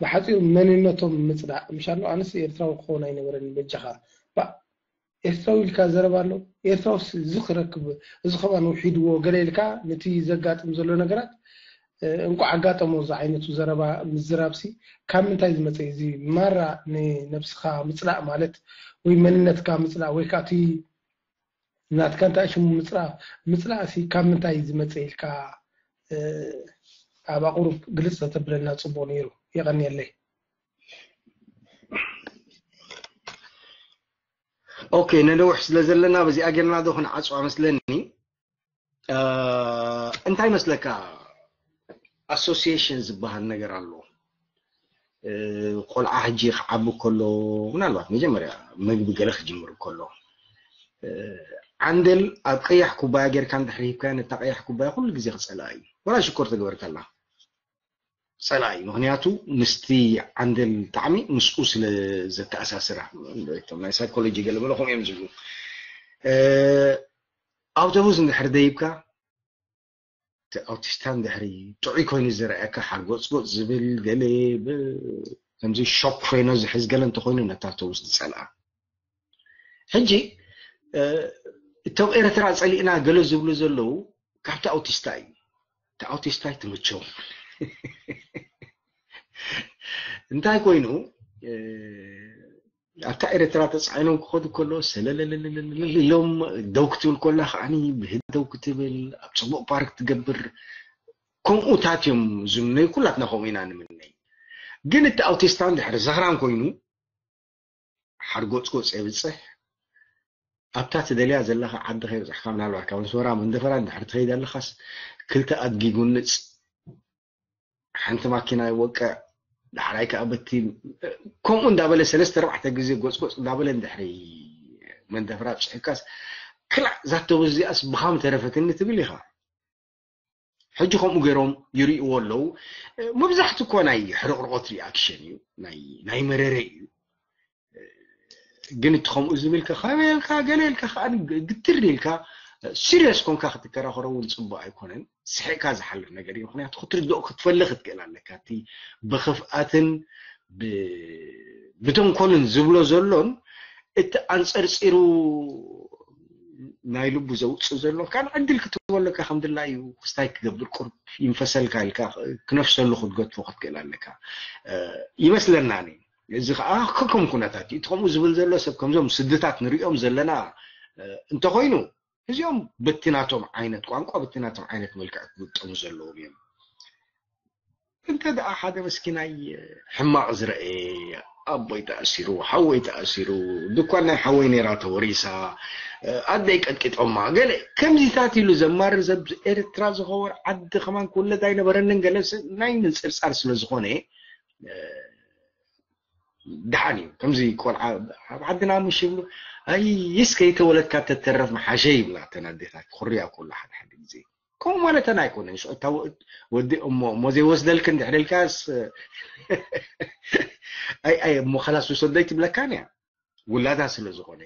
ብሓፂሩ መንነቶም ምፅላእ ምሻሎ ኣነስ ኤርትራዊ ክኸውን ኣይነበረንን። በጃኻ ኤርትራዊ ኢልካ ዘረባ ኣሎ። ኤርትራውስ እዚ ክረክብ እዚ ከማን ውሒድዎ ገለ ኢልካ ነቲ ዘጋጥም ዘሎ ነገራት እንኳዕ ኣጋጠሞ እዚ ዓይነቱ ዘረባ ምዝራብሲ ካብ ምንታይ ዝመፀ እዚ ማራ ንነብስኻ ምፅላእ ማለት ወይ መንነትካ ምፅላእ ወይ ከዓ እቲ ናትካ እንታይ ሽሙ ምፅላእ ምፅላእሲ ካብ ምንታይ ዝመፀ ኢልካ ኣብ ኣቁሩብ ግልፅ ተተብለና ፅቡቅ ነይሩ። የቀንየለይ። ኦኬ፣ ነነውሕ ስለ ዘለና በዚኣ ጌርና ዶ ክንዓፅዋ መስለኒ። እንታይ መስለካ፣ ኣሶሲሽን ዝበሃል ነገር ኣሎ። ቆልዓ ሕጂ ክዓቢ ከሎ ምናልባት መጀመርያ መግቢ ገለ ክጅምር ከሎ ዓንደል ኣብ ቀያሕ ኩባያ ጌርካ እንድሕር ሂብካዮ ነታ ቀያሕ ኩባያ ኩሉ ግዜ ክፀልኣ እዩ። ወላ ሽኮር ተገበርካላ ፀላኢ። ምክንያቱ ምስቲ ዓንደል ጣዕሚ ምስኡ ስለ ዘተኣሳስራ፣ እቶም ናይ ሳይኮሎጂ ገለ በለ ከምኡ እዮም ዝብሉ። ኣውቶቡስ እንድሕር ደይብካ እቲ ኣውቲስታ እንድሕሪ ጥዑይ ኮይኑ ዝረኣየካ ሓርጎፅጎፅ ዝብል ገለ ከምዚ ሾክ ፍሬኖ ዝሕዝ ገለ እንተኮይኑ ነታ ኣውቶቡስ ዝፀልኣ። ሕጂ እቶም ኤርትራ ፀሊእና ገለ ዝብሉ ዘለዉ ካብቲ ኣውቲስታ እዩ። እቲ ኣውቲስታ ኣይትምቸው። እንታይ ኮይኑ ኣብታ ኤርትራ ተፃዒኖም ክኸዱ ከሎ ሰለለለለለ ኢሎም ደው ክትብል ከላ ከዓኒ ብህድ ደው ክትብል ኣብ ፅቡቅ ፓርክ ትገብር። ከምኡታት እዮም ዝምነዩ። ኩላትና ከምኡ ኢና ንምነይ። ግን እቲ ኣውቲስታ እንድሕር ዘኽራን ኮይኑ ሓርጎፅጎፅ የብፅሕ። ኣብታ ትደልያ ዘለኻ ዓዲ ከይበፅሕካ ምናልባት ካብ ኣስመራ መንደፈራ እንድሕር ትኸይድ ኣለኻስ ክልተ ኣድጊ ጉንፅ ሓንቲ ማኪና ይወቅዕ። ዳሕራይ ከዓ በቲ ከምኡ እንዳበለ ሰለስተ ኣርባዕተ ግዜ ጎፅጎፅ እንዳበለ እንድሕሪ መንደፈራ ኣብፅሕካስ ክላእ ዛተቡ እዚኣስ ብኻም ተረፈትኒ ትብል ኢኻ። ሕጂ ከምኡ ገይሮም ይርእይዎ ኣለዉ። መብዛሕቲ እኮ ናይ ሕርቕርቆት ሪኣክሽን እዩ፣ ናይ መረረ እዩ። ግን እቲ ከምኡ ዝብል ከ ከመይ ኢልካ ገለ ኢልካ ከዓ ግትር ኢልካ ሲሪየስ ኮንካ ክትከራኸሮ እውን ፅቡቅ ኣይኮነን። ስሒቅካ ዝሓልፍ ነገር እዩ። ምክንያቱ ክትርድኦ ክትፈልእ ክትክእል ኣለካ። እቲ ብክፍኣትን ብተንኮልን ዝብሎ ዘሎን እቲ ኣንፀርፂሩ ናይ ልቡ ዘውፅእ ዘሎ ካልእ ዕድል ክትህቦ ኣለካ። ከም ድላዩ ክስታይ ክገብር ቁርብ ይንፈሰልካ ኢልካ ክነፍሰሉ ክትገድፎ ክትክእል ኣለካ ይመስለና። እዚ ከዓ ከከም ኩነታት እዩ። እቲ ከምኡ ዝብል ዘሎ ሰብ ከምዞም ስድታት ንሪኦም ዘለና እንተኮይኑ እዚኦም በቲ ናቶም ዓይነት ቋንቋ በቲ ናቶም ዓይነት መልክዕ ክግጠሙ ዘለዎም እዮም። እንተ ደኣ ሓደ መስኪናይ ሕማቕ ዝረኤ ኣቦይ ተኣሲሩ፣ ሓወይ ተኣሲሩ፣ ድኳን ናይ ሓወይ ነይራ ተወሪሳ፣ ኣደይ ቀጥቂጦማ፣ ገለ ከምዚታት ኢሉ ዘማርር ሰብ ኤርትራ ዝኸውን ዓዲ ከማን ክውለድ ኣይነበረንን። ገለ ናይ ምንጽርጻር ስለ ዝኾነ ደሓን እዩ። ከምዚ ቆልዓ ኣብ ዓድና ምሽ ይብሉ፣ ኣይስ ከይተወለድካ ተተረፍ መሓሸ ይብላ እተን ኣዴታት ክርያ ከሎ ሓደ ሓደ ግዜ። ከምኡ ማለተን ኣይኮነን። ሽዑ እታ ወ- ወዲ እሞ እሞ ዘይወስደልክን ድሕሪ ኢልካስ ኣይ ኣይ እሞ ከላስ ውሰደይ ትብለካን እያ ውላዳ ስለ ዝኾነ።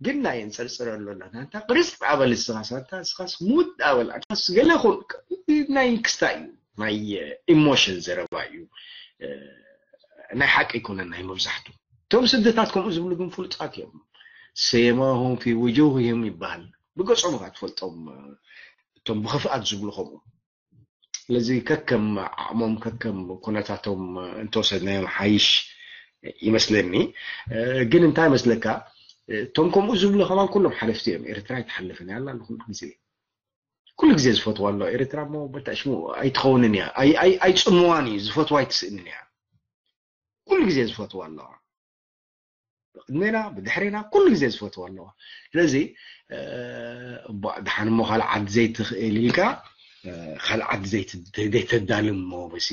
ግን ናይ እንፅርፅር ኣሎ ናታ ቅርስ ኣበል እስኻስ ኣታ እስኻስ ሙድ ኣበል ኣታስ ገለ ኹን ናይ ክስታ እዩ ናይ ኢሞሽን ዘረባ እዩ። ናይ ሓቂ ኣይኮነን ናይ መብዛሕቱ። እቶም ስደታት ከምኡ ዝብሉ ግን ፍሉጣት እዮም። ሰየማሁም ፊ ውጁህህም ይበሃል። ብገጾም ኢኻ ትፈልጦም። እቶም ብኽፍኣት ዝብሉ ከምኡ። ስለዚ ከከም ዓቕሞም ከከም ኩነታቶም እንተወሰድናዮም ሓይሽ ይመስለኒ። ግን እንታይ ይመስለካ፣ እቶም ከምኡ ዝብሉ ከማን ኩሎም ሓለፍቲ እዮም። ኤርትራ ኣይትሓልፍን እያ ኣላ ኩሉ ግዜ ኩሉ ግዜ ዝፈትዋ ኣሎ ኤርትራ እሞ በታ ሽሙ ኣይትኸውንን እያ። ኣይ- ኣይ- ኣይፅምዋን እዩ ዝፈትዋ ኣይትስእንን እያ። ኩሉ ግዜ ዝፈትዋ ኣለዋ። ብቅድሜና ብድሕሬና ኩሉ ግዜ ዝፈትዋ ኣለዋ። ስለዚ እባ ድሓን እሞ ካልእ ዓዲ ዘይትኽእል ኢልካ ካልእ ዓዲ ዘይት- ዘይተዳልም እሞ በዚ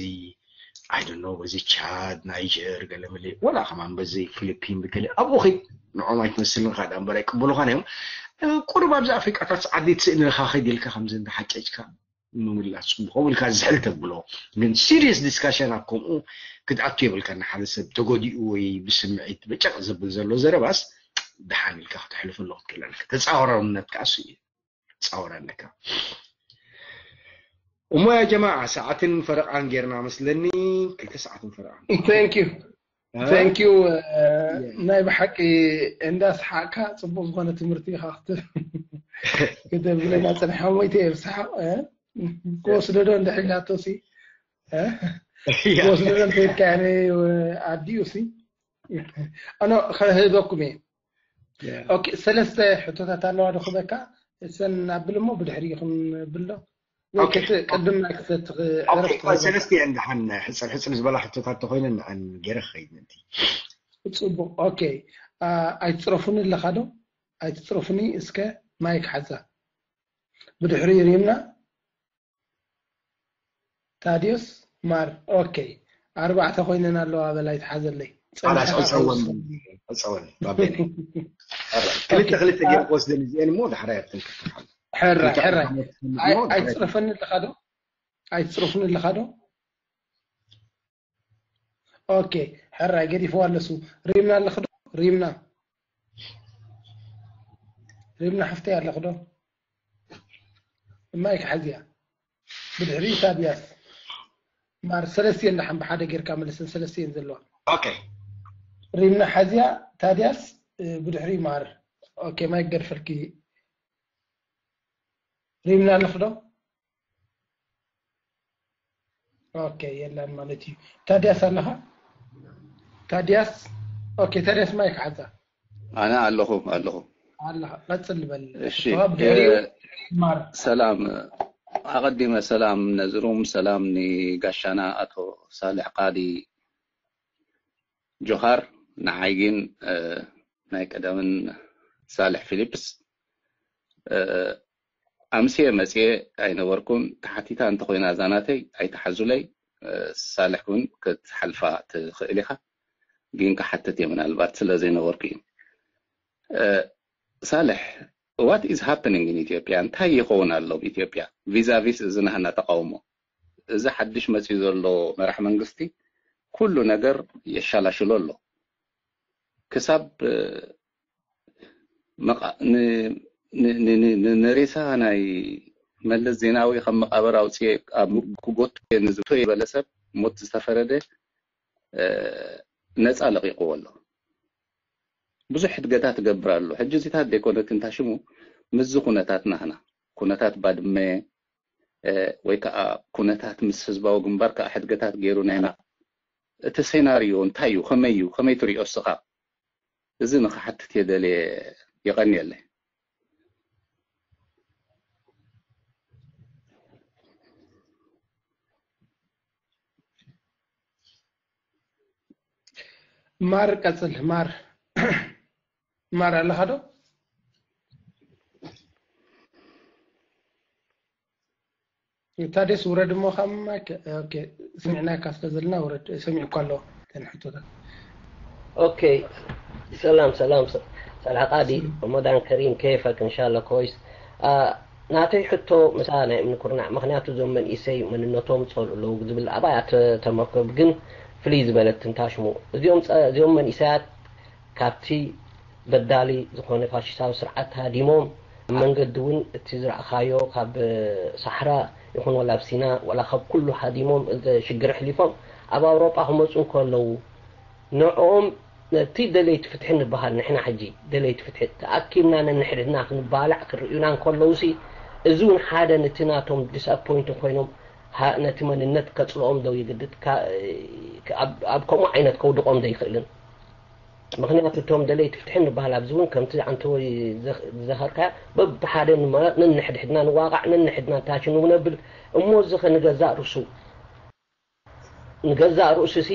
ኣይደኖ በዚ ቻድ ናይጀር ገለ መለ ወላ ከማን በዚ ፊሊፒን ብገለ ኣብኡ ኺድ ንዖም ኣይትመስልን ካ ዳንበር ኣይቅበሉኻን እዮም። ቁሩብ ኣብዚ ኣፍሪቃታት ዓዲ ትስእንልካ ኸይድ ኢልካ ከምዚ እንዳሓጨጭካ ምምላስ ጽቡቕ ከምኡ ኢልካ ዝሕል ተብሎ ግን ሲሪየስ ዲስካሽን ኣብ ከምኡ ክትኣቱ የብልካ። ንሓደ ሰብ ተጎዲኡ ወይ ብስምዒት በጨቕ ዘብል ዘሎ ዘረባስ ደሓን ኢልካ ክተሕልፈሉ ክትክእል ኣለካ። ተጻዋራውነት ከኣ እሱ እዩ። ጻወር ኣለካ። እሞ ያ ጀማዓ ሰዓትን ፈረቓን ጌርና መስለኒ። ክልተ ሰዓትን ፈረቓን። Thank you thank you። ናይ ብሓቂ እንዳስሓቅካ ጽቡቅ ዝኾነ ትምህርቲ ኢኻ ክተ- ክተብለና ጽንሓ ሞይተ እየ ብስሓቅ ክወስዶ ዶ እንድሕር ኢላቶ ሲ ክወስዶ ዶ እንተይልካ ኣዲኡ ሲ ኣነ ከህበኩም እየ። ኦኬ ሰለስተ ሕቶታት ኣለዋ ዶ ክበካ እሰን ኣብል እሞ ብድሕሪ ይኹን ብሎ ወይ ቅድም ናይ ክሰት ሰለስተ እየን ደሓን ሕፅር ሕፅር ዝበላ ሕቶታት ተኮይነን ንዐን ገይረ ክኸይድ ምእንቲ ፅቡቅ ኦኬ ኣይትፅረፉኒ ኣለካ ዶ ኣይትፅረፉኒ እስከ ማይክ ሓዛ ብድሕሪ ሪምና ታዲዮስ ማር ኦኬ ኣርባዕተ ኮይነን ኣለዋ በላይ ትሓዘለይ ጸወን ባቤነ ክልተ ክልተ ገይረ ክወስደን እዚአን እሞ ዳሕራይ ኣብተን ክፍትሓሉ ሕራይ ሕራይ ኣይትፅረፈኒ ኣለካ ዶ ኣይትፅረፉኒ ኣለካ ዶ ኦኬ ሕራይ ገዲፍዋ ኣለሱ ሪምና ኣለክ ዶ ሪምና ሪምና ሓፍተይ ኣለክ ዶ ማይክ ሓዚያ ብድሕሪ ታዲያስ ማር ሰለስቲየን ደሓን ብሓደ ጌርካ መለሰን ሰለስቲየን ዘለዋ ኦኬ ሪምና ሓዚያ ታዲያስ ብድሕሪ ማር ኦኬ ማይክ ገድፈልኪ ሪምና ኣለክ ዶ ኦኬ የለን ማለት እዩ። ታዲያስ ኣለኻ? ታዲያስ ኦኬ። ታዲያስ ማይክ ሓዛ። ኣነ ኣለኹ ኣለኹ። ኣለኻ ቀጽል በል። እሺ ተዋብ ድሕሪኡ እ፣ ማር ሰላም ኣቐዲመ ሰላም ነዝሩም ሰላም ንጋሻና ኣቶ ሳልሕ ቃዲ ጆሃር ንዓይ ግን እ፣ ናይ ቀደምን ሳልሕ ፊሊፕስ እ፣ ኣምስየ መፅየ ኣይነበርኩን። ተሓቲታ እንተኾይና እዛ ናተይ ኣይትሓዙለይ። እ፣ ሳልሕ እውን ክትሓልፋ ትኽእል ኢኻ፣ ግን ክሓትት እየ ምናልባት ስለ ዘይነበርኩ እዩ። እ፣ ሳልሕ what is happening in ኢትዮጵያ እንታይ ይኸውን ኣሎ ኣብ ኢትዮጵያ vis-a-vis እዚ ናህና ተቃውሞ እዚ ሓድሽ መፅዩ ዘሎ መራሕ መንግስቲ ኩሉ ነገር የሻላሽሎ ኣሎ ክሳብ እ፣ መቃ- ን- ን- ን- ን- ን- ንሬሳ ናይ መለስ ዜናዊ ካብ መቃብር ኣውፅኤ ኣብ ክጎቱ እየ ንዝቶ የበለ ሰብ ሞት ዝተፈረደ እ፣ ነፃ ለቂቅዎ ኣሎ ብዙሕ ሕድገታት ትገብር ኣሎ ሕጂ እዚታት ዘይኮነትን ታሽሙ ምስዚ ኩነታት ናህና፣ ኩነታት ባድመ ወይ ከዓ ኩነታት ምስ ህዝባዊ ግንባር ከዓ ሕድገታት ገይሩ ናይና፣ እቲ ሴናሪዮ እንታይ እዩ? ከመይ እዩ? ከመይ ትሪኦ እስኻ? እዚ ንኽሓትት እየ ደልየ። የቐንየለይ። ማር ቀጽል። ማር ማር ኣለኻ ዶ? ታደስ ውረድ እሞ ካብ ማይክ። ኦኬ፣ ስሚዕናካ ስለ ዘለና ውረድ። ሰሚዕኳ ኣሎ ተን ሕቶታት። ኦኬ፣ ሰላም ሰላም። ሰላም ቃዲ። ረመዳን ከሪም። ከይፈክ እንሻላ ኮይስ። ናተይ ሕቶ ምሳ ናይ እምኒ ኩርናዕ፣ ምክንያቱ እዞም መንእሰይ መንነቶም ጸልኡ ኣለዉ ዝብል ኣብኣ ተመርኮብ ግን ፍልይ ዝበለት ትንታሽሙ። እዚኦም እዚኦም መንእሰያት ካብቲ በዳሊ ዝኾነ ፋሽስታዊ ስርዓት ሃዲሞም፣ ኣብ መንገዲ እውን እቲ ዝረኣኻዮ ካብ ሳሕራ ይኹን ወላ ኣብ ሲና ወላ ካብ ኩሉ ሃዲሞም፣ እዚ ሽግር ኣሕሊፎም ኣብ ኣውሮጳ ክመፁ እንከለዉ፣ ንዕኦም ነቲ ደለይቲ ፍትሒ ንበሃል፣ ንሕና ሕጂ ደለይቲ ፍትሒ ተኣኪብና ነንሕድሕድና ክንባላዕ ክርእዩና እንከለዉ ሲ፣ እዚ እውን ሓደ ነቲ ናቶም ዲስኣፖይንት ኮይኖም ነቲ መንነት ከፅልኦም ዶ ይግድድ? ኣብ ከምኡ ዓይነት ከውድቖም ዶ ይኽእልን? ምኽንያቱ እቶም ደለይቲ ፍትሒ ንበሃል ኣብዚ እውን ከምቲ ኣንተ ወይ ዝዘኸርካያ በብሓደ ነንሕድሕድና ንዋቃዕ፣ ነንሕድና ታች ንነብል እሞ እዚ ኸ ንገዛእ ርእሱ ንገዛእ ርእሱ ሲ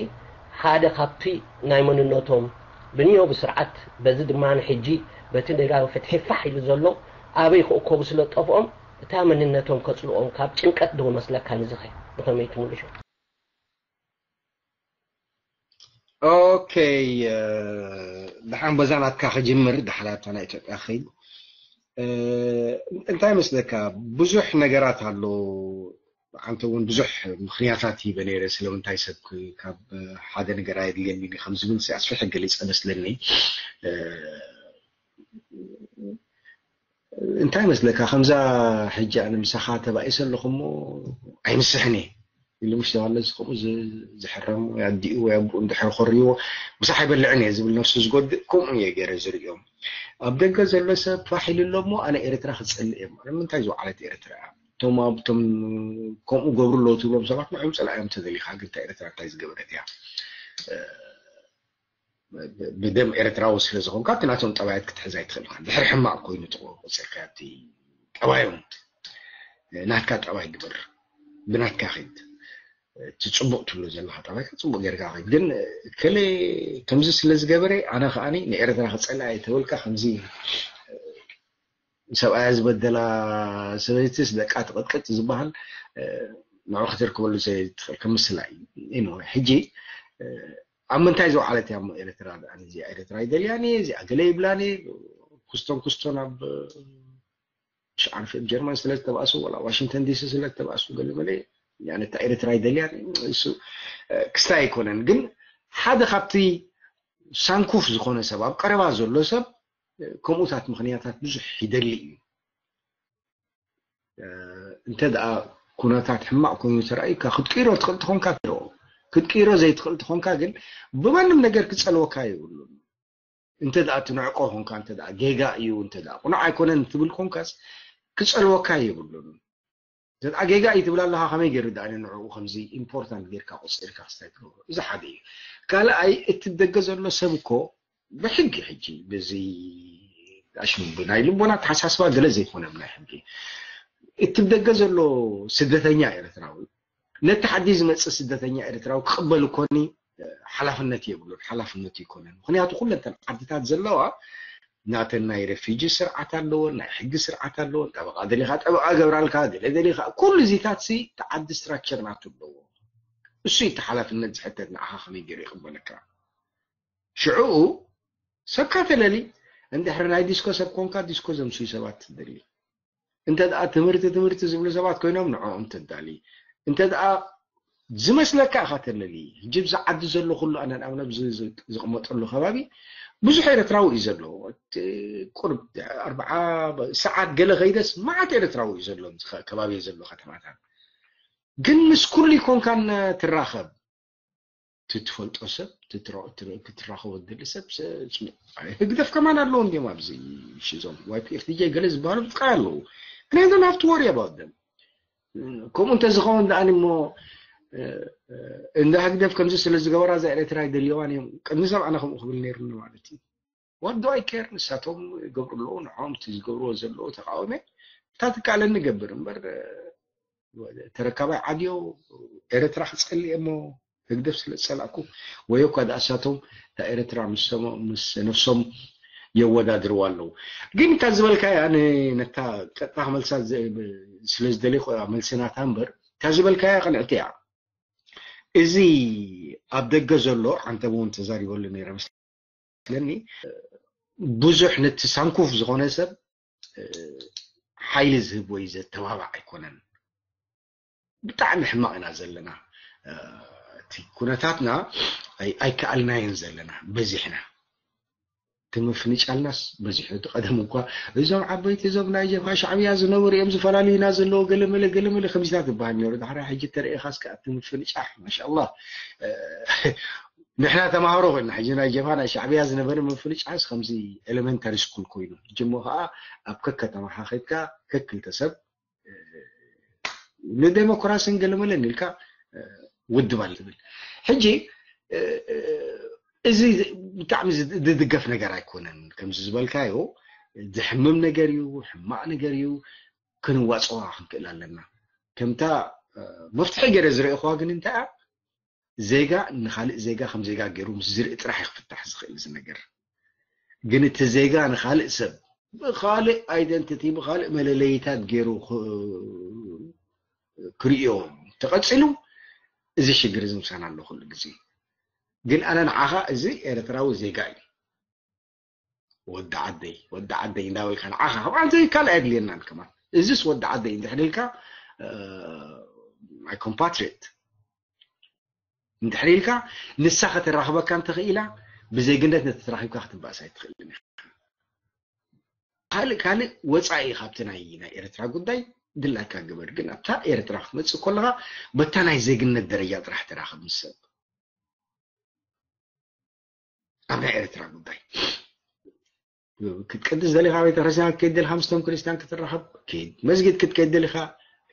ሓደ ካብቲ ናይ መንነቶም ብንዮ ብስርዓት በዚ ድማ ሕጂ በቲ ደጋዊ ፍትሒ ፋሕ ኢሉ ዘሎ ኣበይ ክእከቡ ስለ ጠፍኦም እታ መንነቶም ከፅልኦም ካብ ጭንቀት ዶ መስለካ ንዝኸ ብኸመይ ትምልሾ? ኦኬ፣ ደሓን በዛ ናትካ ክጅምር፣ ዳሕራታ ናይ ኢትዮጵያ ክኸይድ። እንታይ መስለካ፣ ብዙሕ ነገራት ኣሎ። ኣንተ እውን ብዙሕ ምኽንያታት ሂበ ነይረ፣ ስለምንታይ ሰብ ካብ ሓደ ነገር ኣየድልየኒ ከም ዝብል ኣስፊሐ ገሊፀ መስለኒ። እንታይ መስለካ፣ ከምዛ ሕጂ ኣነ ምሳኻ ተባኢሰ ኣለኹ እሞ ኣይምስሕን እየ ኢሉ፣ ምሽ ተባለ እዚ ከምኡ ዝሕረም ወይ ኣዲኡ ወይ ኣቦኡ እንድሕር ኮርይዎ ምሳሕ ኣይበልዕን እየ ዝብል ነፍሱ ዝጎድእ፣ ከምኡ እየ ገይረ ዝርእዮም። ኣብ ደገ ዘሎ ሰብ ፋሕ ኢሉ ኣሎ እሞ ኣነ ኤርትራ ክጸልእ እየ። ንምንታይ ዝወዓለት ኤርትራ እያ? እቶም ኣብቶም ከምኡ ገብሩ ኣለዉ ትብሎም ሰባት ንዕም ጸላእዮም ተደሊኻ፣ ግን እታ ኤርትራ እንታይ ዝገበረት እያ? ብደም ኤርትራዊ ስለ ዝኾንካ እቲ ናቶም ጠባያት ክትሕዝ ኣይትኽእል ኢኻ። ድሕሪ ሕማቕ ኮይኑ ተቆጽርካ እቲ ጠባዮም ናትካ ጠባይ ግበር፣ ብናትካ ኺድ። እቲ ጽቡቕ ትብሎ ዘለኻ ጠባይካ ጽቡቕ ጌርካ ኺድ። ግን ከለ ከምዚ ስለ ዝገበረ ኣነ ከኣ ንኤርትራ ክጸልኣ እየ ተበልካ ከምዚ ሰብኣያ ዝበደላ ሰበይትስ ደቃ ትቕጥቅጥ ዝበሃል ንዑ ክተርክበሉ ዘይትኽእል ከም ምስላ እዩ። ሕጂ ኣብ ምንታይ ዝወዓለት እያ እሞ ኤርትራ? ደኣ እዚኣ ኤርትራ ኣይደልያን እየ፣ እዚኣ ገለ ይብላን እየ። ኩስቶን ኩስቶን ኣብ ሽዓርፊ ኣብ ጀርመን ስለ ዝተባእሱ፣ ዋላ ዋሽንግተን ዲሲ ስለ ዝተባእሱ፣ ገለ መለ እታ ኤርትራ ኣይደልያን እየ። እሱ ክስታይ ኣይኮነን፣ ግን ሓደ ካብቲ ሳንኩፍ ዝኾነ ሰብ፣ ኣብ ቀረባ ዘሎ ሰብ ከምኡታት ምኽንያታት ብዙሕ ይደሊ እዩ። እንተ ደኣ ኩነታት ሕማቕ ኮይኑ ተራእዩካ ክትቅይሮ ትኽእል ተኾንካ ክትቅይሮ፣ ክትቅይሮ ዘይትኽእል ተኾንካ ግን ብማንም ነገር ክጸልወካ የብሉን። እንተ ደኣ ትንዕቆ ኾንካ፣ እንተ ደኣ ጌጋ እዩ፣ እንተ ደኣ ቁኑዕ ኣይኮነን ትብል ኾንካስ ክጸልወካ የብሉን። እንተ ደኣ ጌጋ እዩ ትብል ኣለኻ ከመይ ገይሩ ደኣ ንዕኡ ከምዚ ኢምፖርታንት ጌርካ ቆጺርካ ክስታይ ትገብሮ? እዚ ሓደ እዩ። ካልኣይ እቲ ደገ ዘሎ ሰብ እኮ ብሕጊ ሕጂ ብዚ ኣሽም ናይ ልቦና ኣተሓሳስባ ገለ ዘይኮነ ብናይ ሕጊ እቲ ደገ ዘሎ ስደተኛ ኤርትራዊ ነቲ ሓዲ ዝመጽእ ስደተኛ ኤርትራዊ ክቕበል እኮኒ ሓላፍነት የብሉን፣ ሓላፍነቱ ይኮነን። ምክንያቱ ኩለንተን ዓድታት ዘለዋ ናተን ናይ ሬፊጂ ስርዓት ኣለወን፣ ናይ ሕጊ ስርዓት ኣለወን። ጠበቃ ደሊካ ጠበቃ ገብራልካ፣ ገለ ደሊካ ኩሉ እዚታት ሲ ተዓዲ ስትራክቸር ናቱ ኣለዎ። እሱ እቲ ሓላፍነት ዝሕተት ንዓኻ ከመይ ገይሩ ይቕበለካ? ሽዑኡ ሰብካ ተለሊ እንድሕሪ ናይ ዲስኮ ሰብ ኮንካ ዲስኮ ዘምስዩ ሰባት ትደሊ። እንተ ደኣ ትምህርቲ ትምህርቲ ዝብሉ ሰባት ኮይኖም ንዕኦም ተዳሊ። እንተ ደኣ ዝመስለካ ኢኻ ተለሊ። ሕጂ ብዚ ዓዲ ዘሎ ኩሉ ኣነ ንኣብነት ዝቕመጠሉ ከባቢ ብዙሕ ኤርትራዊ እዩ ዘሎ። ቁርብ ኣርብዓ ሰዓት ገለ ከይደስ መዓት ኤርትራዊ እዩ ዘሎ ኣብዚ ከባቢ ዘሎ ከተማታት። ግን ምስ ኩሉ ይኮንካን ትራኸብ። ትትፈልጦ ሰብ ክትራኸቦ ትደሊ ሰብ ህግደፍ ከማን ኣለዉ እንዲም ኣብዚ ሽዞም ዋይፒኤፍ ዲጀ ገለ ዝበሃሉ ብጥቃ ኣለዉ። And I don't have to worry about them። ከምኡ እንተዝኸውን ደኣኒ እሞ እንዳ ህግደፍ ከምዚ ስለ ዝገበራ እዛ ኤርትራ ኣይደልየዋን እዮም ቅድሚ ሰብ ኣነ ከምኡ ክብል ነይሩኒ ማለት እዩ። What do I care? ንሳቶም ይገብሩ ኣለዉ ንዕኦም እቲ ዝገብርዎ ዘለዉ ተቃወመ እታ ትከኣለኒ ገብር እምበር ተረካባይ ዓድዮ ኤርትራ ክጸልእ እሞ ህግደፍ ስለ ዝጸላእኩ ወይ እኳ ደኣ እሳቶም እታ ኤርትራ ምስ ነፍሶም የወዳድርዋ ኣለዉ። ግን እታ ዝበልካያ ነታ ቀጥታ ክመልሳ ስለ ዝደለይኩ መልሲ ናታ እምበር እታ ዝበልካያ ቅንዕቲ እያ። እዚ ኣብ ደገ ዘሎ ዓንተብ እውን ተዛሪበሉ ነይረ መስለኒ። ብዙሕ ነቲ ሳንኩፍ ዝኾነ ሰብ ሓይሊ ዝህብ ወይ ዘተባባዕ ኣይኮነን። ብጣዕሚ ሕማቕ ኢና ዘለና። እቲ ኩነታትና ኣይከኣልናዮን ዘለና በዚሕና። እቲ ምፍንጫልናስ በዚሑ። እቲ ቀደም እኳ እዞም ዓበይቲ እዞም ናይ ጀብሃ ሻዕብያ ዝነበሩ እዮም ዝፈላልዩና ዘለዎ ገለመለ ገለመለ ከምዚታት ዝበሃል ነይሩ። ዳሕራይ ሕጂ ተረኢኻስ ከኣ እቲ ምፍንጫሕ ማሻኣላህ ንሕና ተማሃሮ ኮይና ሕጂ ናይ ጀብሃ ናይ ሻዕብያ ዝነበረ ምፍንጫሕስ ከምዚ ኤሌመንታሪ ስኩል ኮይኑ ሕጂ እሞ ከዓ ኣብ ከከተማኻ ከድካ ከክልተ ሰብ ንዴሞክራሲን ገለመለን ኢልካ ውድብ ኣለ ትብል። ሕጂ እዚ ብጣዕሚ ዝድገፍ ነገር ኣይኮነን። ከምዚ ዝበልካዮ ዝሕምም ነገር እዩ፣ ሕማቕ ነገር እዩ። ክንዋፅዋ ክንክእል ኣለና። ከምታ መፍትሒ ገይረ ዝረእኹዋ ግን እንታይ እያ? ዜጋ ንኻልእ ዜጋ ከም ዜጋ ገይሩ ምስ ዝርኢ ጥራሕ እዩ ክፍታሕ ዝኽእል እዚ ነገር። ግን እቲ ዜጋ ንኻልእ ሰብ ብኻልእ ኣይደንቲቲ ብኻልእ መለለይታት ገይሩ ክርእዮ ተቐፂሉ እዚ ሽግር እዚ ምሳና ኣሎ ኩሉ ግዜ። ግን ኣነ ንዓኻ እዚ ኤርትራዊ ዜጋ እዩ። ወዲ ዓደይ ወዲ ዓደይ እንዳበልካ ንዓኻ ከም ዓንተ ካልእ ኣየድልየናን ከማን። እዚስ ወዲ ዓደይ እንድሕር ኢልካ my compatriot እንድሕር ኢልካ ንሳ ከተራኽበካ እንተኽኢላ ብዜግነት ነተተራኺብካ ክትበኣስ ኣይትኽእልን ኢኻ። ካልእ ካልእ ወፃኢ ካብቲ ናይ ናይ ኤርትራ ጉዳይ ድላይካ ግበር፣ ግን ኣብታ ኤርትራ ክትመፅእ ከለኻ በታ ናይ ዜግነት ደረጃ ጥራሕ ተራኽብ ምስ ሰብ። ኣብ ናይ ኤርትራ ጉዳይ ክትቀድስ ደሊኻ ቤተክርስትያን ክትከይድ ደሊኻ ምስቶም ክርስትያን ክትራኸብ ኪድ፣ መስጊድ ክትከይድ ደሊኻ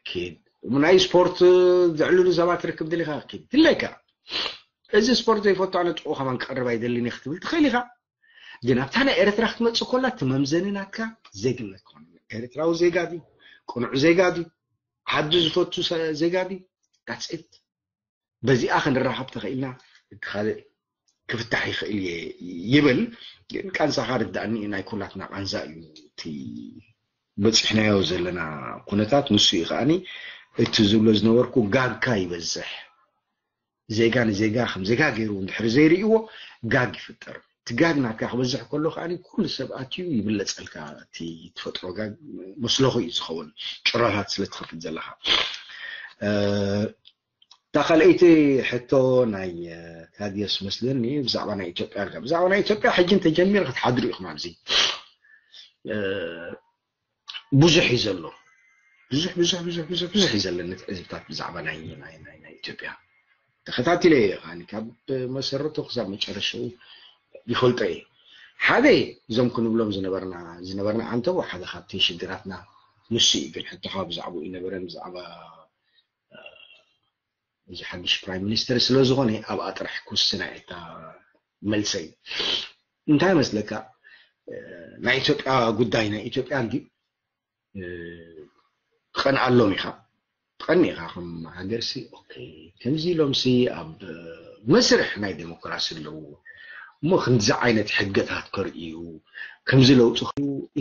ኪድ፣ ናይ ስፖርት ዘዕልሉ ሰባት ትርክብ ደሊኻ ኪድ ድለካ። እዚ ስፖርት ዘይፈቱ ኣነ ጥቑ ከማን ክቐርብ ኣይደልን ክትብል ትኽእል ኢኻ። ግን ኣብታ ናይ ኤርትራ ክትመፅእ ኮላ እቲ መምዘኒ ናትካ ዜግነት ክኾን ኤርትራዊ ዜጋ ድዩ፣ ቅኑዕ ዜጋ ድዩ፣ ዓዱ ዝፈቱ ዜጋ ድዩ? That's it። በዚኣ ክንራኸብ ተኽኢልና እቲ ካልእ ክፍታሕ ይኽእል እየ ይብል። ግን ቃንዛኻ ርዳእኒ ናይ ኩላትና ቃንዛ እዩ። እቲ በፂሕናዮ ዘለና ኩነታት ንሱ እዩ ከዓኒ እቲ ዝብሎ ዝነበርኩ ጋግካ ይበዝሕ። ዜጋ ንዜጋ ከም ዜጋ ገይሩ እንድሕር ዘይርእይዎ ጋግ ይፍጠር። እቲ ጋግ ናትካ ክበዝሕ ከሎ ከዓኒ ኩሉ ሰብ ኣትዩ ይብለፀልካ። እቲ ተፈጥሮ ጋግ መስለኹ እዩ ዝኸውን ጭራታት ስለ ትኸፍት ዘለኻ። እታ ካልኣይቲ ሕቶ ናይ ታድዮስ መስለኒ ብዛዕባ ናይ ኢትዮጵያ ኣልካ። ብዛዕባ ናይ ኢትዮጵያ ሕጂ እንተጀሚር ክትሓድሩ ኢኹም ኣብዚ። ብዙሕ እዩ ዘሎ። ብዙሕ ብዙሕ ብዙሕ ብዙሕ ብዙሕ እዩ ዘለኒ ትዕዝብታት ብዛዕባ ናይ ናይ ናይ ናይ ኢትዮጵያ ተኸታቲለ እየ። ከዓኒ ካብ መሰረቱ ክሳብ መጨረሽኡ ይፈልጦ እየ። ሓደ እዞም ክንብሎም ዝነበርና ዝነበርና ዓንተቦ ሓደ ካብቲ ሽግራትና ንሱ እዩ። ግን ሕቶኻ ብዛዕባኡ ይነበረ ብዛዕባ እዚ ሓድሽ ፕራይም ሚኒስተር ስለ ዝኾነ ኣብኣ ጥራሕ ክውስና እየ እታ መልሰይ። እንታይ መስለካ ናይ ኢትዮጵያ ጉዳይ ናይ ኢትዮጵያ እንዲ ትቐንኣሎም ኢኻ ትቐኒ ኢኻ ከም ሃገር ሲ ኦኬ ከምዚ ኢሎም ሲ ኣብ መስርሕ ናይ ዴሞክራሲ ኣለዉ እሞ ክንዚ ዓይነት ሕገታት ከርእዩ ከምዚ ለውጢ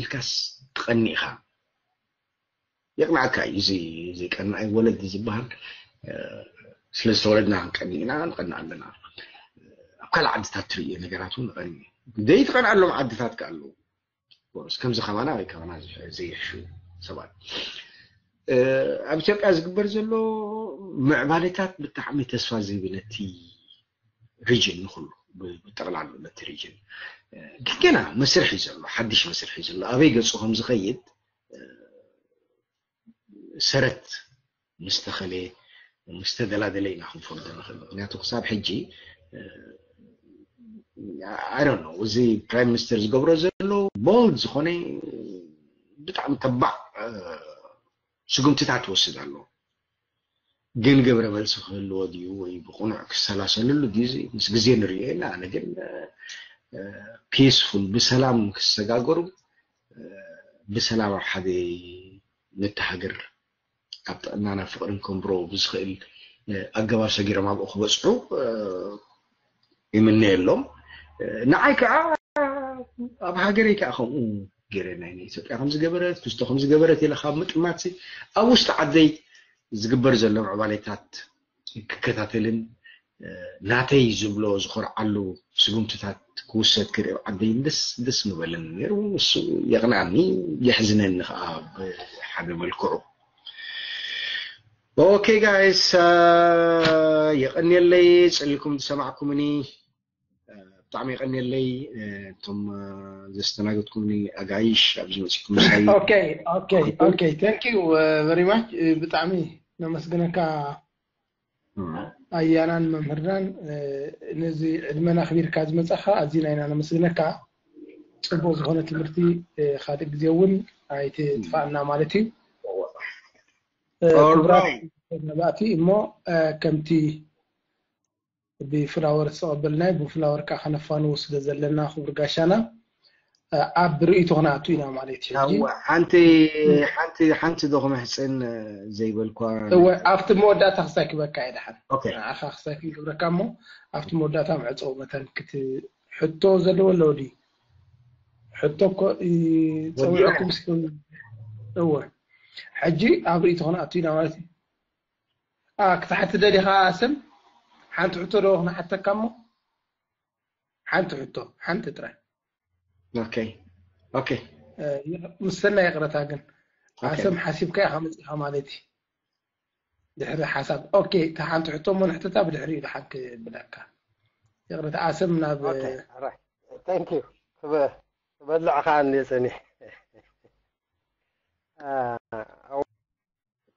ኢልካስ ትቐኒ ኢኻ። የቕንዓካ እዩ እዚ እዚ ቀናይ ወለዲ ዝበሃል ስለ ዝተወለድና ክንቀኒ ኢና ንቐንእ ኣለና። ኣብ ካልእ ዓድታት ትርእዮ ነገራት እውን ንቐኒ ዘይትቐንኣሎም ዓድታት ከ ኣለዉ። ከምዚ ከማና ወይ ከማና ዘይሕሹ ሰባት ኣብ ኢትዮጵያ ዝግበር ዘሎ ምዕባለታት ብጣዕሚ ተስፋ ዝህብ ነቲ ሪጅን ንኩሉ ብጠቕላሉ ነቲ ሪጅን ግን ገና መስርሕ እዩ ዘሎ ሓድሽ መስርሕ እዩ ዘሎ ኣበይ ገፁ ከም ዝኸይድ ሰረት ምስ ተኸለ ምስ ተደላደለ ኢና ክንፈልጦ ንኽእል። ምክንያቱ ክሳብ ሕጂ I don't know፣ እዚ ፕራይም ሚኒስተር ዝገብሮ ዘሎ ቦልድ ዝኾነ ብጣዕሚ ተባዕ ስጉምትታት ይወስድ ኣሎ። ግን ግብረ መልሲ ክህልዎ ድዩ ወይ ብቕኑዕ ክሰላሰልሉ ድዩ? ምስ ግዜ ንሪኦ ኢና። ኣነ ግን ፒስፉል፣ ብሰላም ክሰጋገሩ፣ ብሰላም ኣብ ሓደ ንተሃገር፣ ኣብ ጥዕናና ፍቕርን ከንብሮ ብዝኽእል ኣገባብ ሰጊሮም ኣብኡ ክበፅሑ ይምነየሎም። ንዓይ ከዓ ኣብ ሃገረይ ከዓ ከምኡ ገይረ ናይ ኢትዮጵያ ከምዝገበረት፣ ክስቶ ከምዝገበረት ኢለ ካብ ምጥማት፣ ኣብ ውሽጢ ዓደይ ዝግበር ዘሎ ምዕባሌታት ክከታተልን ናተይ ዝብሎ ዝኮርዓሉ ስጉምትታት ክውሰድ ክርኢ ዓደይ ደስ ደስ ምበለኒ ነይሩ። እሱ የቕንኣኒ፣ የሕዝነኒ ከዓ ብሓደ መልክዑ። ኦኬ ጋይስ፣ የቐንየለይ፣ ጽሊኩም ዝሰማዕኩምኒ። ብጣዕሚ የቐንየለይ። እቶም ዘስተናገድኩምኒ ኣጋይሽ ኣብዚ መጺኩም ምሳይ። Okay, okay, okay. Thank you very much. ብጣዕሚ ነመስግነካ ኣያናን መምህርናን፣ ነዚ ዕድመና ኣኽቢርካ ዝመጻኻ ኣዚና ኢና ነመስግነካ። ጽቡቕ ዝኾነ ትምህርቲ፣ ካልእ ግዜ እውን ኣይትጥፋእና ማለት እዩ። ክቡራት መባእቲ እሞ፣ ከምቲ ብፍላወር ዝተቐበልናዮ ብፍላወር ከዓ ከነፋንዎ ስለ ዘለና፣ ክቡር ጋሻና፣ ኣብ ርእይቶ ክነኣቱ ኢና ማለት እዩ። ሕጂ ሓንቲ ሓንቲ ሓንቲ ዶ ክምሕፅን ዘይበልኳ? እወ፣ ኣብቲ መወዳእታ ክሳይ ክበካ እየ ደሓን። ኦኬ። ንዓኻ ክሳይ ክገብረካ እሞ ኣብቲ መወዳእታ መዕፀዊ መታን ክት ሕቶ ዘለዎ ኣለዎ ድዩ? ሕቶ እኮ ጸዊዐኩም እስኪ። እወ፣ ሕጂ ኣብ ርእይቶ ክነኣቱ ኢና ማለት እዩ። ክትሓቲ ደሊኻ ስም ሓንቲ ሕቶ ዶ ክንሓተካ እሞ ሓንቲ ሕቶ ሓንቲ ጥራይ። ኦኬ ኦኬ። ምስ ሰናይ ይቕረታ ግን ኣሰም ሓሲብካ ኢኻ መፂኻ ማለት እዩ። ድሕሪ ሓሳብ ኦኬ፣ እታ ሓንቲ ሕቶ እሞ ንሕተታ ብድሕሪኡ ደሓን ክብለካ። ይቕረታ ኣሰም ናብ Thank you። ክበልዕ ከዓ እንየ ፀኒሕ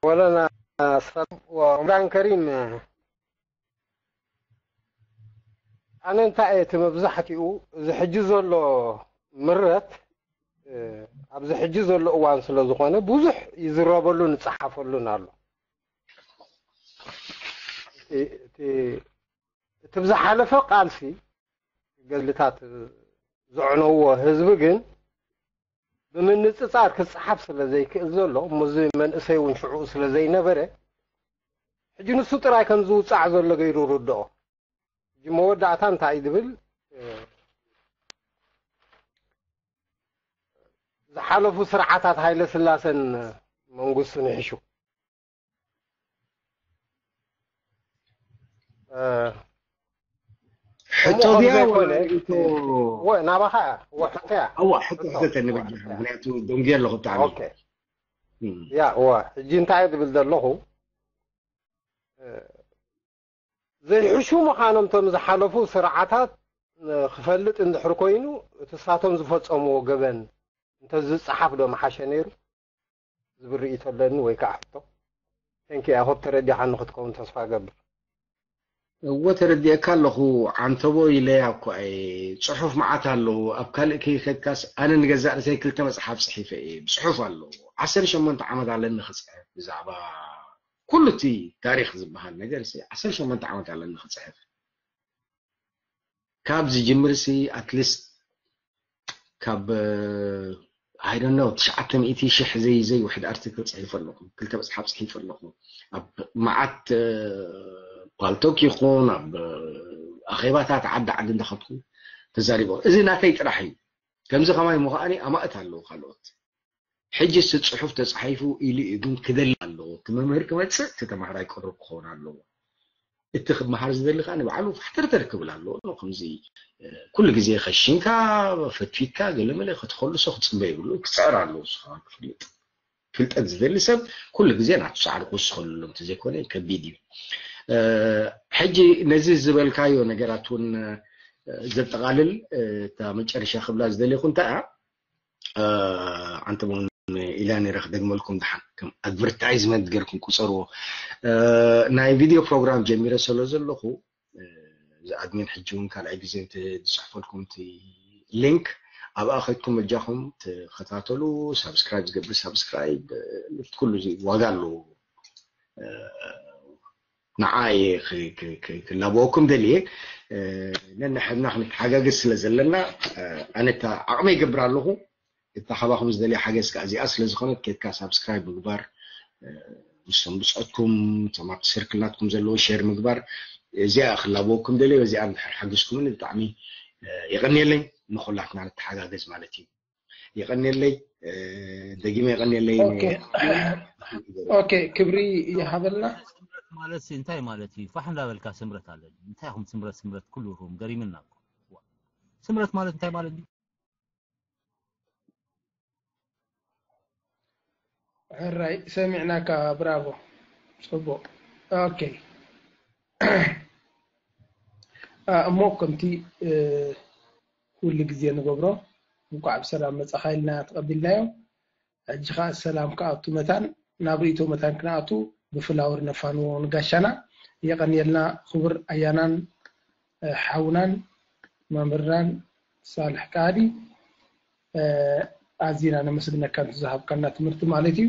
ወለና ስፋት ወምራን ከሪም ኣነ እንታይ እየ እቲ መብዛሕትኡ እዚ ሕጂ ዘሎ ምረት ኣብዚ ሕጂ ዘሎ እዋን ስለ ዝኾነ ብዙሕ ይዝረበሉን ይፀሓፈሉን ኣሎ። እቲ ብዝሓለፈ ቃልሲ ገድልታት ዘዕነዎ ህዝቢ ግን ብምንፅፃር ክፀሓፍ ስለ ዘይክእል ዘሎ እሞ እዚ መንእሰይ እውን ሽዑ ስለ ዘይነበረ ሕጂ ንሱ ጥራይ ከም ዝውፃዕ ዘሎ ገይሩ ርድኦ። ሕጂ መወዳእታ እንታይ እዩ ዝብል ዝሓለፉ ስርዓታት ሃይለ ስላሰን መንግስቱን ይሕሹ። ሕቶ ድያ ወላ ርእይቶ? ወ ናባኻ እያ። ወ ሕቶ እያ። እዋ ሕቶ ሕተተኒ በጃኻ፣ ምክንያቱ ደንጉየ ኣለኹ ብጣዕሚ። ኦኬ። ያ እዋ ሕጂ እንታይ እየ ዝብል ዘለኹ ዘይሕሹ ምዃኖም እቶም ዝሓለፉ ስርዓታት ክፈልጥ እንድሕር ኮይኑ እቲ ሳቶም ዝፈፀምዎ ገበን እንተዝፀሓፍ ዶ ምሓሸ ነይሩ ዝብል ርእይቶ ኣለኒ ወይ ከዓ ሕቶ። Thank you. I hope ተረዲኻኒ ክትከውን ተስፋ እገብር። እወ ተረዲኤካ ኣለኹ ዓንተቦ ኢለያ እኳ እየ። ፅሑፍ መዓት ኣለዉ። ኣብ ካልእ ከይከድካስ ኣነ ንገዛእ ርእሰይ ክልተ መፅሓፍ ፅሒፈ እየ። ብፅሑፍ ኣለዉ። ዓሰርተ ሸሞንተ ዓመት ኣለኒ ክፅሕፍ ብዛዕባ ኩሉ እቲ ታሪክ ዝበሃል ነገር ሲ ዓሰርተ ሸሞንተ ዓመት ኣለኒ ክፅሕፍ። ካብ ዝጅምር ሲ ኣትሊስት ካብ I don't know ትሽዓተ ሚእቲ ሽሕ ዘይ ዘይ ውሕድ ኣርቲክል ፅሒፈ ኣለኹ። ክልተ መፅሓፍ ፅሒፈ ኣለኹ። ኣብ መዓት ፓልቶክ ይኹን ኣብ ኣኼባታት ዓዲ ዓዲ እንዳኸድኩ ተዛሪበ። እዚ ናተይ ጥራሕ እዩ። ከምዚ ከማይ ምዃኒ ኣማእት ኣለዉ ካልኦት። ሕጂ እቲ ፅሑፍ ተፃሒፉ ኢሉ እዩ ግን ክደሊ ኣለዎ። እቲ መምህር ክመፅእ እቲ ተማሃራይ ቅሩብ ክኸውን ኣለዎ። እቲ ክመሃር ዝደሊ ከዓ ንባዕሉ ፋሕተርተር ክብል ኣለዎ። ከምዚ ኩሉ ግዜ ከሽንካ ፈትፊትካ ገለመለ ክትኸልሶ ክፅበ ይብሉ። ክፅዕር ኣለዎ። ንሱ ከዓ ክፍልጥ ፍልጠት ዝደሊ ሰብ ኩሉ ግዜ ናቱ ፃዕሪ ክውስኸሉ ኣሎ። እንተዘይኮነ ከቢድ እዩ። ሕጂ ነዚ ዝበልካዮ ነገራት እውን ዘጠቓልል እታ መጨረሻ ክብላ ዝደለኹ እንታይ እያ? ዓንተቦን ኢላ ነይረ ክደግመልኩም ደሓን ከም ኣድቨርታይዝመንት ገርኩም ቁፀርዎ። ናይ ቪድዮ ፕሮግራም ጀሚረ ስለ ዘለኹ እዚ ኣድሚን ሕጂ እውን ካልኣይ ግዜ ዝፅሕፈልኩም እቲ ሊንክ ኣብኣ ከድኩም እጃኹም ተኸታተሉ። ሳብስክራይብ ዝገብር ሳብስክራይብ፣ ኩሉ እዚ ዋጋ ኣለዎ። ንዓ ክላበወኩም ደልየ፣ ነንሕድና ክንተሓጋገዝ ስለ ዘለና ኣነ ዓቕመ ይገብር ኣለኹ። እታ ካባኹም ዝደልያ ሓገዝ ከዓ እዚኣ ስለ ዝኾነት ኬድካ ሳብስክራይብ ምግባር፣ ምስቶም ብፅዖትኩም፣ ተማርቲ ስርክል ናትኩም ዘለዎ ሼር ምግባር፣ እዚኣ ክላበወኩም ደልየ። በዚኣ እንድሕር ሓግዝኩምኒ ብጣዕሚ የቐንየለይ። ንኹላትና ንተሓጋገዝ ማለት እዩ። የቐንየለይ፣ ደጊመ የቐንየለይ። ኦኬ፣ ክብሪ ይሃበልና። ማለት እንታይ ማለት እዩ? ፋሕ እንዳበልካ ስምረት ኣለኒ። እንታይ ኹም ስምረት ስምረት ኩሉ ሩም ገሪምና። ስምረት ማለት እንታይ ማለት እዩ? ሕራይ ሰሚዕናካ። ብራቮ። ጽቡቕ። ኦኬ። እሞ ከምቲ ኩሉ ግዜ ንገብሮ እንኳዕ ብሰላም መጻኻ ኢልና ተቐቢልናዮ። ሕጂ ኸዓ ሰላም ክኣቱ መታን ናብ ርእይቶ መታን ክንኣቱ ብፍላወር ነፋንዎ ንጋሻና። የቐንየልና ክቡር ኣያናን ሓውናን መምህርናን ሳልሕ ቃዲ ኣዚና ነመስግነካ ዝሃብካና ትምህርቲ ማለት እዩ።